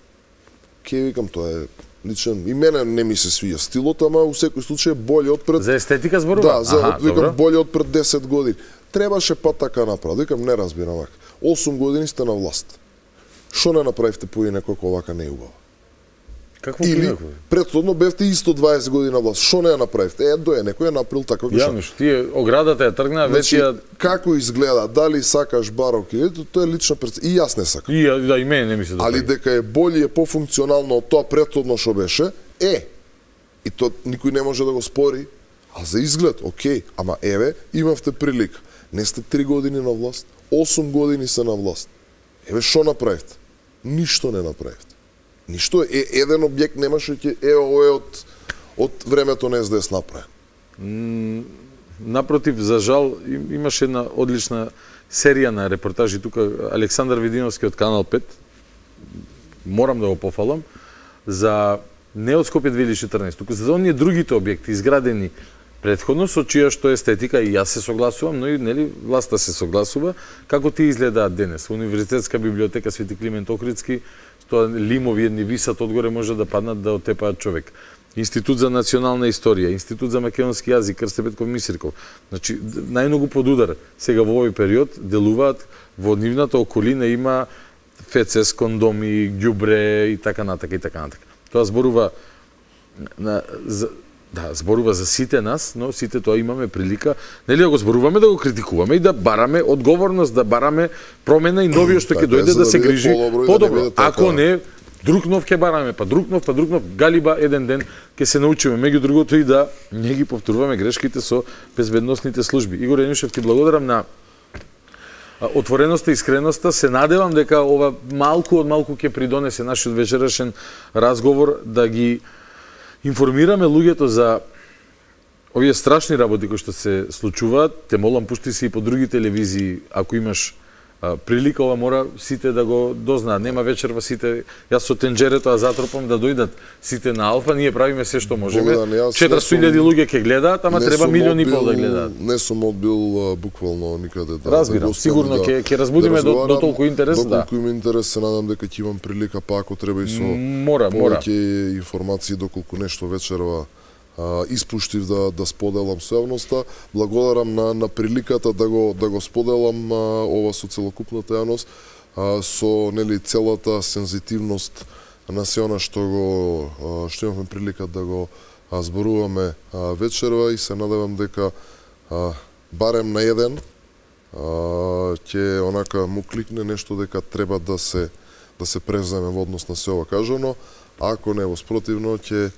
Ке викам, тоа е личен, и мене не ми се свија стилот, ама у секој случај боле од пред... За естетика зборува? Да, за, Аха, викам, боле од пред десет години. Требаше па така направи. Викам, не разбирам вака. осум години сте на власт. Шо не направивте поине како вака не е убава? Какво или претходно бевте исто дваесет години на власт. Шо не ја направивте? Е, доје некој ја направил така како што. Ја, тие оградата ја тргна, значи, веќе ја... како изгледа, дали сакаш барок или тоа е лична преценка. И јас не сакам. И да и мене не ми се допаѓа. Али дека е боле е пофункционално од тоа претходно што беше, е. И тоа никој не може да го спори. А за изглед, окей, ама еве, имавте прилика. Не сте три години на власт, осум години се на власт. Еве што направивте? Ништо не направивте. Ништо, е, еден објект немаше ќе е ова од од времето на Ес Де Ес направен. Напротив, за жал, имаше една одлична серија на репортажи тука, Александар Видиновски од Канал пет, морам да го пофалам, за не од Скопје две илјади и четрнаесет, туку за оние другите објекти изградени претходно, со чија што естетика и јас се согласувам, но и нели власта се согласува, како ти изгледаат денес. Универзитетска библиотека Свети Климент Охридски, тоа лимови едни висат одгоре, може да паднат да отепаат човек. Институт за национална историја, Институт за македонски јазик, Крсте Петков Мисирков. Значи, најмногу под удар сега во овој период делуваат, во нивната околина има ФЦС, кондоми, ѓубре и така натака и така натака. Тоа зборува на, за, да, зборува за сите нас, но сите тоа имаме прилика, нели да го зборуваме, да го критикуваме и да бараме одговорност, да бараме промена и новиот што ќе дојде да се грижи подобро. Ако не, друг нов ќе бараме, па друг нов, па друг нов, галиба еден ден ќе се научиме, меѓу другото и да не ги повторуваме грешките со безбедносните служби. Игор Енишев, ти благодарам на отвореноста и искреноста. Се надевам дека ова малку од малку ќе придонесе нашиот вечерашен разговор да ги информираме луѓето за овие страшни работи кои што се случуваат. Те молам, пушти се и по други телевизии, ако имаш а, прилика, ова мора сите да го дознаат. Нема вечерва сите, јас со тенџерето, а затропам да дојдат сите на Алфа, ние правиме се што можеме. четиристотини илјади луѓе ќе гледаат, ама треба милиони и пол да гледаат. Не сум одбил буквално никаде да. Разбирам, да сигурно ќе ќе разбудиме да до, до толку интерес, до да. Толку има интерес, се надам дека ќе имам прилика, па ако треба и со мора, мора. повеќе информации доколку нешто вечерва Uh, испуштив да да споделам со јавноста. Благодарам на на приликата да го да го споделам uh, ова со целокупната јавност, uh, со нели целата сензитивност на се она што го uh, што имавме прилика да го uh, зборуваме uh, вечерва и се надевам дека uh, барем на еден ќе uh, онака му кликне нешто дека треба да се да се преземе во однос на се ова кажано, а ако не во спротивно ќе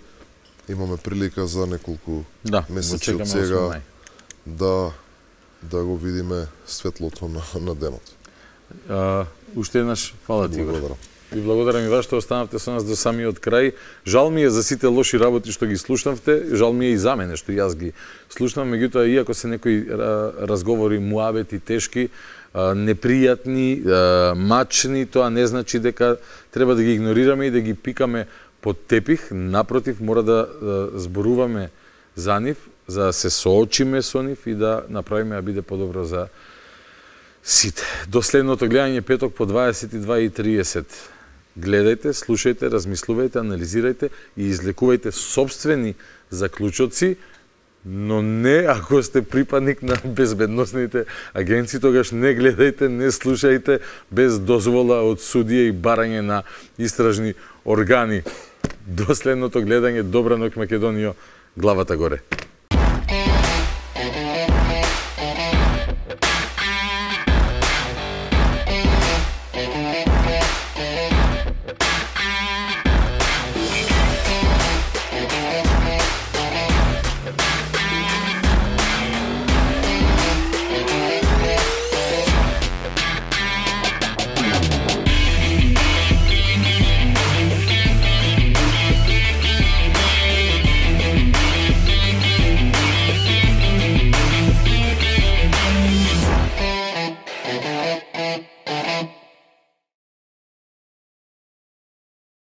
имаме прилика за неколку да, месеци од сега да да го видиме светлото на, на денот. А, уште еднаш фала ти. Благодарам. Ви благодарам и вас што останавте со нас до самиот крај. Жал ми е за сите лоши работи што ги слушнавте, жал ми е и за мене што јас ги слушнам, меѓутоа иако се некои разговори муабети тешки, непријатни, мачни, тоа не значи дека треба да ги игнорираме и да ги пикаме под тепих. Напротив, мора да, да зборуваме за нив, за да се соочиме со нив и да направиме да биде подобро за сите. До следното гледање петок по дваесет и два и триесет. Гледајте, слушајте, размислувајте, анализирајте и излекувајте собствени заклучоци, но не ако сте припадник на безбедносните агенции, тогаш не гледајте, не слушајте без дозвола од судија и барање на истражни органи. До следното гледање, добра ноќ Македонијо, главата горе.